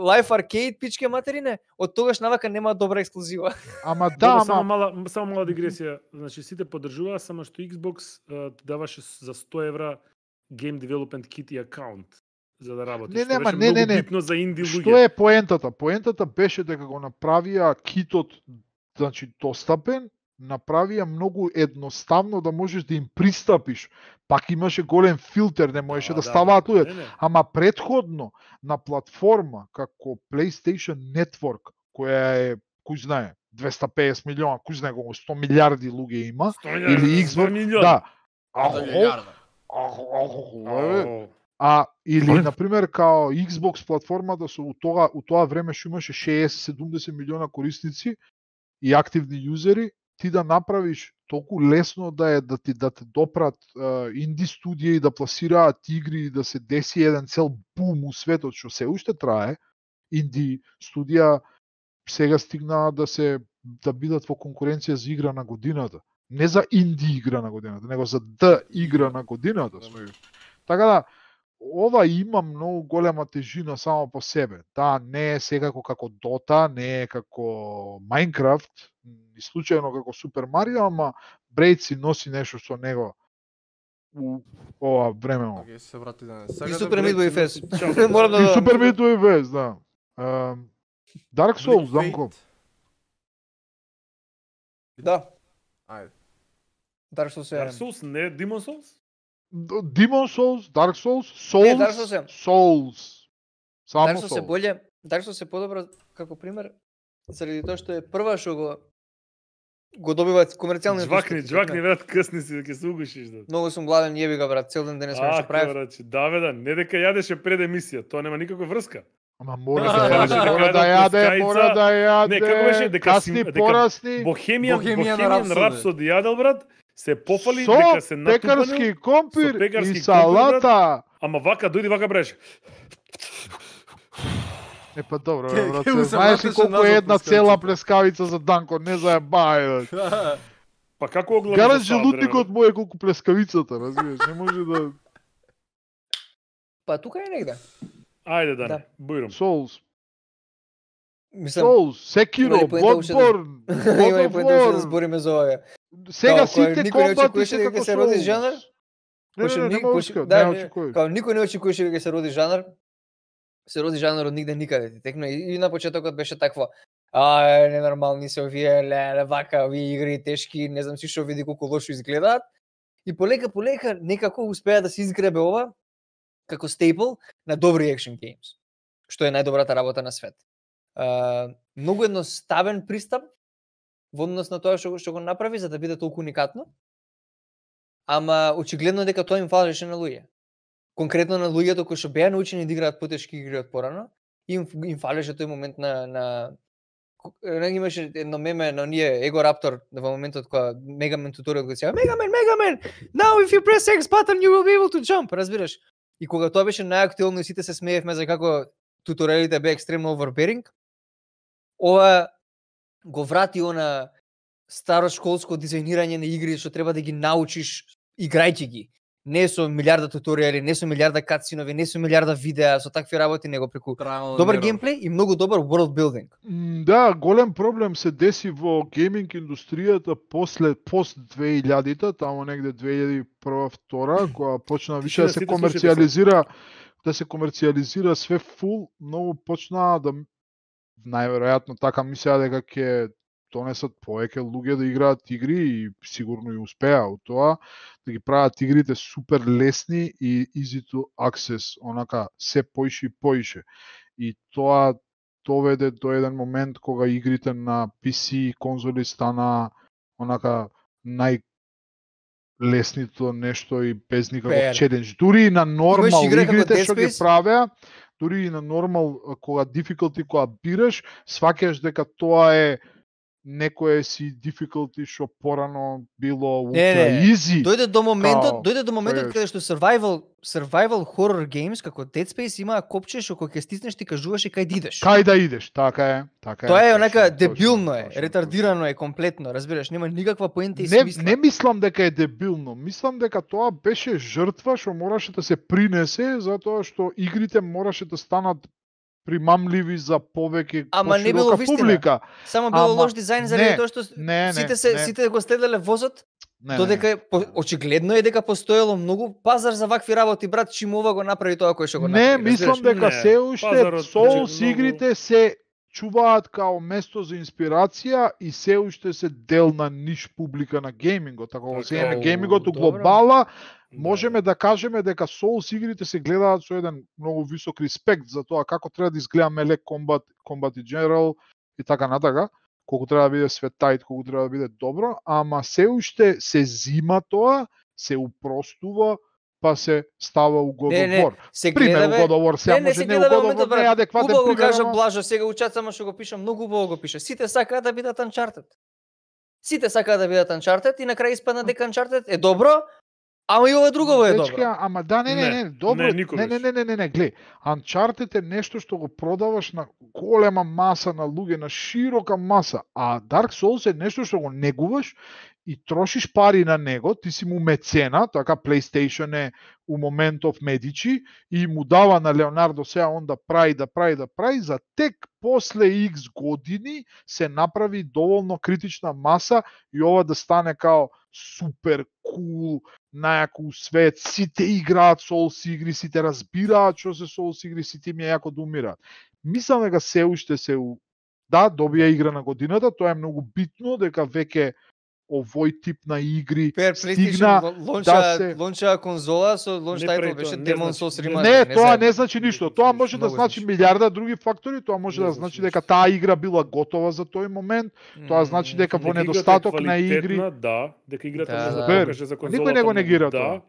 Live Arcade пичке материне, од тогаш навака немаат добра ексклузива. Ама само мала дигресија. Значи сите поддржуваа, само што Xbox даваше за 100 евра Game Development Kit и акаунт за да работиш. Не. Битно за инди луѓе. Што е поентата? Поентата беше дека го направија китот, значи достапен, направија многу едноставно да можеш да им пристапиш. Пак имаше голем филтер, не можеше да ставаат луѓе. Ама претходно на платформа како PlayStation Network, која е, кој знае, 250 милиона, кој знае колку 100 милиарди луѓе има, или Xbox, да. Или например као Xbox платформата со у тоа време што имаше 60-70 милиона корисници и активни јузери, ти да направиш толку лесно да те допрат инди студија и да пласираат игри и да се деси еден цел бум у светот што се уште трае. Инди студија сега стигнаа да бидат во конкуренција за игра на годината. Не за инди игра на годината, него за игра на годината. Така да, ова има многу голема тежина само по себе. Да, не е секако како Dota, не е како Minecraft, и случајно како Super Mario, ама Braid си носи нешто со него у ова време. Океј, се врати да не. И Super Meat Boy Fest. И Super Meat Boy Fest, да. Dark Souls, Данко. Да. Ајде. Dark Souls, не Demon Souls? Demon Souls, Dark Souls, Souls. Само Dark Souls е боле, Dark Souls е подобро како пример заради тоа што е прва што го добиваат комерцијални Джвакни брат, късни си ќе се угушиш да. Многу сум гладен, јеби га брат, цел ден денес што правев. Да бе, не дека јадеше пред емисија, тоа нема никаква врска. Ама мора да јаде. Не, како беше дека порасни. Bohemian Rhapsody јадел брат, се пофали дека се натупано. Пекарски компир и салата. Ама вака дојди вака бреш. Па добро, брат. Знаеш ли колку е една цела плескавица за Данко, не заебај. Па како оглави? Гаран желудникот му е колку плескавицата, разбираш, не може да. Па тука е негде. Ајде да. Бујрум. Souls. Souls, Sekiro, Bloodborne. Има и поента да збориме за ова. Сега сите комбати се како се роди жанр. Никој не очекуваше дека се роди жанр. Се роди жанр од нигде никаде ти текна и на почетокот беше такво. Ненормални се овие, вака, овие игри тешки, не знам си што види колку лошо изгледаат. И полека некако успеа да се изгребе ова како стейпл на добри екшн геймс, што е најдобрата работа на свет. Многу едноставен пристап во однос на тоа што го направи за да биде толку уникатно, ама очигледно дека тоа им фалеше на луѓе. конкретно на луѓето кои што беа научени да играат потешки игри од порано, им фалеше тој момент на имаше едно меме на ние Его Раптор во моментот кога Мегамен туторијал го сега Мегамен, now if you press X button you will be able to jump, разбираш? И кога тоа беше најактуелно и сите се смеевме за како туторијалите беа екстремно overbearing, ова го врати она старо школско дизајнирање на игри што треба да ги научиш играјќи ги. Не со милиарда туторијали, не со милиарда катсинови, не со милиарда видеа, со такви работи, него преку добар геймплей и многу добар world building. Да, голем проблем се деси во гейминг индустријата пост 2000-та, тамо негде 2001-2002, кога почна више да се комерцијализира све фул, многу почнаа да најверојатно така мислеа дека ќе донесат повеќе луѓе да играат игри и сигурно и успеа од тоа, да ги прават игрите супер лесни и easy to access, онака се поише и поише. И тоа доведе до еден момент кога игрите на PC и конзоли стана онака најлесното нешто и без никаков челендж. Дури и на нормал игрите што ги правеа, дури и на нормал кога difficulty кога бираш, сваќаш дека тоа е некое си difficulty што порано било ultra easy. Дојде до моментот каде што survival horror games како Dead Space имаа копче што кога ќе стиснеш ти кажуваш кај да идеш. Кај да идеш, така е. Тоа е онака дебилно е, ретардирано е комплетно, разбираш, нема никаква поента и смисла. Не мислам дека е дебилно, мислам дека тоа беше жртва што мораше да се принесе затоа што игрите мораше да станат примамливи за повеќе поширока публика. Само било лош дизајн заради тоа што сите го следеле возот, додека очигледно е дека постоело многу пазар за вакви работи, брат, чим ова го направи тоа кој што го направи. Не, мислам дека се уште Souls игрите се чуваат као место за инспирација и се уште се дел на ниш публика на геймингот. Ако го земеме геймингот у глобала, можеме да кажеме дека Souls игрите се гледаат со еден многу висок респект за тоа како треба да изгледа меле комбат и general и така натака, колку треба да биде светајт, колку треба да биде добро, ама се уште се зима тоа, се упростува, па се става у God of War. Пример, у God of War, сега може не у God of War, не адекватен пример. Убаво кажа Блажо, сега учат само што го пишам, многу убаво го пише. Сите сакаат да бидат Uncharted. Сите сакаат да бидат Uncharted и на крај испадна дека Uncharted е добро, ама и ова друго е добро. Ама да, не, добро. Не, глеј. Uncharted е нешто што го продаваш на голема маса на луѓе, на широка маса, а Dark Souls е нешто што го негуваш и трошиш пари на него, ти си му мецена, така PlayStation е у моментов Медичи и му дава на Леонардо сега он да прави, за тек после X години се направи доволно критична маса и ова да стане као супер кул, најако свет, сите играат Souls игри, сите разбираат што се Souls игри, сите им е јако да умираат. Мислам дека се уште да, добија игра на годината, тоа е многу битно, дека веќе овој тип на игри стигна да се лонча конзола со лонч тајтл беше Demon Souls Remastered. Не, тоа не значи ништо. Тоа може да значи милиарда други фактори, тоа може да значи дека таа игра била готова за тој момент, тоа значи дека во недостаток на игри, дека играта може да покаже за конзолата. Никој не го негира тоа.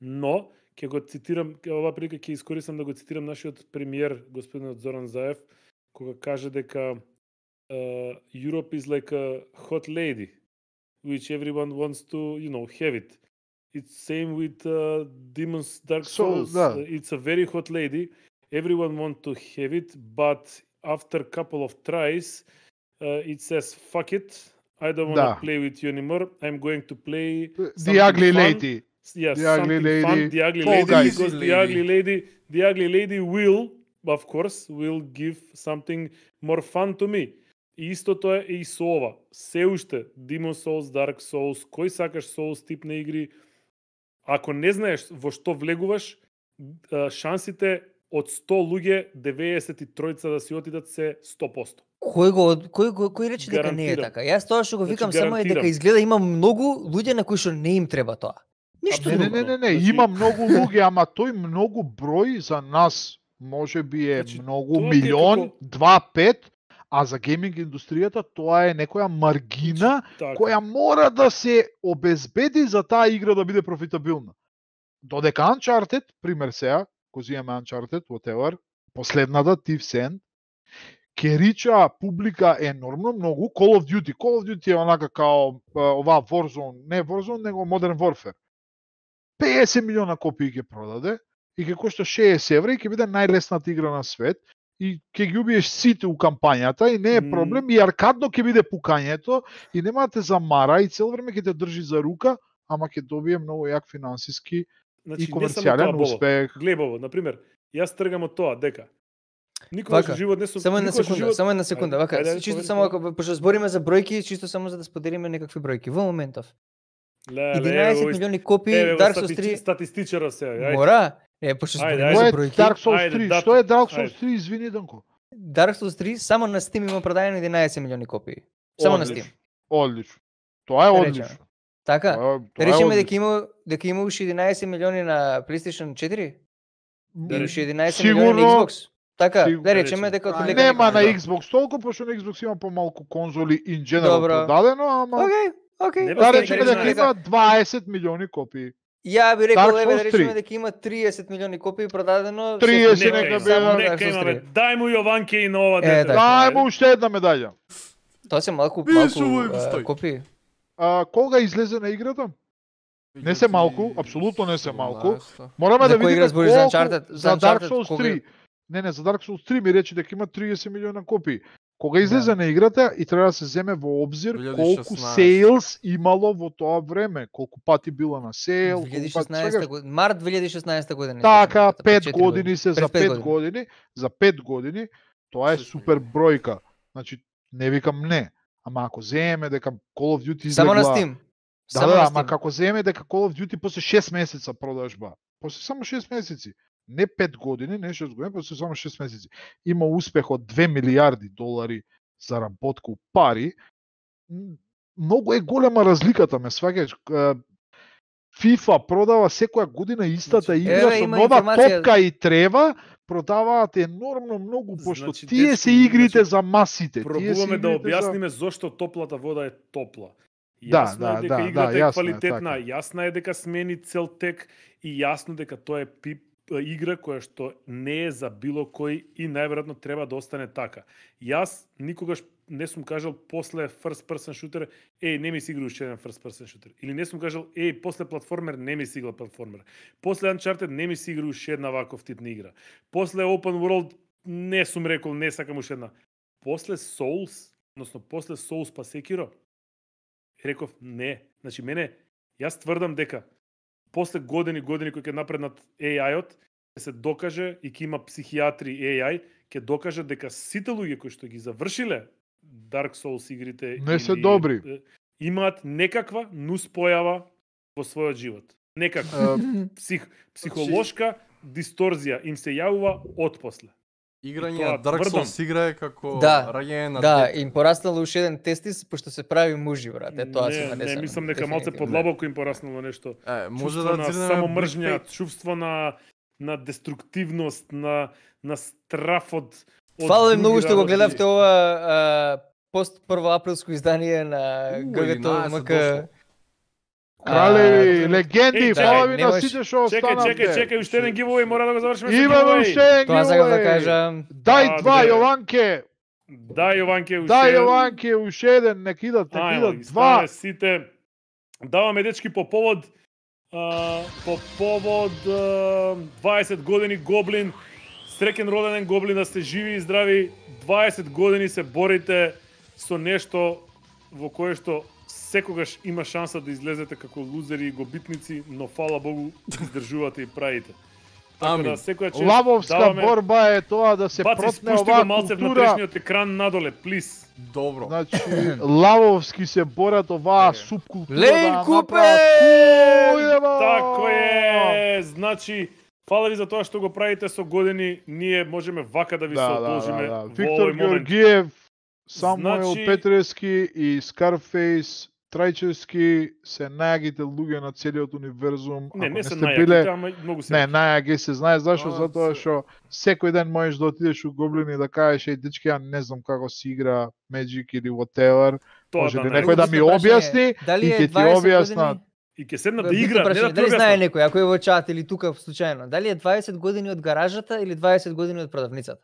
Но ќе го цитирам, ова прилика ќе искористам да го цитирам нашиот премиер господинот Зоран Заев, кога каже дека Europe is like a hot lady, which everyone wants to, have it. It's same with Demon's Dark Souls. It's a very hot lady. Everyone wants to have it, but after a couple of tries, it says, fuck it, I don't want to play with you anymore. I'm going to play The Ugly Lady. Yes, the Ugly Lady. Fun. The Ugly Lady, because the Ugly Lady will, of course, will give something more fun to me. И истото е и со ова. Се уште Demon Souls, Dark Souls, кој сакаш Souls тип на игри, ако не знаеш во што влегуваш, шансите од 100 луѓе 93 да си отидат се 100%. Кој рече дека не е така? Јас тоа што го викам само е дека изгледа има многу луѓе на кои што не им треба тоа. Ништо друго. Не, има многу луѓе, ама тој многу број за нас можеби е многу милион, 2-5. А за гейминг индустријата тоа е некоја маргина која мора да се обезбеди за таа игра да биде профитабилна. Додека Uncharted, пример сега, кој имаме Uncharted, whatever, последната Thief's End, ке рича публика енормно многу. Call of Duty е онака као оваа Warzone, не Warzone, него Modern Warfare. 50 милиона копии ќе продаде и ќе кошта 60 евра и ќе биде најлесната игра на свет и ќе ги убиеш сите у кампањата и не е проблем и аркадно ќе биде пукањето и нема да те замара и цело време ќе те држи за рука, ама ќе добие многу јак финансиски и комерцијален успех. Глебово, например, јас тргам од тоа дека никогаш во живот не сум само една секунда, вака, чисто само ако пошто збориме за бројки, чисто само за да споделиме некакви бројки во моментов. 11 милиони копии Dark Souls 3 статистичара сега. Мора, пошто збориме за бројки. Dark Souls 3, што е Dark Souls 3, извини Данко? Dark Souls 3 само на Steam има продадено 11 милиони копии. Само на Steam. Одлично. Тоа е одлично. Така, речеме дека има уште 11 милиони на PlayStation 4? Да уште 11 милиони на Xbox? Така, да речеме дека нема на Xbox толку, пошто на Xbox има помалку конзоли in general продадено, ама Океј. Да речеме дека има 20 милиони копии. Ја би рекол да речеме дека има 30 милиони копии продадено. 30 нека биде. Дај му Јованке и на ова дете. Дај му уште една медаља. Тоа се малку копии. Кога излезе на играта? Не се малку, апсолутно не се малку. Мораме да видиме колку за Dark Souls 3. Не, за Dark Souls 3 ми рече дека има 30 милиона копии. Кога излезе на играта и треба да се земе во обзир 2016. колку сейлс имало во тоа време, колку пати била на сейл, 2016 година, март 2016 година. Така, 5 години се за 5 години, за 5 години, тоа е супер бројка. Значи, не викам не, ама ако земеме дека Call of Duty излегла... Само на Steam. Да, ама како земеме дека Call of Duty после 6 месеца продажба, после само 6 месеци, не 5 години, не 6 години, после само 6 месеци, има успех од 2 милиарди долари заработка у пари, многу е голема разликата, ме сваќаш. FIFA продава секоја година истата игра со нова топка и трева, продаваат енормно многу, пошто тие се игрите за масите. Пробуваме да објасниме зошто топлата вода е топла. Јасно е дека играта е квалитетна, јасно е дека смени цел тек и јасно дека тоа е игра која што не е за било кој и најверојатно треба да остане така. Јас никогаш не сум кажал после first person shooter, не ми си игра уште еден first person shooter. Или не сум кажал, после платформер не ми си игра платформер. После Uncharted не ми си игра уште една ваков тип на игра. После Open World не сум рекол, не сакам уште една. После Souls, односно после Souls па Sekiro, реков не. Значи јас тврдам дека после години кои ќе напреднат AI-от, ќе се докаже и ќе има психијатри AI, ќе докаже дека сите луѓе кои што ги завршиле Dark Souls игрите не се добри. Имаат некаква нуспојава во својот живот. Некаква психолошка дисторзија им се јавува отпосле. Играње Dark Souls игра е како раѓање на Да, им пораснало уште еден тестис, пошто се прави мужи, брат. Тоа се не, мислам дека малце подлабоко им пораснало нешто. Може да само мржња, чувство на деструктивност, на страф од Фала ви многу што го гледавте ова пост прво априлско издание на ГГТ МК. Кралеви, легенди, фала ви на сите што останавте. Чекај, уште еден giveaway, мора да го завршиме со giveaway. Имаме уште еден giveaway. Тоа сакам да кажам. Дај два, Јованке. Дај Јованке уште. Дај Јованке уште еден, нека идат два. Сите. Даваме дечки по повод 20 години Гоблин. Среќен роден Гоблин, да сте живи и здрави. 20 години се борите со нешто во кое што секогаш има шанса да излезете како лузери и гобитници, но фала Богу издржувате и правите. Така да секоја чест Лавовска борба е тоа да се протне оваа малце култура. Внатрешниот екран надоле, плиз. Добро. Значи лавовски се борат оваа субкултура. Лейн Купе! Тако е. Значи фала ви за тоа што го правите со години. Ние можеме вака да ви се одолжиме во Виктор Георгиев, Самуел Петрески и Скарфейс Трајчевски се најагите луѓе на целиот универзум. Не се најагите, ама многу се. Не, најаги се знае зашо, затоа што секој ден можеш да отидеш у Гоблин и да кажеш еј дечки, ја не знам како се игра Magic или whatever. Може ли некој да ми објасни и ќе ти објаснат. И ќе седнат да игра, не да дали знае некој, ако е во чат или тука случајно, дали е 20 години од гаражата или 20 години од продавницата?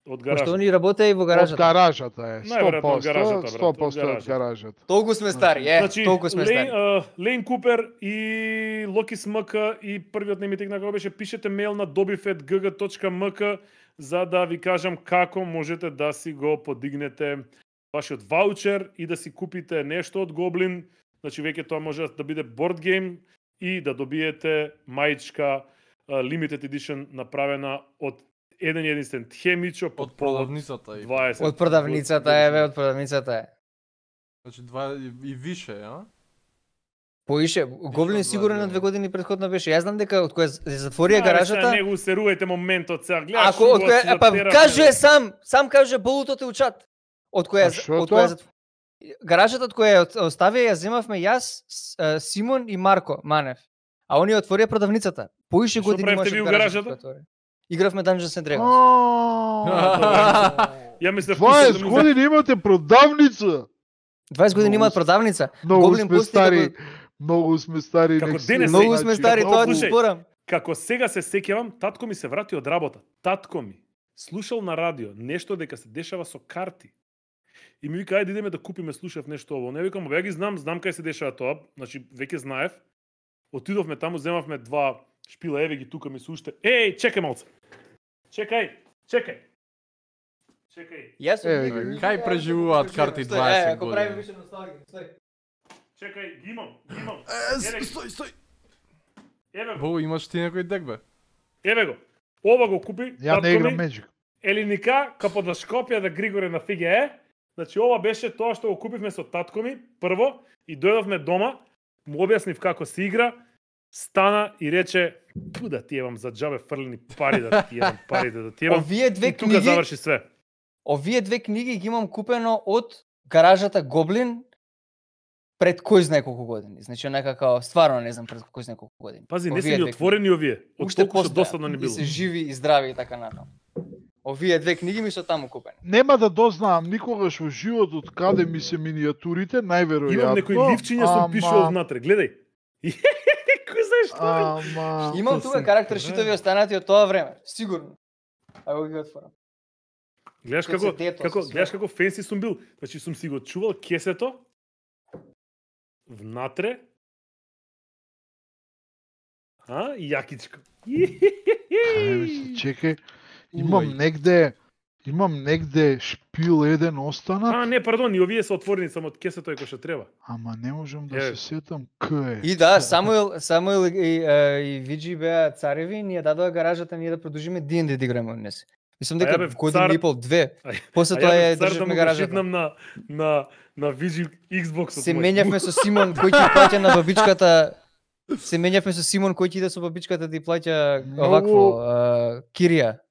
Од гаражата. Пошто они работеа и во гаражата. Од гаражата е, 100%, 100% од гаражата. Толку сме стари, толку сме стари. Лейн Купер и Локис МК и првиот немитек на кога беше пишете мејл на dobifet.gg.mk за да ви кажам како можете да си го подигнете вашиот ваучер и да си купите нешто од Goblin. Значи веќе тоа може да биде board game и да добиете маичка limited edition направена од еден единствен хемичо од продавницата и 20. Од продавницата е, од продавницата е. Значи 2 и више, а? Поише, Гоблин сигурно на 2 години претходно беше. Јас знам дека од која затворија гаражата. Не го серувајте моментот сега. Гледаш. Ако од која, па каже сам каже болутот е учат. Од која гаражата од која оставија ја земавме јас, Симон и Марко Манев. А они отворија продавницата. Поише години имаше гаражата. Игравме Dungeons and Dragons. Ја мислев 20 години имате продавница. 20 години имаат продавница. Многу сме стари. Многу сме стари. Многу сме стари, тоа ти спорам. Како сега се сеќавам, татко ми се врати од работа. Татко ми слушал на радио нешто дека се дешава со карти. И ми вика ајде идеме да купиме, слушав нешто ово. Не викам, ја ги знам кај се дешава тоа. Значи веќе знаев. Отидовме таму, земавме 2 шпила, еве ги тука ми се уште. Еј, чекај малце. Чекај. Јас кај преживуваат карти 20 години? Ако правиме више носталгија, стој. Чекај, ги имам. Стој. Еве го. Имаш ти некој дек бе? Еве го. Ова го купи. Ја не играм Magic. Елиника, капо да Шкопје да Григоре на ФГЕ. Значи ова беше тоа што го купивме со татко ми прво и дојдовме дома, му објаснив како се игра. Стана и рече, да ти евам за џабе фрлени пари, да ти евам парите, да ти евам. Овие две книги, тука заврши све. Овие 2 книги ги имам купено од гаражата Гоблин пред кој знае колку години. Значи некако стварно не знам пред кој знае колку години. Пази, не се ни отворени овие. Уште досадно не било. И се живи и здрави и така натаму. Овие 2 книги ми се таму купени. Нема да дознаам никогаш во животот каде ми се минијатурите, најверојатно. Имам некои ливчиња сум пишувал внатре, гледај. Кој знаеш што? Имам тука карактер шитови останати од тоа време, сигурно. Ајде ги отворам. Гледаш како фенси сум бил. Значи сум си го чувал кесето внатре. Јакичко. Чекај, имам негде шпил еден останат. Не, пардон, и овие се отворени само од кесето е кој што треба. Ама не можам да се сетам кај е. И да, Самуил и Виджи беа цареви, ние дадоа гаражата ние да продолжиме D&D да играме однес. Мислам дека година и пол, 2. После тоа ја државме гаражата. Шитнам на Виджи Xbox-от. Се менјавме со Симон кој ќе плаќа на бабичката. Се менјавме со Симон кој ќе иде со бабичката да ја плаќа овакво кирија.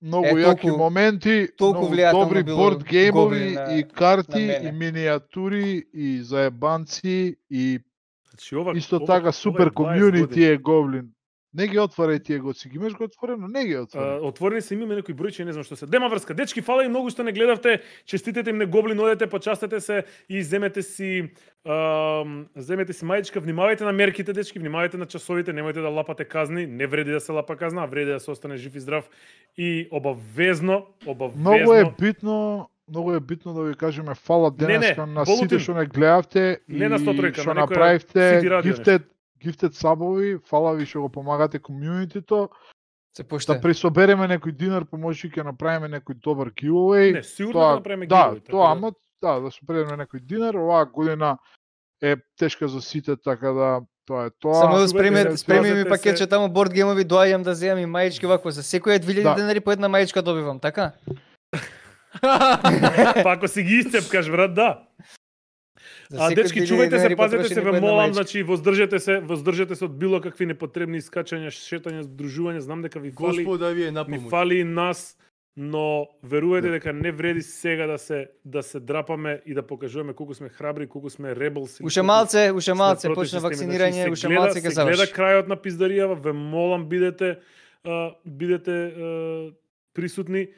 Многу јаки моменти, многу добри борд геймови и карти и минијатури и заебанци и исто така супер комјунити е Goblin. Не ги отварај тие го, си ги имаш го отворено, не ги отварај. Отворени се имаме некои бројче, не знам што се. Дема врска, дечки, фала и многу што не гледавте, честитете им на Goblin, одете, почастете се и земете си мајичка, внимавајте на мерките, дечки, внимавајте на часовите, немојте да лапате казни, не вреди да се лапа казна, а вреди да се остане жив и здрав и обавезно. Многу е битно да ви кажеме фала денеска на сите што не гледавте и што направивте Gifted сабови, фала ви што го помагате комјунитито. Да присобереме некој динар, помојќи ќе направиме некој добар giveaway. Не, сигурно да направиме giveaway. Да собереме некој динар, оваа година е тешка за сите, така да тоа е тоа. Само спреми ми пакетче таму борд геймови, доаѓам да земам и маички вакво, за секоја 2000 денари по една маичка добивам, така? Па ако си ги исцепкаш, брат, да. Дечки, чувајте се, пазете се, ве молам, значи воздржете се од било какви непотребни искачања, шетања, здружувања, знам дека ви фали. Господа ви е на помош. Ми фали и нас, но верувајте дека не вреди сега да се драпаме и да покажуваме колку сме храбри, колку сме ребелси. Уште малце, почне вакцинирање, уште малце ќе заврши. Гледа крајот на пиздаријава, ве молам бидете присутни.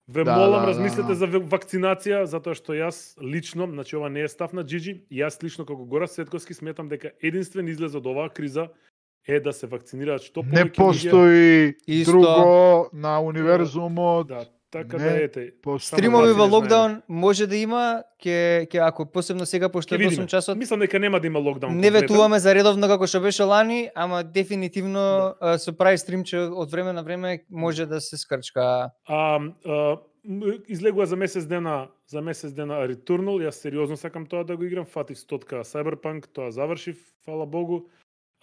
Ве молам, размислете за вакцинација, затоа што јас лично, значи ова не е став на Джиджи, јас лично како Гора Светковски сметам дека единствен излез од оваа криза е да се вакцинираат што повеќе. Не постои друго на универзумот. Да, така да ете. Стримови во локдаун може да има, ќе ако посебно сега пошто е 8 часот. Мислам дека нема да има локдаун. Не ветуваме за редовно како што беше лани, ама дефинитивно со прави стримче од време на време може да се скрчка. Излегува за месец дена Returnal, јас сериозно сакам тоа да го играм, фатив 100 Cyberpunk, тоа завршив, фала Богу.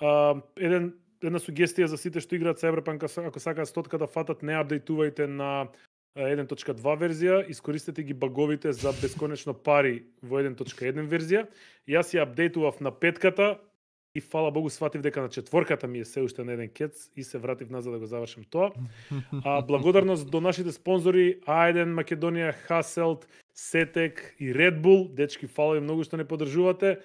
Една сугестија за сите што играат Cyberpunk, ако сакаат 100 да фатат, не апдейтувајте на 1.2 верзија, искористете ги баговите за бесконечно пари во 1.1 верзија. Јас ја апдейтував на 5-ката и фала Богу сватив дека на 4-ката ми е се уште на еден кец и се вратив назад да го завршам тоа. Благодарност до нашите спонзори A1 Македонија, Hasselt, Сетек и Red Bull. Дечки, фала ви многу што не поддржувате.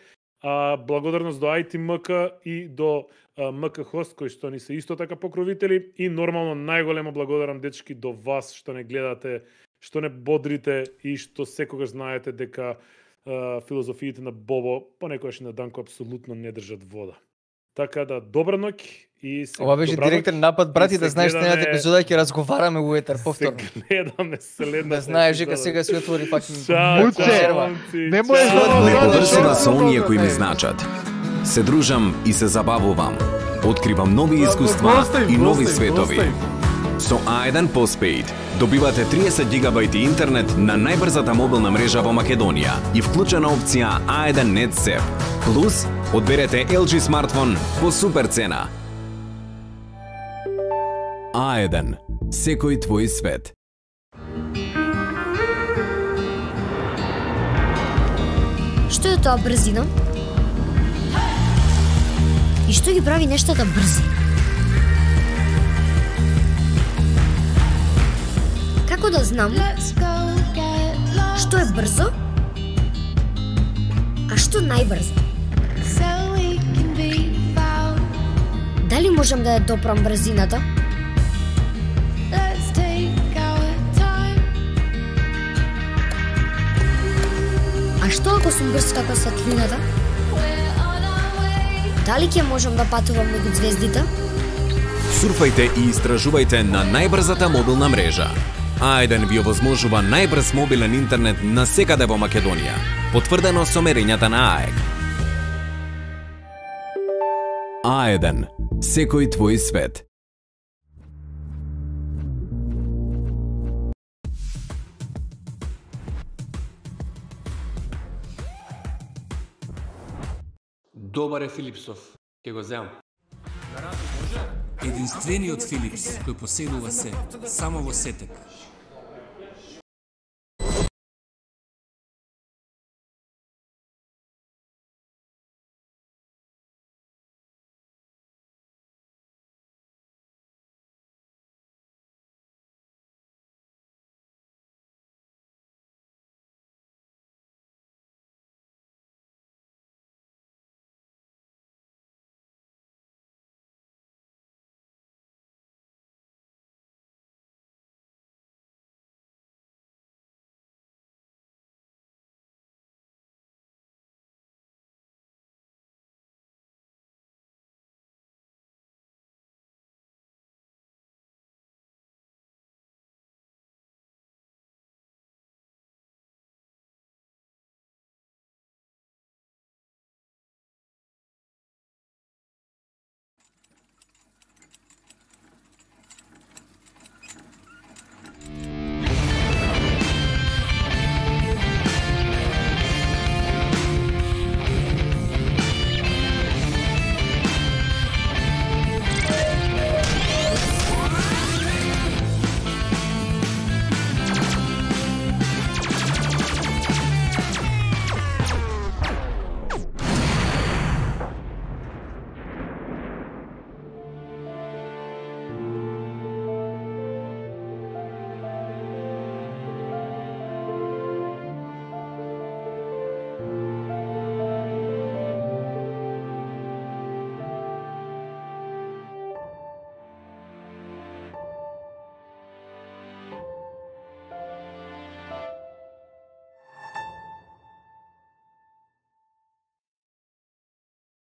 Благодарност до ITMK и до МК Host, кои што ни се исто така покровители, и нормално најголемо благодарам дечки до вас што не гледате, што не бодрите и што секогаш знаете дека филозофиите на Бобо понекогаш и на Данко апсолутно не држат вода. Така да, добра ноќ и се. Ова беше директен напад, брати, да знаеш следната епизода ќе разговараме во етер повторно. Се гледаме следната. Да знаеш дека сега се отвори факин. Не можеш ме поврзува со оние кои ми значат. Се дружам и се забавувам. Откривам нови искуства и нови светови. Со A1 Postpaid добивате 30 гигабајти интернет на најбрзата мобилна мрежа во Македонија и вклучена опција A1 Net Sep. Плюс, одберете LG смартфон по супер цена. A1. Секој твој свет. Што е тоа брзина? И што ги прави нештата брзи? Како да знам што е брзо, а што најбрзо? Дали можам да ја допрам брзината? А што ако сум брз како светлината? Дали ќе можам да патувам меѓу ѕвездите? Сурфајте и истражувајте на најбрзата мобилна мрежа. A1 ви овозможува најбрз мобилен интернет на секаде во Македонија, потврдено со мерењата на АЕК. A1. Секој твој свет. Добар е Филипсов, ќе го земам. Единствениот Филипс кој поседува се само во Сетек.